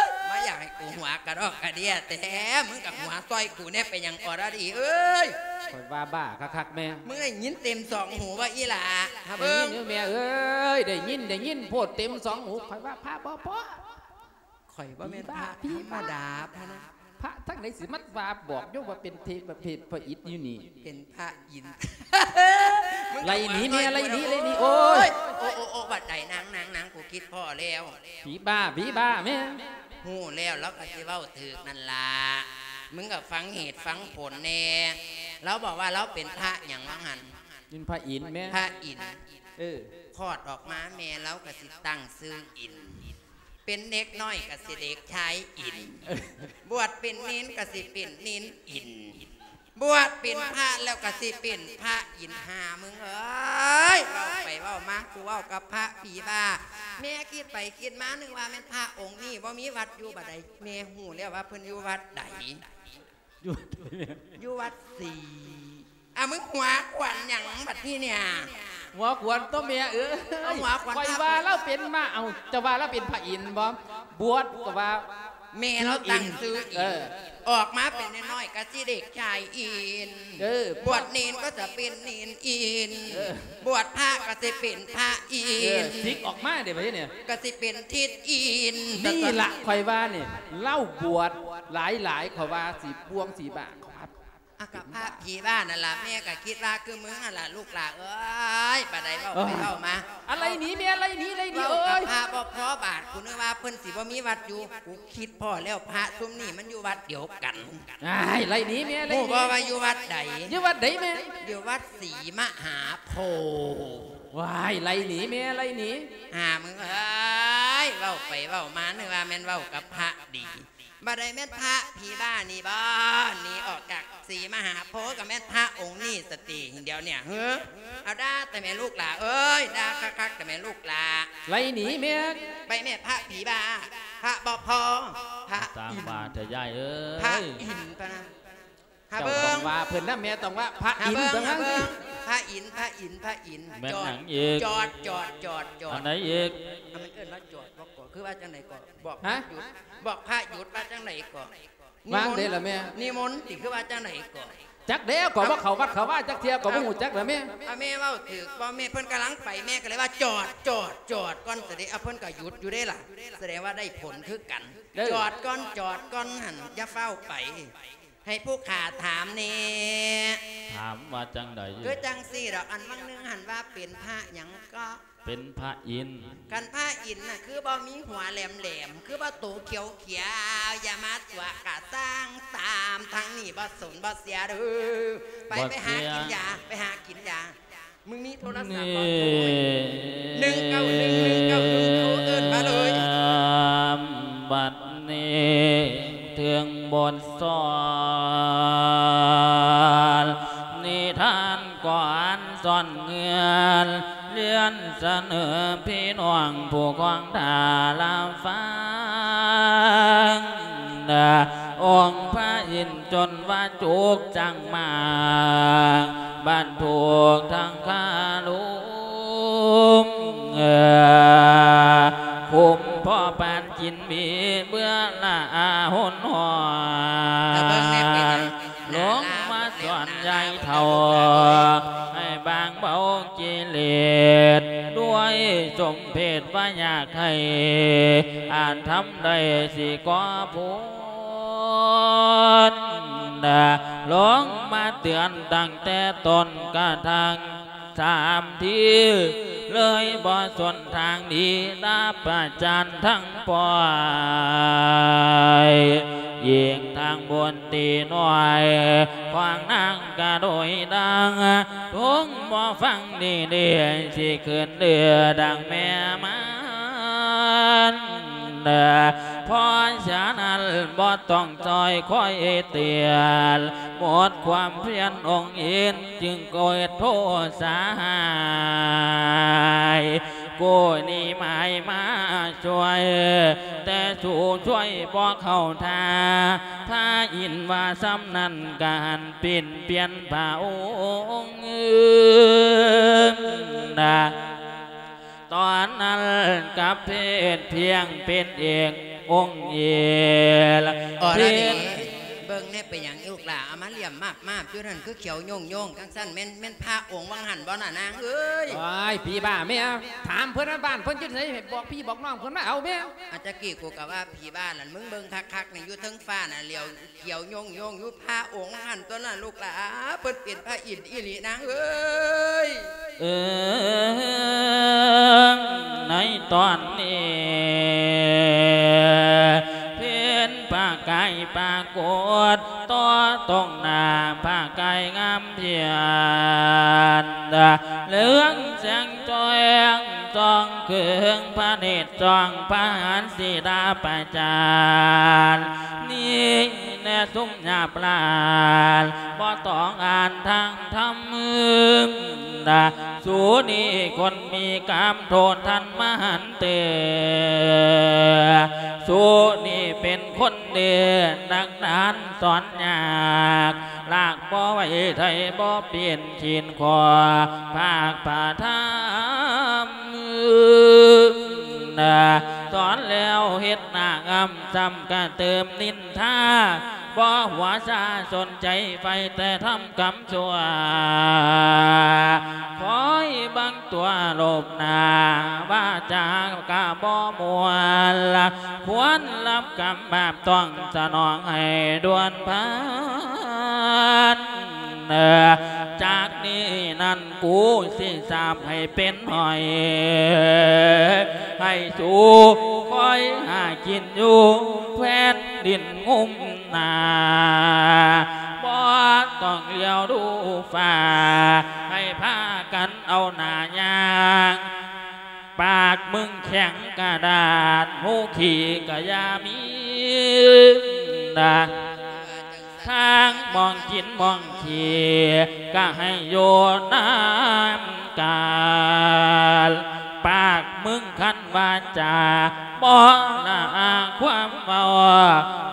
ຍ ມາຢາກໃຫ້ກູຫົວກະດອກກະເດຍແທ້ ມຶງກໍຫົວຊ່ອຍກູແດ່ ເປັນຫຍັງອໍລະດີເອີຍ? ຂ້ອຍວ່າບ້າຄັກໆແມ່. ມຶງໄດ້ຍິນເຕັມສອງຫູບໍ່ອີ່ຫຼ້າ? ຫາເບິ່ງ ໄດ້ຍິນຢູ່ແມ່ເອີຍ ໄດ້ຍິນ ໄດ້ຍິນໂພດເຕັມສອງຫູ ຂ້ອຍວ່າພະບໍ່ພໍ. ຂ້ອຍບໍ່ແມ່ນພະທຳມະດາ ພະນະ ພະທາງໃດຊິມາວ່າບອກໂຍມວ່າເປັນເທບ ເປັນພະອິນຢູ່ນີ້ ເປັນພະອິນ. ໄລ່ໜີແມ່ ໄລ່ໜີ ໄລ່ໜີ ໂອ້ຍ ໂອ້ ໂອ້ ໂອ້ ບັດໃດ ນາງ ນາງ ນາງ ກູຄິດພໍ້ແລ້ວ. ຜີບ້າ ຜີບ້າແມ່. ຮູ້ແລ້ວ ລາວກໍຊິເວົ້າຖືກນັ້ນລະ ມຶງກໍຟັງເຫດຟັງຜົນແດ່. ລາວບອກວ່າລາວເປັນພະຫຍັງວ່າຫັ້ນ? ເປັນພະອິນແມ່ ພະອິນ. ເອີ ຄອດອອກມາແມ່ລາວກໍຊິຕັ້ງຊື່ອິນ. ເປັນເດັກນ້ອຍກໍຊິເດັກຊາຍອິນ ບວດເປັນເນນກໍຊິເປັນເນນອິນ ບວດເປັນພະແລ້ວກໍຊິເປັນພະອິນ. ຫາມຶງເອີຍ ເວົ້າໄປເວົ້າມາ ກູເວົ້າກັບພະຜີບ້າ. ແມ່ຄິດໄປຄິດມາ ນຶກວ່າແມ່ນພະອົງນີ້ບໍ່ມີວັດຢູ່ ບັດໃດແມ່ຮູ້ແລ້ວວ່າເພິ່ນຢູ່ວັດໃດ. ຢູ່ວັດໃດແມ່? ຢູ່ວັດສີ. ອ່າ ມຶງຫົວຂວັນຫຍັງບັດນີ້ເນຍ? ຫົວຂວັນຕົວະແມ່ເອີຍ. ເອົາ ຫົວຂວັນ ຂ້ອຍວ່າລາວເປັນມາ ເອົາ ຈະວ່າລາວເປັນພະອິນບໍ່? ບວດກໍວ່າ ແມ່ລາວຕັ້ງຊື່ອິນ ເອີ ອອກມາເປັນນ້ອຍໆກໍຊິເດັກຊາຍອິນ ເອີ ບວດເນນກໍຈະເປັນເນນອິນ ເອີ ບວດພະກໍຊິເປັນພະອິນ ເອີ ສິກອອກມາເດ້ບັດນີ້ ກໍຊິເປັນທິດອິນ. ນີ້ລະຂ້ອຍວ່ານີ້ ລາວບວດຫຼາຍໆ ຂ້ອຍວ່າຊິປ່ວງຊິບ້າ. ອາ ກະພະຜີບ້ານັ້ນລະ ແມ່ກະຄິດວ່າຄືມຶງຫັ້ນລະລູກຫຼ້າເອີຍ. ບາດໃດເວົ້າໄປເວົ້າມາ ອາ ໄລ່ໜີແມ່ ໄລ່ໜີ ໄລ່ໜີ ເວົ້າກັບພະບໍ່ພໍບາດ ກູນຶກວ່າເພິ່ນຊິບໍ່ມີວັດຢູ່ ກູຄິດພໍ້ແລ້ວ ພະຊຸມນີ້ມັນຢູ່ວັດດຽວກັນ. ອ້າຍ ໄລ່ໜີແມ່ ໄລ່ໜີ ຮູ້ບໍ່ວ່າຢູ່ວັດໃດ? ຢູ່ວັດໃດແມ່? ຢູ່ວັດສີມະຫາໂພ. ວ້າຍ ໄລ່ໜີແມ່ ໄລ່ໜີ ຫາມຶງເອີຍ ເວົ້າໄປເວົ້າມາ ນຶກວ່າແມ່ນເວົ້າກັບພະດີ. ບໍ່ໄດ້ແມ່ນພະຜີບ້ານີ້ບໍ? ໜີອອກຈາກສີມະຫາໂພກໍແມ່ນພະອົງນີ້ສະຕິ ດຽວນີ້ຫື. ເອົາ ດ່າແຕ່ແມ່ລູກຫຼ້າເອີຍ ດ່າຄັກໆແຕ່ແມ່ລູກຫຼ້າ. ໄລ່ໜີແມ່ ໄປແມ່ພະຜີບ້າ ພະບໍ່ພໍ ພະອິນ ພະອິນ ພະນະ. ຫາເບິ່ງ ເຈົ້າຕ້ອງວ່າເພິ່ນນຳ ແມ່ຕ້ອງວ່າພະອິນ ຫາເບິ່ງ ພະອິນ ພະອິນ ພະອິນ. ແມ່ນຫຍັງອີກ? ຈອດ ຈອດ ຈອດ ຈອດ ອັນໃດອີກ? ມັນເອີ້ນວ່າຈອດບໍ່ກໍ ຄືວ່າຈັ່ງໃດກໍ? ບອກພະຢຸດ ບອກພະຢຸດວ່າຈັ່ງໃດກໍ? ວາງເດ້ລະແມ່? ນິມົນຕິ ຄືວ່າຈັ່ງໃດກໍ? ຈັກແລ້ວ ກໍບໍ່ເຂົ້າວັດເຂົ້າວາຈັກເທື່ອ ກໍບໍ່ຮູ້ຈັກແຫຼະແມ່. ອາ ແມ່ເວົ້າຖືກບໍ່ແມ່? ເພິ່ນກຳລັງໄປ ແມ່ກໍເລີຍວ່າ ຈອດ ຈອດ ຈອດກ່ອນ ສະເດ ອາ ເພິ່ນກໍຢຸດຢູ່ເດ້ລະ ສະແດງວ່າໄດ້ຜົນຄືກັນ. ເອີ ຈອດກ່ອນ ຈອດກ່ອນຫັ້ນ ຢ່າຟ້າວໄປ ໃຫ້ຜູ້ຂ້າຖາມແດ່. ຖາມວ່າຈັ່ງໃດ? ຄືຈັ່ງຊີ້ດອກ ອັນຫວ່າງໜຶ່ງຫັ້ນວ່າເປັນພະຫຍັງເກາະ? ເປັນພະອິນ. ຄັນພະອິນນະ ຄືບໍ່ມີຫົວແຫຼມໆ ຄືບໍ່ໂຕຂຽວໆ ຢ່າມາຕົວະກະສ້າງຕາມທາງນີ້ ບໍ່ສົນບໍ່ເສຍເດີ້. ໄປ ບໍ່ເສຍ ໄປຫາກິນຢາ ໄປຫາກິນຢາ. ມຶງມີໂທລະສັບບໍ່? ໂທ ໜຶ່ງເກົ້າໜຶ່ງ ໜຶ່ງເກົ້າໜຶ່ງ ໂທເອີ້ນມາເລີຍ. ບັດນີ້ເຖິງບົດສອນ ນິທານກ່ອນສອນເຮືອນ ລຽນສະເໜີພີ່ນ້ອງຜູ້ຄອງທ່າລະຟັງ ອົງພະອິນຈົນວ່າຈຸກຈັງມາກ ບັນທຸກທັງຄາລຸມ ຄຸ້ມພໍປານກິນມີເບືອລະອາຫົນຫອນ ແຕ່ເບິ່ງແນ່ເປັນຫຍັງ ລົງມາສອນຍາຍເຖົ້າ ໃຫ້ບາງເບົາກິເລດ ດ້ວຍສົມເພດວ່າຢາກໃຫ້ອານທຳໄດ້ຊິກໍພົ້ນ ລົງມາເຕືອນຕັ້ງແຕ່ຕົ້ນກະທັ່ງ ສາມທີ ເລີຍບໍ່ສົນທາງດີ ຕາປະຈານທັງປ່ອຍ ຍິງທາງບົນຕີນ້ອຍ ຂວາງນາງກະໂດຍດັງ ທຸງບໍ່ຟັງດີໆ ຊິຂຶ້ນເດືອດັງແມ່ມານ ເອີ ເພາະສະນັ້ນບໍ່ຕ້ອງຊ່ອຍຄອຍເຕືອນ ໝົດຄວາມພຽນອົງອິນຈຶ່ງເກີດໂທສາຫາຍ ກູນີ້ໝາຍມາຊ່ວຍ ແຕ່ສູ່ຊ່ວຍບໍ່ເຂົ້າທ່າ ພະອິນວ່າຊ່ຳນັ້ນກະຫັນປິ່ນປ່ຽນພະອົງນະ ຕອນນັ້ນກັບເພດພຽງເປັນເອກອົງເອລະ ອໍລະເດ ເບິ່ງແນ່ເປັນຫຍັງລູກຫຼ້າ ເອົາມາຫຼ້ຽມມາບໆ ຢູ່ຫັ້ນ ຄືຂຽວໂຍງໆ ຈັ່ງຊັ້ນ ແມ່ນ ແມ່ນພະອົງຫວ່າງຫັ້ນບໍ່ນະນາງເອີຍ? ໂອ້ຍ ຜີບ້າແມ່ ຖາມເພິ່ນວ່າບ້ານເພິ່ນຢູ່ໃສ ໃຫ້ບອກພີ່ບອກນ້ອງເພິ່ນມາເອົາແມ່. ອາ ຕະກີ້ກູກໍວ່າຜີບ້າລະ ມຶງເບິ່ງຄັກໆ ນີ້ ຢູ່ເທິງຟ້ານະ ຫຼຽວ ຂຽວໂຍງໆ ຢູ່ພະອົງຫັ້ນຕົວະລະລູກຫຼ້າ ເພິ່ນເປັນພະອິນອີ່ຫຼີນາງເອີຍ. ເອີ ໃນຕອນນີ້ ເຫັນພະກາຍປາກົດຕໍ່ຕົງໜ້າ ພະກາຍງາມພຽນ ເຫຼືອງແສງ ຈ້ອງເຄືອງພະເນດ ຈ້ອງພະຫັນສີດາປະຈານ ນີ້ແນ່ຊຸມຫຍາບຫຼານ ບໍ່ຕ້ອງອ່ານທາງທຳ ສູນີ້ຄົນມີກາມໂທດທັນມະຫັນເຕີ ສູນີ້ເປັນຄົນເດ ນັກດານສອນຍາກ ລາກບໍ່ໄຫວໄທບໍ່ປ່ຽນ ຂີນຂໍພາກພະທຳ ສອນແລ້ວເຮັດໜ້າອຳ ຊ້ຳກະເຕີມນິນທາ ບໍ່ຫົວຊາສົນໃຈໄຟແຕ່ທຳກຳຊົ່ວ ຄອຍບັງຕົວໂລບໜ້າ ວາຈາກະບໍ່ມ່ວນ ຄວນຮັບກຳບາບຕ້ອງສະໜອງໃຫ້ດ່ວນພັນ ຈາກນີ້ນັ້ນ ກູຊິສາບໃຫ້ເປັນຫອຍ ໃຫ້ສູຄອຍຫາກິນຢູ່ແຜ່ນດິນງຸ້ມໜ້າ ບໍ່ຕ້ອງຫຼຽວດູຟ້າ ໃຫ້ພາກັນເອົາໜ້າຍ່າງ ປາກມຶງແຂງກະດາດ ຫູຂີ້ກະຢ່າມີນະ ທາງໝ່ອງກິນໝ່ອງຂີ້ ກະໃຫ້ຢູ່ນຳກັນ ປາກມຶງຄັນວາຈາ ບໍ່ລະອາຄວາມເວົ້າ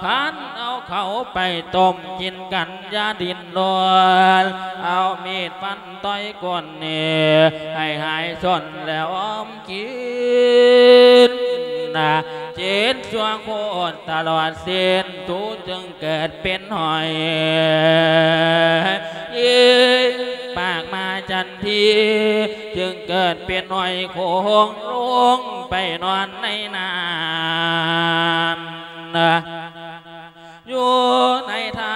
ຄັນເອົາເຂົ້າໄປຕົ້ມກິນກັນ ຢ່າດີ້ນລົນ ເອົາມີດຟັນຕ່ອຍກົ້ນນີ້ ໃຫ້ຫາຍຊົນແລ້ວອ້ອມກິນນະ ເຈັດຊົ່ວໂຄດຕະຫຼອດເສັ້ນ ຕູຈຶ່ງເກີດເປັນຫອຍ ອີກປາກມາຈັນທີ ຈຶ່ງເກີດເປັນຫອຍໂຂງ ລົງໄປນອນໃນນ້ຳ ຢູ່ໃນຖ້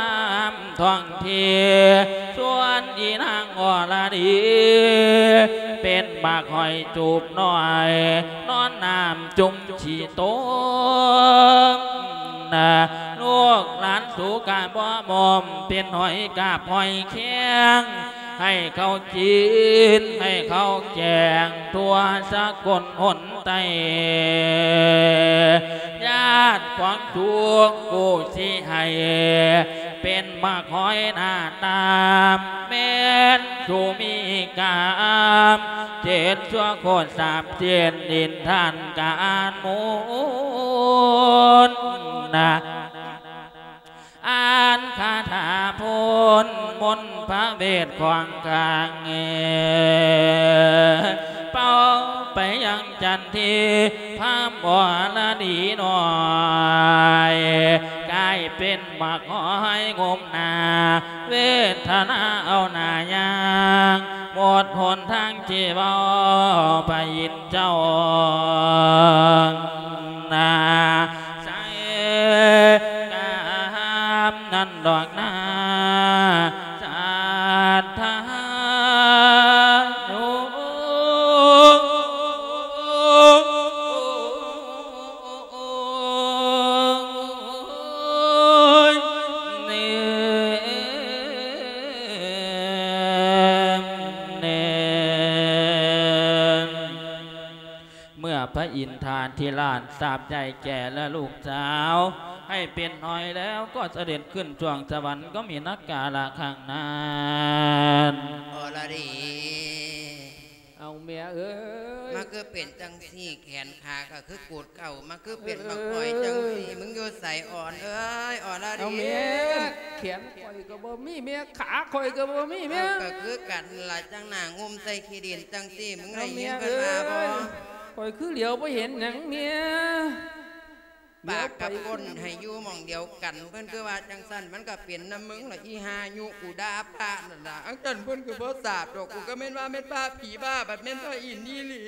ຳທ້ອງທີ່ ສ່ວນອີນາງອໍລະດີ ເປັນບັກຫອຍຈູບນ້ອຍ ນອນນ້ຳຈຸ່ມຂີ້ຕົມ ລູກຫຼານສູກະບໍ່ໝົມ ເປັນຫອຍກາບຫອຍແຄງ ໃຫ້ເຂົາກິນ ໃຫ້ເຂົາແກງ ທົ່ວສາກົນຫົນໃຕ້ ຍາດຂອງສູງກູຊິໃຫ້ ເປັນໝາກຫອຍໜ້າຕາ ແມ່ນສູມີກາມ ເຈັດຊົ່ວໂຄດສາມເຈນ ດິນທ່ານການໝູນນະ ອ່ານຄາຖາໂພນມົນພະເວດຂວາງກາງ ເປົ່າໄປຍັງຈັນທີ ພາມອໍລະດີນ້ອຍ ກາຍເປັນໝາກຫອຍງົມໜ້າ ເວທະນາເອົາໜ້າຍ່າງ ໝົດຫົນທາງທີ່ເວົ້າ ພະອິນເຈົ້ານາ ໃສກາມນັ້ນດອກນາ ສາທາໂນ ໂອ້ຍ ເນມ ເນມ ເມື່ອພະອິນທາທິລາດສາບໃຫຍ່ແກ່ແລະລູກສາວ ໃຫ້ເປັນຫອຍແລ້ວ ກໍສະເດັດຂຶ້ນສວງສະຫວັນ ກໍມີນັກກາລະຄັ້ງນັ້ນ. ອໍລະດີ ເອົາແມ່ເອີຍ ມາຄືເປັນຈັ່ງຊີ້ ແຂນຂາກໍຄືກູດເຂົ້າ ມາຄືເປັນບັກຫອຍຈັ່ງຊີ້ ເອີ ມຶງຢູ່ໃສອ່ອນເອີຍ ອໍລະດີ ເອົາແມ່ ແຂນຂ້ອຍກໍບໍ່ມີແມ່ ຂາຂ້ອຍກໍບໍ່ມີແມ່ ເອົາ ກໍຄືກັນລະ ຈັ່ງໜ້າງຸ່ມໃສ່ຂີ້ດິນຈັ່ງຊີ້ ມຶງໄດ້ຍິນເພິ່ນວ່າບໍ່? ເອົາແມ່ເອີຍ ຂ້ອຍຄືຫຼຽວບໍ່ເຫັນຫຍັງແມ່ ປາກກັບກົ້ນໃຫ້ຢູ່ໝ່ອງດຽວກັນ ເພິ່ນຄືວ່າຈັ່ງຊັ້ນ ມັນກໍເປັນນຳມຶງລະ ອີ່ຫ່າຍຸກູດາພະນັ້ນລະ ອັງຊັ້ນເພິ່ນກໍບໍ່ຊາບດອກ ກູກໍແມ່ນວ່າແມ່ນພະຜີບ້າ ບັດແມ່ນພະອິນອີ່ຫຼີ.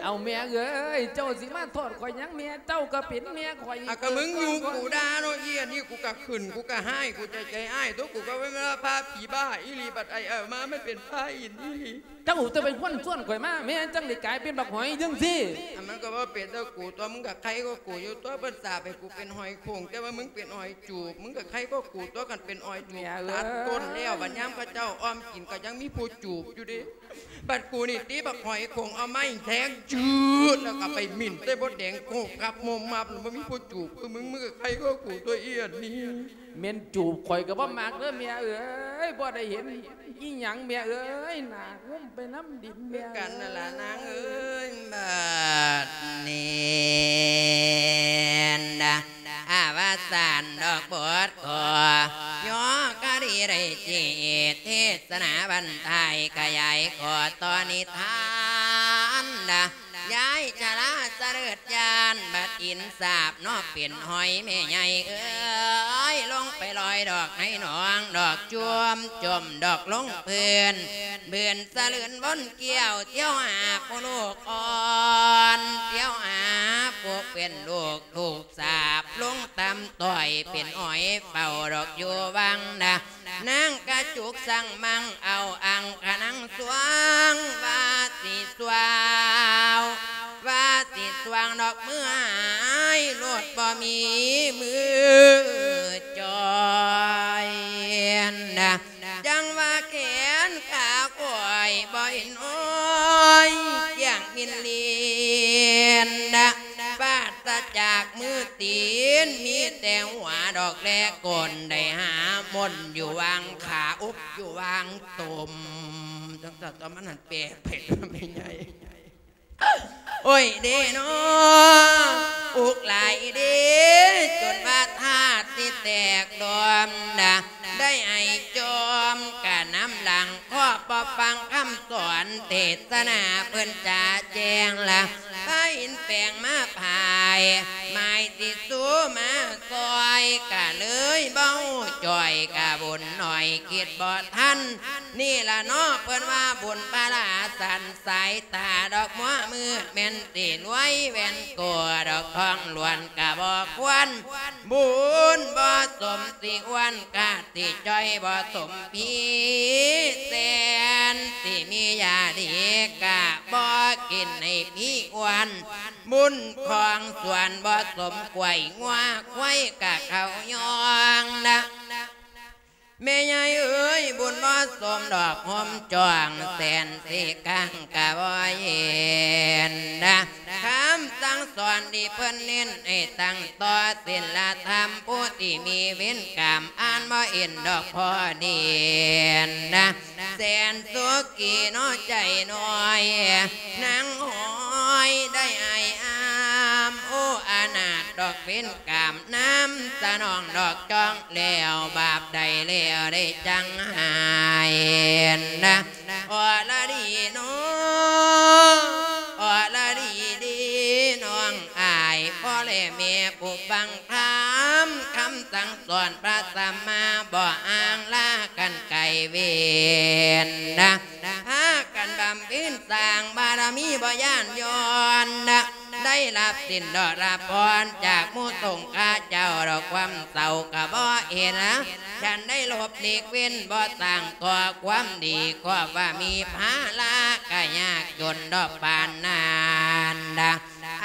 ເອົາແມ່ເອີຍ ເຈົ້າຊິມາໂທດຂ້ອຍຫຍັງແມ່ ເຈົ້າກໍເປັນແມ່ຂ້ອຍ ອາ ກໍມຶງຍຸກູດາເນາະ ອີ່ອັນນີ້ ກູກໍຂຶ້ນ ກູກໍຮ້າຍ ກູໃຈໃຈອ້າຍຕົວະ ກູກໍແມ່ນວ່າພະຜີບ້າອີ່ຫຼີ ບັດໄອເອົາມາມັນເປັນພະອິນອີ່ຫຼີ. ເຈົ້າຕົວະເປັນຄົນຊວນຂ້ອຍມາ ແມ່ນຈັ່ງໄດ້ກາຍເປັນບັກຫອຍຈັ່ງຊີ້. ອາ ມັນກໍບໍ່ເປັນແຕ່ກູຕົວະ ມຶງກໍໄຄກວ່າກູຢູ່ຕົວະ ເພິ່ນສາບໃຫ້ກູເປັນຫອຍໂຂງ ແຕ່ວ່າມຶງເປັນຫອຍຈູບ ມຶງກໍໄຄກວ່າກູຕົວະ ຄັນເປັນຫອຍຈູບ ແມ່ເອີຍ ຕັດກົ້ນແລ້ວ ບັດຍາມເຂົາເຈົ້າອ້ອມກິນກໍຍັງມີຜູ້ຈູບຢູ່ເດ້. ບັດກູນີ້ຕິບັກຫອຍໂຂງ ເອົາໄມ້ແທງຈືດ ແລ້ວກໍໄປໝິ່ນໃສ່ມົດແດງໂຄກກັບໂມມມັບ ແລ້ວບໍ່ມີຜູ້ຈູບຄືມຶງ ມຶງກໍໄຄກວ່າກູຕົວະ ອີ່ອັນນີ້. ແມ່ນຈູບຂ້ອຍກໍບໍ່ມັກເດີແມ່ເອີຍ ບໍ່ໄດ້ເຫັນອີ່ຫຍັງແມ່ເອີຍ ໜ້າງຸ້ມໄປນຳດິນແມ່ ຄືກັນນັ້ນລະນາງເອີຍ. ບັດນີ້ນະ ອາວະສານດອກບົດຂໍ ຍໍກະດີໄດ້ຈີເທດສະໜາບັນທາຍຂະຫຍາຍຂໍຕໍ່ນິທານນະ ຍາຍຊະລາສະເຫຼີດຍານ ບັດອິນສາບເນາະເປັນຫອຍແມ່ໃຫຍ່ເອີຍ ລົງໄປລອຍດອກໃນໜອງ ດອກຈວມຈົມດອກລົງພື້ນ ບືນສະເຫຼີນວົນກ້ຽວ ທ່ຽວຫາຜູ້ລູກອ່ອນ ທ່ຽວຫາຜູ້ເປັນລູກ ຖືກສາບລົງຕ່ຳຕ້ອຍ ເປັນຫອຍເຝົ້າດອກຢູ່ວັງນະ ນາງກະຈຸກສັງມັງເອົາອັງຄະນັງສວງ ວ່າຊິສວາວ ວ່າຊິສວາງດອກມືຫາຍໂລດ ບໍ່ມີມືຈ່ອຍນະ ຈັ່ງວ່າແຂນຂາຂ້ອຍບໍ່ເຫັນໂອ້ຍ ກ້ຽງມິນລີນນະ ປາສະຈາກມືຕີນ ມີແຕ່ຫົວດອກແລກ ກົ້ນໄດ້ຫາມົນຢູ່ຫວ່າງຂາ ອົບຢູ່ຫວ່າງຕົມ ຈັ່ງຊັ້ນຕົວະ ມັນຫັ້ນແປກໄປແມ່ໃຫຍ່. ໂອ້ຍເດເນາະ ອຸກຫຼາຍເດ ຈົນວ່າທາດຊິແຕກດອມນະ ໄດ້ໄອຈອມກະນຳຫຼັງ ເພາະບໍ່ຟັງຄຳສອນເທດສະໜາເພິ່ນຈະແຈ້ງລະ ໄປອິນແປງມາພາຍ ໝາຍຊິສູ່ມາຊ່ອຍ ກະເລີຍເວົ້າຈ່ອຍ ກະບຸນໜ້ອຍຄິດບໍ່ທັນ ນີ້ລະເນາະ ເພິ່ນວ່າບຸນພະລາສັນ ສາຍຕາດອກມົວມືດ ແມ່ນຊິລວຍແວ່ນໂກດອກ ທອງຫຼວນກະບໍ່ຄວນ ບຸນບໍ່ສົມຊິອ້ວນ ກະຊິຈ່ອຍບໍ່ສົມພີ ແສນຊິມີຢາດີ ກະບໍ່ກິນໃຫ້ພີອ້ວນ ບຸນຂອງສວນບໍ່ສົມ ກວຍງົວຄວາຍກະເຂົ້າຍ່ອງນະ ແມ່ໃຫຍ່ເອີຍ ບຸນບໍ່ສົມດອກຫົ່ມຈອງ ແສນຊິກາງກະບໍ່ເຫັນນະ ຄຳສັ່ງສອນທີ່ເພິ່ນເນັ້ນ ໃຫ້ຕັ້ງຕໍ່ສິນລະທຳ ຜູ້ທີ່ມີເວນກຳ ອ່ານບໍ່ເຫັນດອກພໍດີນະ ແສນສຸກີເນາະໃຈນ້ອຍ ນາງຫ້ອຍໄດ້ອາຍອາມ ໂອ້ ອະນາດດອກເວນກຳ ນຳສະໜອງດອກຈອງ ແລ້ວບາບໃດແລ້ວໄດ້ຈັງຫາຍນະ ອໍລະດີເນາະ ອໍລະດີດີ ນ້ອງອ້າຍ ພໍ່ແລະແມ່ຜູ້ຟັງທຳ ຄຳສັ່ງສອນພະສຳມາ ບໍ່ຫ່າງລາກັນໄກເວນນະ ພາກັນບຳເພັນສ້າງບາລະມີ ບໍ່ຢ້ານຢ່ອນນະ ໄດ້ຮັບສິນດອກຮັບພອນ ຈາກໝູ່ສົງຄາເຈົ້າດອກ ຄວາມເສົ້າກະບໍ່ເຫັນນະ ຄັນໄດ້ຫຼົບຫຼີກເວັ້ນ ບໍ່ສ້າງກໍ່ຄວາມດີ ກໍວ່າມີພາລະກະຍາກຈົນດອກປານນັ້ນນະ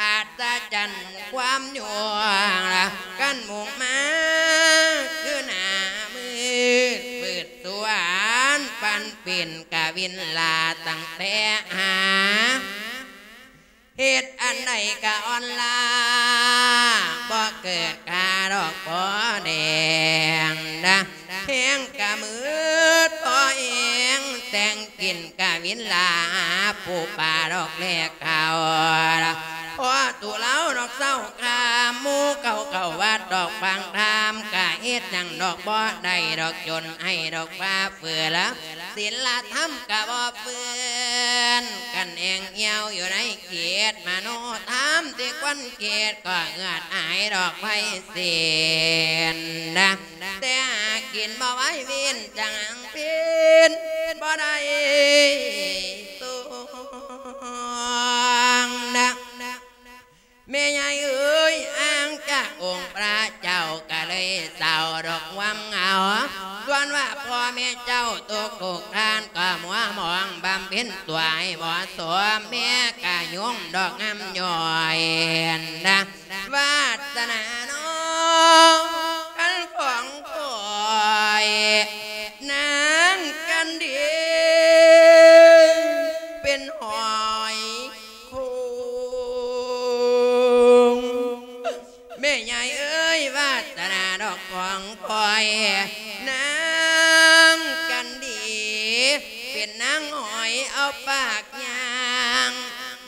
ອັດສະຈັນຄວາມຍວງລະ ກັນມຸ່ງມາຄືໜ້າມືດ ຝືດສວນປັນປິ່ນກະວິນລາ ຕັ້ງແຕ່ຫາ ເຮັດອັນໃດກະອ່ອນລ້າ ບໍ່ເກີດຄ່າດອກພໍແດງນະ ແຮງກະມືດພໍແຮງ ແຕ່ງກິນກະວິນລາ ປູປາດອກແລກເຂົ້າ ພໍຕູເລົາດອກເຊົາຄ່ຳ ໝູ່ເກົ່າເຂົ້າວັດດອກຟັງທຳ ກະເຮັດຫຍັງດອກບໍ່ໄດ້ດອກ ຈົນໃຫ້ດອກຟ້າເຝືອລະ ສິນລະທຳກະບໍ່ເຟືອນ ກັນແອງຫ່ຽວຢູ່ໃນເຂດມະໂນທຳ ທີ່ຄວັນເຂດກໍເຫືອດຫາຍດອກໄພເສນນະ ແຕ່ຫາກິນບໍ່ໄຫວເວນຈັງເປັນບໍ່ໄດ້ຕົງນະ ແມ່ໃຫຍ່ເອີຍ ອ່າງຈາກອົງພະເຈົ້າກະເລີຍເສົ້າດອກຫວງເອົາ ສ່ວນວ່າພໍ່ແມ່ເຈົ້າຕົກທຸກຄານ ກໍມົວມອງບຳເພັນຕົວໃຫ້ເໝາະສົມ ແມ່ກະຍຸງດອກງາມຍ້ອຍນະ ວາສະໜານ້ອງ ຄັນຂອງຂ້ອຍ ນາງກັນດີ ເປັນຫອຍ ໂຄງ ແມ່ໃຫຍ່ເອີຍ ວາສະໜາດອກຂອງຂ້ອຍ ນາງກັນດີ ເປັນນາງຫອຍເອົາປາກຍ່າງ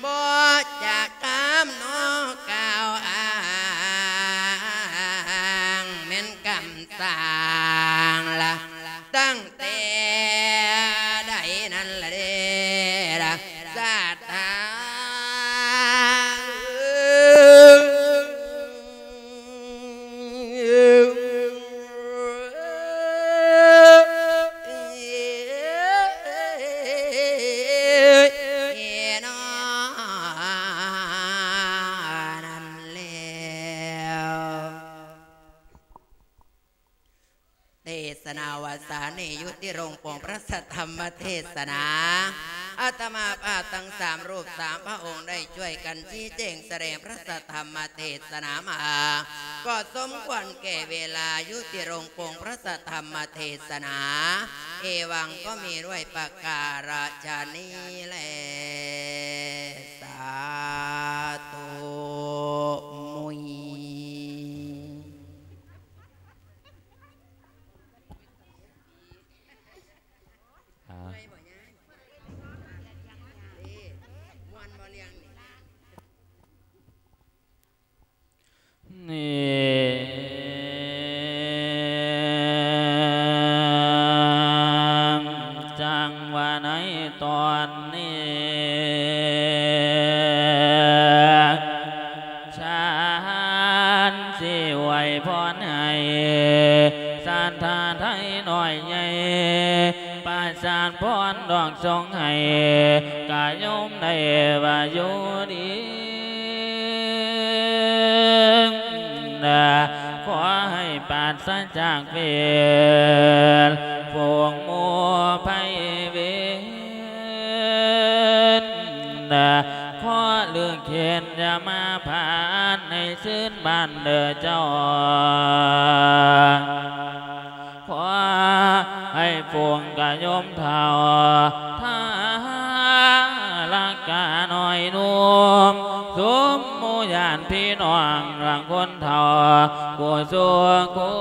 ບໍ່ຈະກາມນອກກ່າວອ້າງ ແມ່ນກຳສ້າງລະ ຕັ້ງແຕ່ໃດນັ້ນລະເດລະ ສາທາ ເນາະ ນັ້ນແລ້ວ ເທດສະນາວາສານີ້ ຍຸຕິລົງປົງພະສັດທຳມະເທດສະນາ ອາດຕະມາພາບທັງສາມຮູບສາມພະອົງ ໄດ້ຊ່ວຍກັນຊີ້ແຈງສະແດງພະສັດທຳມະເທດສະນາມາ ກໍສົມຄວນແກ່ເວລາ ຍຸຕິລົງປົງພະສັດທຳມະເທດສະນາ ເອວັງ ກໍມີດ້ວຍປະກາລະຊະນີ້ແລ ສາທຸ ມຸຍ. ອ່າ ເມື່ອຍບໍ່ຍາຍ? ເອີ ມ່ວນບໍ່ລຽງນີ້? ນີ້ ຈັ່ງວ່າໃນຕອນນີ້ ໃຫ້ສັດທາໄທນ້ອຍໃຫຍ່ ປະສານພອນດອກສົ່ງໃຫ້ ກະໂຍມໄດ້ວ່າຢູ່ດີ ຂໍໃຫ້ປາສະຈາກເວນ ພວກໝູ່ໄພເວນ ຂໍເລີກເຫັນຢ່າມາຜ່ານໃນຄືນບ້ານເດີເຈົ້າ. ຂໍໃຫ້ຝູງກະໂຍມເຖົ້າ ທາລະກະນ້ອຍໜຸ່ມ ຊຸມໝູ່ຍາດພີ່ນ້ອງ ລະຄົນເຖົ້າ ຜູ້ສູ່ຄົ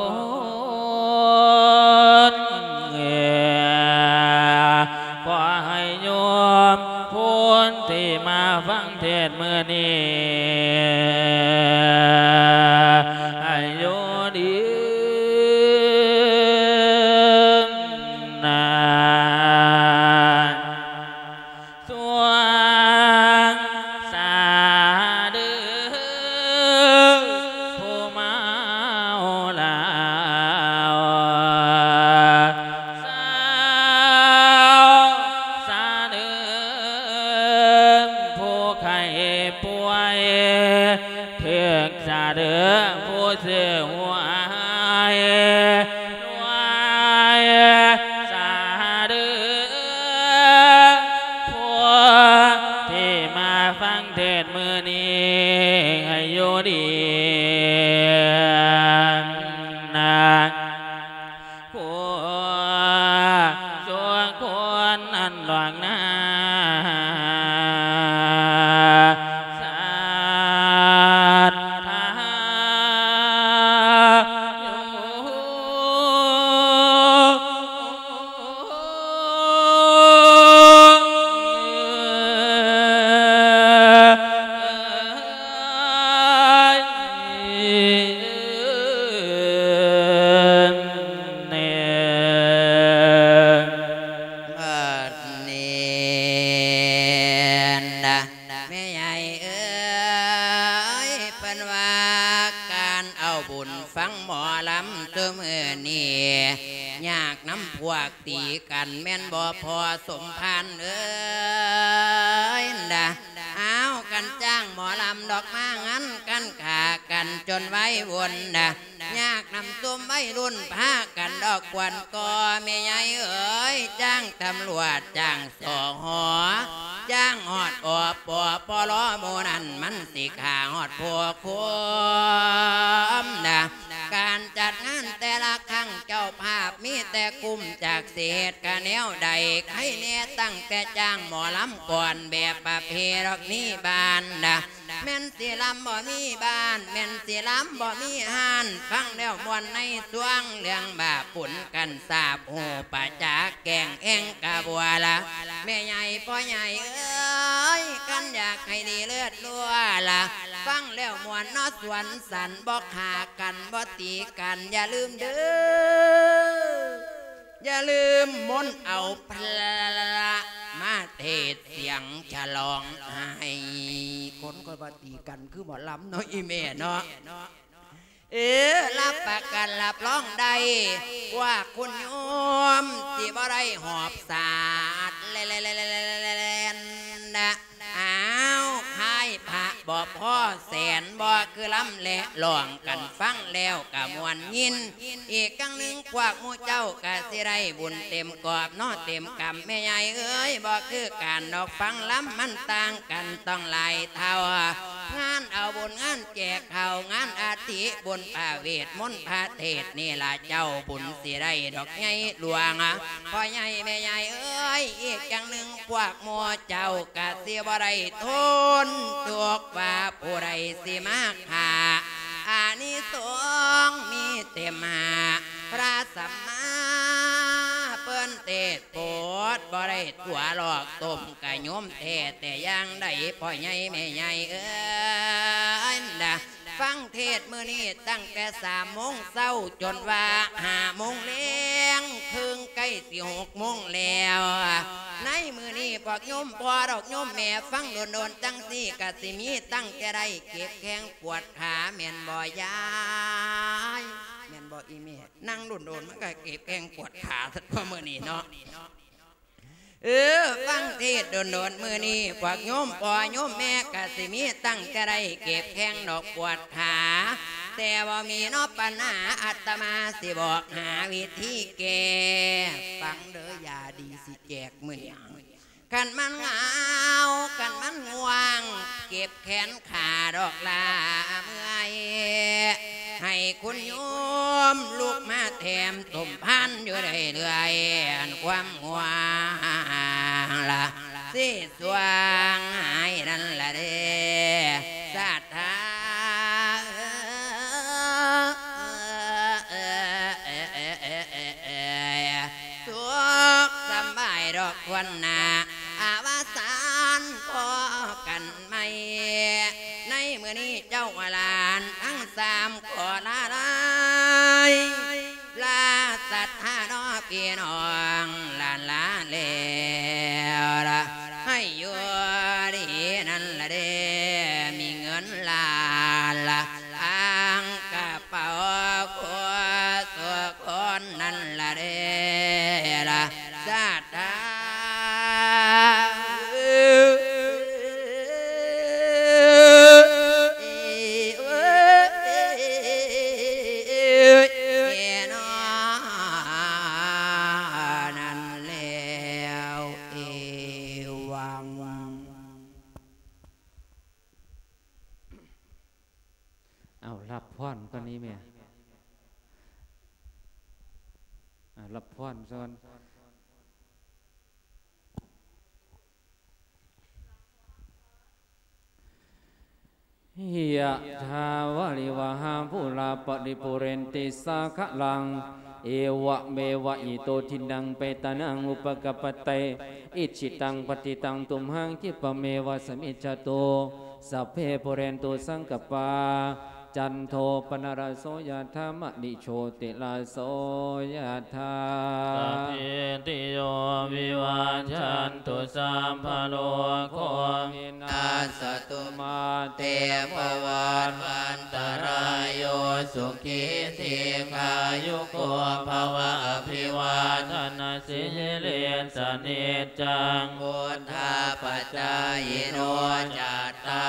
ນ ຂໍໃຫ້ໂຍມຜູ້ທີ່ມາຟັງເທດມື້ນີ້ ໃຫ້ຢູ່ດີນານ ສວງສາເດີ ຜູ້ເມົາເຫຼົ້າ ສາວສາເດີ ຜູ້ໄຂ້ປ່ວຍ ຖືກສາເດີ ຜູ້ຊື້ຫວຍ ລວຍສາເດີ ຜູ້ທີ່ມາຟັງເທດມື້ນີ້ ໃຫ້ຢູ່ດີນານ ຜູ້ສູ່ຄົນນັ້ນດອກນາ ສັດທາຢູ່ ບັດນີ້ນະ ແມ່ໃຫຍ່ເອີຍ ເພິ່ນວ່າການເອົາບຸນຟັງໝໍລຳ ຊຸມື້ນີ້ຍາກນຳພວກຕີກັນແມ່ນບໍ່ພໍ່ສົມພານເອີຍນະ. ອ້າວ ກັນຈ້າງໝໍລຳດອກ ມາງານກັນຂ້າກັນຈົນໄວວຸ່ນນະ ຍາກນຳຊຸມໄວລຸ້ນພາກັນດອກກວນກໍ ແມ່ໃຫຍ່ເອີຍ ຈ້າງຕຳຫຼວດ ຈ້າງ ສຫ ຈ້າງຮອດ ອປ ປລ ໝູ່ນັ້ນ ມັນຊິຂ້າຮອດພວກຄົນນະ. ການຈັດງານແຕ່ລະຄັ້ງ ເຈົ້າພາບມີແຕ່ກຸ້ມຈັກ ຊິເຮັດກະແນວໃດ ໃຄແນ່ຕັ້ງແຕ່ຈ້າງໝໍລຳກ່ອນ ແບບປະເພດອກນີ້ບ້ານນະ ແມ່ນຊິລຳບໍ່ມີບ້ານ ແມ່ນຊິລຳບໍ່ມີຮ້ານ ຟັງແລ້ວມ່ວນໃນຊ່ວງ ເລື່ອງບາບບຸນກັນສາບ ຮູ້ປະຈັກແກ້ງແອ່ງກະບົວລະ ແມ່ໃຫຍ່ພໍ່ໃຫຍ່ເອີຍ ຄັນຢາກໃຫ້ດີເລີດລົວລະ ຟັງແລ້ວມ່ວນເນາະ ສວນສັນ ບໍ່ຂ້າກັນ ບໍ່ຕີກັນ ຢ່າລືມເດີ ຢ່າລືມມົນເອົາພະມາເທດສຽງສະຫຼອງໃຫ້ ຄົນຂ້ອຍວ່າຕີກັນຄືໝໍລຳເນາະ ອີ່ແມ່ເນາະ. ເອີ ຮັບປະກັນຮັບຮອງໄດ້ ພວກຄຸນໂຍມຊິບໍ່ໄດ້ຫອບສາດແລ່ນນະ. ອ້າວ ຄ້າຍພະບໍ່ພໍແສນ ບໍ່ຄືລຳແລະຮ້ອງກັນ ຟັງແລ້ວກະມ່ວນຍິນ. ອີກຢ່າງໜຶ່ງ ພວກໝູ່ເຈົ້າກະຊິໄດ້ບຸນເຕັມກອບເນາະ ເຕັມກຳ ແມ່ໃຫຍ່ເອີຍ ບໍ່ຄືກັນດອກ ຟັງລຳມັນຕ່າງກັນຕ້ອງຫຼາຍເທົ່າ. ງານເອົາບຸນ ງານແຈກເຂົ້າ ງານອາທິ ບຸນປະເວດມົນພະເທດນີ້ລະ ເຈົ້າບຸນຊິໄດ້ດອກໃຫຍ່ຫຼວງ ພໍ່ໃຫຍ່ແມ່ໃຫຍ່ເອີຍ. ອີກຢ່າງໜຶ່ງ ພວກໝູ່ເຈົ້າກະຊິບໍ່ໄດ້ທົນທຸກ ວ່າຜູ້ໃດຊິມາຂ້າ ອານິສົງມີເຕັມຫ້າ ພະສຳມາເພິ່ນເທດໂປດ ບໍ່ໄດ້ຕົວະຫຼອກຕົ້ມກະໂຍມແທ້ແຕ່ຢ່າງໃດ ພໍ່ໃຫຍ່ແມ່ໃຫຍ່ເອີຍນະ. ຟັງເທດມື້ນີ້ຕັ້ງແຕ່ສາມໂມງເຊົ້າຈົນວ່າຫ້າໂມງແລງເຄິ່ງ ໃກ້ຊິຫົກໂມງແລ້ວ. ໃນມື້ນີ້ພວກໂຍມພໍ່ດອກໂຍມແມ່ ຟັງດົນໆ ຈັ່ງຊີ້ກະຊິມີຕັ້ງແຕ່ໄດ້ເຈັບແຂ້ງປວດຂາ ແມ່ນບໍ່ຍາຍ? ອີແມ່ ນັ່ງດົນໆ ມັນກໍເຈັບແຂ້ງປວດຂາ ຊັ້ນຕົວະມື້ນີ້ເນາະ. ເອີ ຟັງເທດດົນໆ ມື້ນີ້ ພວກໂຍມພໍ່ໂຍມແມ່ກໍຊິມີຕັ້ງແຕ່ໄດ້ເຈັບແຂ້ງດອກປວດຂາ ແຕ່ບໍ່ມີເນາະ ປັນຫາ ອາດຕະມາຊິບອກຫາວິທີແກ້. ຟັງເດີ ຢາດີຊິແຈກມື້ນີ້. ຄັນມັນຫງາວ ຄັນມັນງ່ວງ ເຈັບແຂນຂາດອກຫຼ້າເມື່ອຍ ໃຫ້ຄຸນໂຍມລຸກມາແຖມສົມພານຢູ່ເລື້ອຍໆ ອັນຄວາມຫ່ວງລະຊິຊ່ວງຫາຍນັ້ນລະເດ້ ສາດ ຖ້າ ສຸກສຳບາຍດອກຄວນໜ້າ ອາວະສານພໍ້ກັນໃໝ່ ໃນມື້ນີ້ເຈົ້າຫຼານທັງສາມຂໍລາລາຍ ລາສັດທາເນາະ ພີ່ນ້ອງຫຼານລາແລ້ວລະ ໃຫ້ຢູ່ດີນັ້ນລະເດ້ ມີເງິນລ້ານລະ ອ່າງກະເປົາຄົວສຸຄົນນັ້ນລະເດ້ລະ ສາດທາ ນັ້ນແລ້ວ ເອວັງ. ເອົາ ຮັບພອນກ່ອນນີ້ແມ່ ອ່າ ຮັບພອນກ່ອນ. ຍະຖາ ວາລິວະຫາ ປູລາ ປະລິປູເຣນຕິ ສາຄະລັງ ເອວະເມວະ ອິໂຕ ທິນນັງ ເປຕານັງ ອຸປະກັບປະຕິ ອິດຖິຕັງ ປັດຖິຕັງ ຕຸມຫັງ ຂິບປະເມວະ ສະມິດຊະຕຸ ສັບເພ ປູເຣນຕຸ ສັງກະປາ ຈັນໂທ ປະນະລະໂສ ຍະຖາ ມະນີ ໂຊຕິລະໂສ ຍະຖາ ສັບພີຕິໂຍ ວິວັດຊັນຕຸ ສັບພະໂລໂຄ ວິນາສະຕຸ ມາເຕ ພະວັດວັນຕະລາຍໂຍ ສຸຂີ ດີຄາຍຸໂກ ພະວະ ອະພິວາທະນະສີລິສະ ນິດຈັງ ພຸດທາປະຈາຍິໂນ ຈັດຕາ